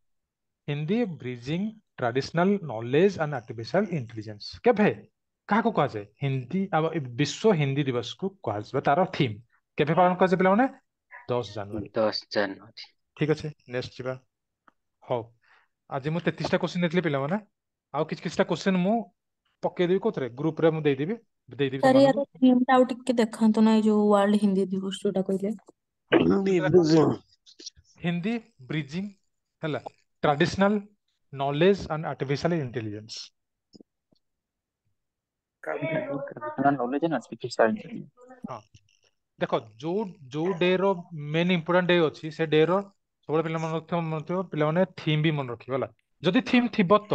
Hindi bridging traditional knowledge and artificial intelligence କେବେ କାହାକୁ କୁହାଯାଏ? ହିନ୍ଦୀ ଆଉ ବିଶ୍ୱ ହିନ୍ଦୀ ଦିବସକୁ କୁହାଯିବ ତାର ଥିମ୍। କେବେ ପାଳନ କରାଯାଏ ପିଲାମାନେ? 10 ଜାନୁଆରୀ। 10 ଜାନୁଆରୀ। ଠିକ ଅଛି, ନେକ୍ସଟ ଯିବା। ହଉ, ଆଜି ମୁଁ 33ଟା କ୍ୱେଶ୍ଚିନ୍ ଦେଇଥିଲି ପିଲାମାନେ, ଆଉ କିଛି କିଛିଟା କ୍ୱେଶ୍ଚିନ୍ ମୁଁ ପକେଇଦେବି କୋଉଥିରେ, ଗ୍ରୁପରେ ମୁଁ ଦେଇଦେବି ଦେଇଦେବି ସାର୍ ତମମାନଙ୍କୁ। ୟାର ଥିମ୍ ଟା ଆଉ ଟିକେ ଦେଖାନ୍ତୁ ନା, ଏଇ ଯୋଉ ୱାର୍ଲଡ ହିନ୍ଦୀ ଦିବସ ଯୋଉଟା କହିଲେ। ହଁ, ହିନ୍ଦୀ ଦେଖ ବ୍ରିଜିଂ। ହିନ୍ଦୀ ବ୍ରିଜିଂ ହେଲା traditional knowledge and artificial intelligence. Traditional knowledge and artificial intelligence. ହଁ ଦେଖ, ଯୋଉ ଯୋଉ ଡେ ର ମେନ୍ ଇମ୍ପୋର୍ଟାଣ୍ଟ ଡେ ଅଛି ସେ ଡେ ର ସବୁବେଳେ ପିଲା ମନେ ରଖିଥିବ, ମନେ ରଖିଥିବ ପିଲାମାନେ ଥିମ୍ ବି ମନେ ରଖିବ ହେଲା। ଯଦି ଥିମ୍ ଥିବ ତ,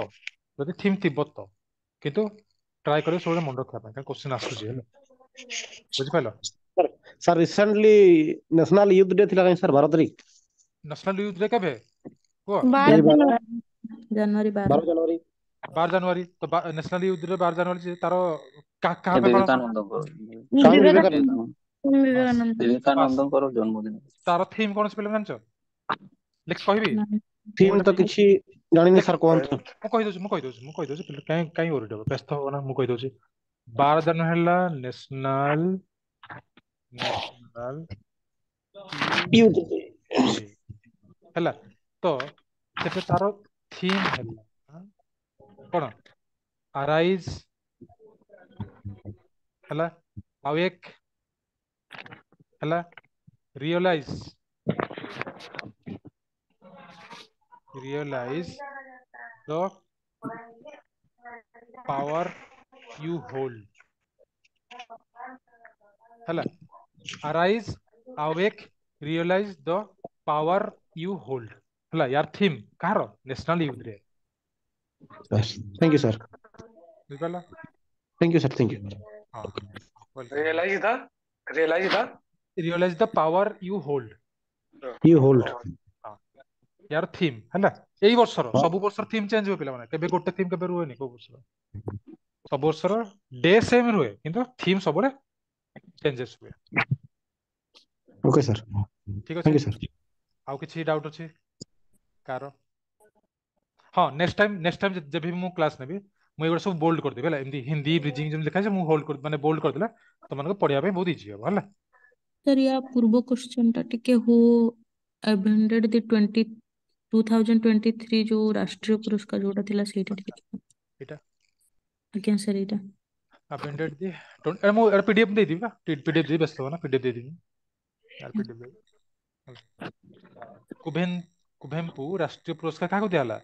ଯଦି ଥିମ୍ ଥିବ ତ, କିନ୍ତୁ ଟ୍ରାଏ କରିବ ସବୁବେଳେ ମନେ ରଖିବା ପାଇଁ, କାରଣ କ୍ୱେଶ୍ଚିନ୍ ଆସୁଛି ହେଲା। ବୁଝିପାରିଲ? Sir recently national youth day ଥିଲା କାଇଁ ସାର୍ ଭାରତରେ? ନ୍ୟାସନାଲ ୟୁଥ୍ ଡେ କେବେ କୁହ? 12 ଏଇ 12 ଜାନୁଆରୀ। ଜାନୁଆରୀ 12। 12 ଜାନୁଆରୀ। 12 ଜାନୁଆରୀ ତ ନ୍ୟାସନାଲ ୟୁଥ୍ ଡେ 12 ଜାନୁଆରୀ ଯେ ତାର କାହା ପାଇଁ ପାଳନ କରାଯାଏ? ବିବେକାନନ୍ଦଙ୍କର ସ୍ୱାମୀ ବିବେକାନନ୍ଦ, ବିବେକାନନ୍ଦ। ସ୍ୱାମୀ ବାସ୍ ବିବେକାନନ୍ଦ। ବାସ୍, ବିବେକାନନ୍ଦଙ୍କର ଜନ୍ମଦିନ। ତାର ଥିମ୍ କଣ ଅଛି ପିଲାମାନେ ଜାଣିଛ? ଲେଖ କହିବି ନା। ମୁଁ ଥିମ୍ ଏଇଟା ତ କିଛି ଜାଣିନି ଦେଖ, ସାର୍, କୁହନ୍ତୁ। ମୁଁ କହିଦଉଛି, ମୁଁ କହିଦଉଛି, ମୁଁ କହିଦଉଛି ପିଲା, କାଇଁ କାଇଁ ଓରିଡ୍ ହବ, ବ୍ୟସ୍ତ ହବ ନା, ମୁଁ କହିଦଉଛି। 12 ଜାନୁଆରୀ ହେଲା national national youth youth day. Day ହେଲା। ତ ସେଟା ତାର ଥିମ୍ ହେଲା କଣ? ଆରାଇଜ ହେଲା, ଆଉ ଏକ ହେଲା realise, realise the power you hold ହେଲା। Arise, awake, realise the power you hold ହେଲା ୟାର ଥିମ୍। କାହାର? National youth day. Thank you sir. ବୁଝିପାରିଲ? Thank you sir, thank you. ହଁ, welcome. Realise the, realise the realise the power you hold. You hold. ହଁ, ୟାର ଥିମ୍ ହେଲା ଏଇ ବର୍ଷର। ସବୁ ବର୍ଷର ଥିମ୍ ଚେଞ୍ଜ ହୁଏ ପିଲାମାନେ, କେବେ ଗୋଟେ ଥିମ୍ କେବେ ରୁହେନି କୋଉ ବର୍ଷର। ସବୁ ବର୍ଷର ଡେ ସେମ୍ ରୁହେ କିନ୍ତୁ ଥିମ୍ ସବୁବେଳେ ଚେଞ୍ଜେସ୍ ହୁଏ। ଓକେ ସାର୍, ଠିକ ଅଛି, thank you sir. ଆଉ କିଛି ଡାଉଟ୍ ଅଛି କାହାର? ହଁ, ନେକ୍ସଟ ଟାଇମ୍, ନେକ୍ସଟ ଟାଇମ୍ ଯେବେ ବି ମୁଁ କ୍ଲାସ୍ ନେବି ମୁଁ ଏଗୁଡ଼ା ସବୁ ବୋଲ୍ଡ କରିଦେବି ହେଲା। ଏମିତି ହିନ୍ଦୀ ବ୍ରିଜିଂ ଯେମିତି ଲେଖା ହେଇଛି ମୁଁ ହୋଲ୍ଡ କରି ମାନେ ବୋଲ୍ଡ କରିଦେଲେ ତମମାନଙ୍କୁ ପଢିବା ପାଇଁ ବହୁତ ଇଜି ହବ ହେଲା। ସାର୍ ୟା ପୂର୍ବ କ୍ୱେଶ୍ଚନ ଟା ଟିକେ, ହୁ ଆଭେଣ୍ଡେଡ ଦି 2023 ଯୋଉ ରାଷ୍ଟ୍ରୀୟ ପୁରସ୍କାର ଯୋଉଟା ଥିଲା ସେଇଟା ଟିକେ। ଏଇଟା ଆଜ୍ଞା ସାର୍ ଏଇଟା। ଆଭେଣ୍ଡେଡ ଦି ଏଟା ମୁଁ ଏଟା ପିଡିଏଫ ଦେଇଦେବି ବା, ପିଡିଏଫ ଦେବି, ବ୍ୟସ୍ତ ହବ ନା, ପିଡିଏଫ ଦେଇଦେବି, ୟାର ପିଡିଏଫ ଦେବି ହେଲା। କୁଭେନ କୁଭେମ୍ପୁ ରାଷ୍ଟ୍ରୀୟ ପୁରସ୍କାର କାହାକୁ ଦିଆହେଲା?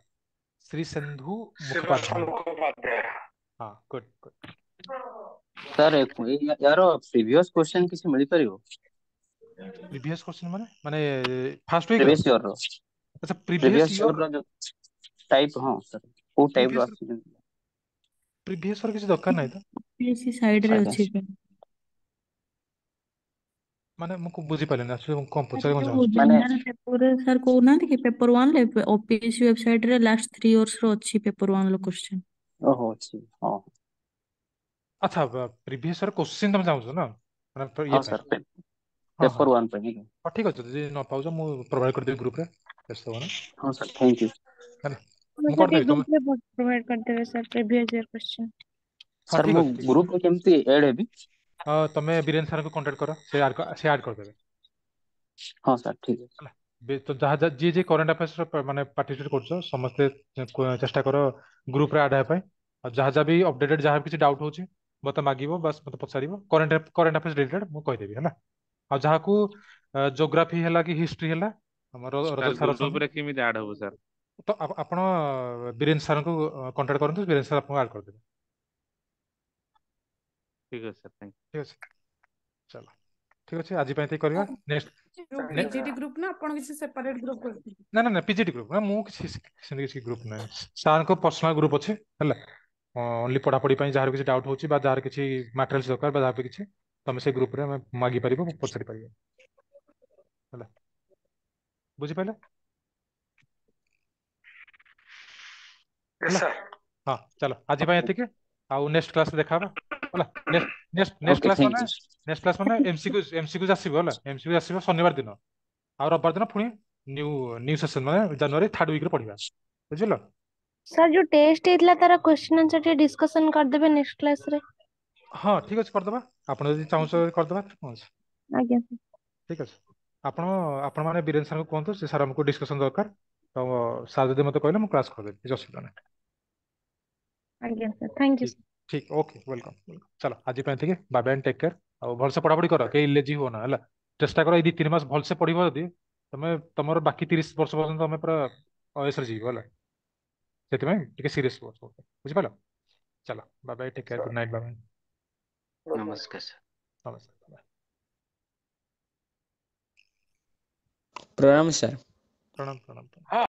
ଶ୍ରୀ ସିନ୍ଧୁ ଶ୍ରୀବାସ ମୁଖୋପାଧ୍ୟାୟ। ମୁଖୋପାଧ୍ୟାୟ। ହଁ, ଗୁଡ୍ ଗୁଡ୍। ସାର୍ ୟାର ପ୍ରିଭିୟସ କ୍ୱେଶ୍ଚନ କିଛି ମିଳିପାରିବ? ପ୍ରିଭିୟସ କ୍ୱେଶ୍ଚନ ମାନେ ମାନେ ଫାର୍ଷ୍ଟ ୱିକ୍ ର? ପ୍ରିଭିୟସ ଇୟର ର। ଆଚ୍ଛା, ପ୍ରିଭିୟସ ପ୍ରିଭିୟସ ଇୟର, ଇୟର ର ଯୋଉ ଟାଇପ, ହଁ ସାର୍ କୋଉ ଟାଇପ ର ପ୍ରିଭିୟସ ଆସୁଛି ଯେମିତି? ପ୍ରିଭିୟସ ର କିଛି ଦରକାର ନାହିଁ ତ। ସେ ସାଇଡ ରେ ଆଜ୍ଞା ଅଛି ସାର୍। ମାନେ ମୁଁ ବୁଝିପାରିଲିନି ଆକ୍ଚୁଆଲି, ମୁଁ କଣ ସାର୍ ପଚାରିବାକୁ ଯୋଉ ଚାହୁଁଛି। ମାନେ ଜେନେରାଲ ପେପର ସାର୍ କହୁନାହାନ୍ତି କି ପେପର 1 ରେ ଓପିଏସସି ୱେବସାଇଟ ରେ ଲାଷ୍ଟ 3 ଇୟର୍ସ ର ଅଛି ପେପର 1 ର କ୍ୱେଶ୍ଚନ। ଓହୋ ଅଛି, ହଁ। ଆଚ୍ଛା, ପ୍ରିଭିୟସ ର କ୍ୱେଶ୍ଚିନ୍ ତମେ ଚାହୁଁଛ ନା, ମାନେ ଇଏ ହଁ ପାଇଁ? ସାର୍, ହଁ ହଁ ପେପର 1 ପାଇଁ ଆଜ୍ଞା। ହଁ, ଠିକ ଅଛି, ଯଦି ନ ପାଉଛ ମୁଁ ପ୍ରୋଭାଇଡ କରିଦେବି ଗ୍ରୁପରେ, ବ୍ୟସ୍ତ ହବନି ହଁ ସାର୍, thank you. ହେଲା, ମୁଁ ମୁଁ ସାର୍ ଟିକେ କରିଦେବି ତମେ। ଗ୍ରୁପରେ ପ୍ରୋଭାଇଡ କରିଦେବେ ସାର୍ ପ୍ରିଭିୟସ ଇୟର କ୍ୱେଶ୍ଚନ। ହଁ ସାର୍ ଠିକ ମୁଁ ଅଛି, ଠିକ ଅଛି। ଗ୍ରୁପରେ କେମିତି ଆଡ୍ ହେବି? ତମେ ବୀରେନ ସାରଙ୍କୁ କଣ୍ଟାକ୍ଟ କର, ସେ ଆଡ୍ ସେ ଆଡ୍ କରିଦେବେ ହଁ ସାର୍, ଠିକ ଅଛି। ହେଲା। ତ ଯାହା ଯାହା ଯିଏ ଯିଏ କରେଣ୍ଟ ଆଫେୟାର୍ସ ର ମାନେ ପାର୍ଟିସିପେଟ କରୁଛ ସମସ୍ତେ ଚେଷ୍ଟା କର ଗ୍ରୁପରେ ଆଡ୍ ହେବା ପାଇଁ। ଆଉ ଯାହା ଯାହା ବି ଅପଡେଟେଡ ଯାହା ବି କିଛି ଡାଉଟ୍ ହଉଛି ମତେ ମାଗିବ, ବାସ୍ ମତେ ପଚାରିବ, କରେଣ୍ଟ ଆଫେୟାର୍ସ ରିଲେଟେଡ ମୁଁ କହିଦେବି ହେଲା। ଆଉ ଯାହାକୁ ଜୋଗ୍ରାଫି ହେଲା କି ହିଷ୍ଟ୍ରି ହେଲା, ଆମର ରଜତ ସାର୍ ସାର୍ ଅଛନ୍ତି। ଗ୍ରୁପରେ କେମିତି ଆଡ୍ ହବ ସାର୍? ତ ଆପଣ ବୀରେନ ସାରଙ୍କୁ କଣ୍ଟାକ୍ଟ କରନ୍ତୁ, ବୀରେନ ସାର୍ ଆପଣଙ୍କୁ ଆଡ୍ କରିଦେବେ। ଠିକ ଅଛି ସାର୍, thank ଠିକ ଅଛି, ଚାଲ, ଠିକ ଅଛି, ଆଜି ପାଇଁ ଏତିକି କରିବା। ନେକ୍ସଟ ଯୋଉ ପିଜିଟି ଗ୍ରୁପ ନା ଆପଣ କିଛି ସେପାରେଟ ଗ୍ରୁପ କରିଛନ୍ତି? ନା ନା ନା, ପିଜିଟି ଗ୍ରୁପ ନା, ମୁଁ କିଛି ସେମିତି କିଛି ଗ୍ରୁପ ନାହିଁ, ସାର୍ଙ୍କ ପର୍ସନାଲ ଗ୍ରୁପ ଅଛି ହେଲା। ଓନ୍ଲି ପଢ଼ାପଢ଼ି ପାଇଁ ଯାହାର କିଛି ଡାଉଟ୍ ହେଉଛି ବା ଯାହାର କିଛି ମାଟେରିଆଲ୍ସ ଦରକାର ବା ଯାହା ବି କିଛି, ତମେ ସେ ଗ୍ରୁପରେ ଆମେ ମାଗିପାରିବ, ପଚାରି ପାରିବ। ହେଲା, ବୁଝିପାରିଲେ? Yes ହେଲା sir. ହଁ, ଚାଲ, ଆଜି ପାଇଁ ଏତିକି। ଆଉ ନେକ୍ସଟ କ୍ଲାସ ଦେଖା ହବା, ହେଲା? Next next next okay class thank ମାନେ you. Next class ମାନେ ଏମସିକ୍ୟୁଜ ଆସିବ, ହେଲା? ଏମସିକ୍ୟୁଜ ଆସିବ ଶନିବାର ଦିନ ଆଉ ରବିବାର ଦିନ ପୁଣି ନ୍ୟୁ ନ୍ୟୁ ସେସନ, ମାନେ ଜାନୁଆରୀ ଥାର୍ଡ ୱିକରେ ପଢିବା, ବୁଝିଲ? ସାର୍, ଯୋଉ ଟେଷ୍ଟ ହେଇଥିଲା ତାର କ୍ୱେଶ୍ଚନ ଆନ୍ସର ଟିକେ ଡିସ୍କସନ କରିଦେବେ ନେକ୍ସଟ କ୍ଲାସ ରେ। ହଁ, ଠିକ ଅଛି, କରିଦବା। ଆପଣ ଯଦି ଚାହୁଁଛ କରିଦବା, କଣ ଅଛି? ଆଜ୍ଞା। ଠିକ ଅଛି। ଆପଣମାନେ ବୀରେନ ସାର୍ଙ୍କୁ କୁହନ୍ତୁ, ସେ ସାର୍ ଆମକୁ ଡିସ୍କସନ ଦରକାର। ତ ସାର୍ ଯଦି ମତେ କହିଲେ ମୁଁ କ୍ଲାସ କରିଦେବି, କିଛି ଅସୁବିଧା ନାହିଁ। ଆଜ୍ଞା ସାର୍, thank you. ଠିକ ଠିକ, ଓକେ, welcome. ଚାଲ, ଆଜି ପାଇଁ ଏତିକି। Bye bye, take care. ଆଉ ଭଲସେ ପଢାପଢି କର, କେହି ଲେଜି ହୁଅ ନା, ହେଲା? ଚେଷ୍ଟା କର, ଏଇ 2-3 ମାସ ଭଲସେ ପଢିବ ଯଦି ତମେ, ତମର ବାକି 30 ବର୍ଷ ପର୍ଯ୍ୟନ୍ତ ତମେ ପୁରା ଅୟସରେ ଯିବ, ହେଲା? ସେଥିପାଇଁ ଟିକେ ସିରିୟସ୍ ହୁଅ ସବୁ, ବୁଝିପାରିଲ? ଚାଲ, bye bye, take care, good night, bye bye. Good night. ନମସ୍କାର ସାର୍। ନମସ୍କାର, ବାଏ। ପ୍ରଣାମ ସାର୍। ପ୍ରଣାମ, ପ୍ରଣାମ, ପ୍ରଣାମ। ହଁ।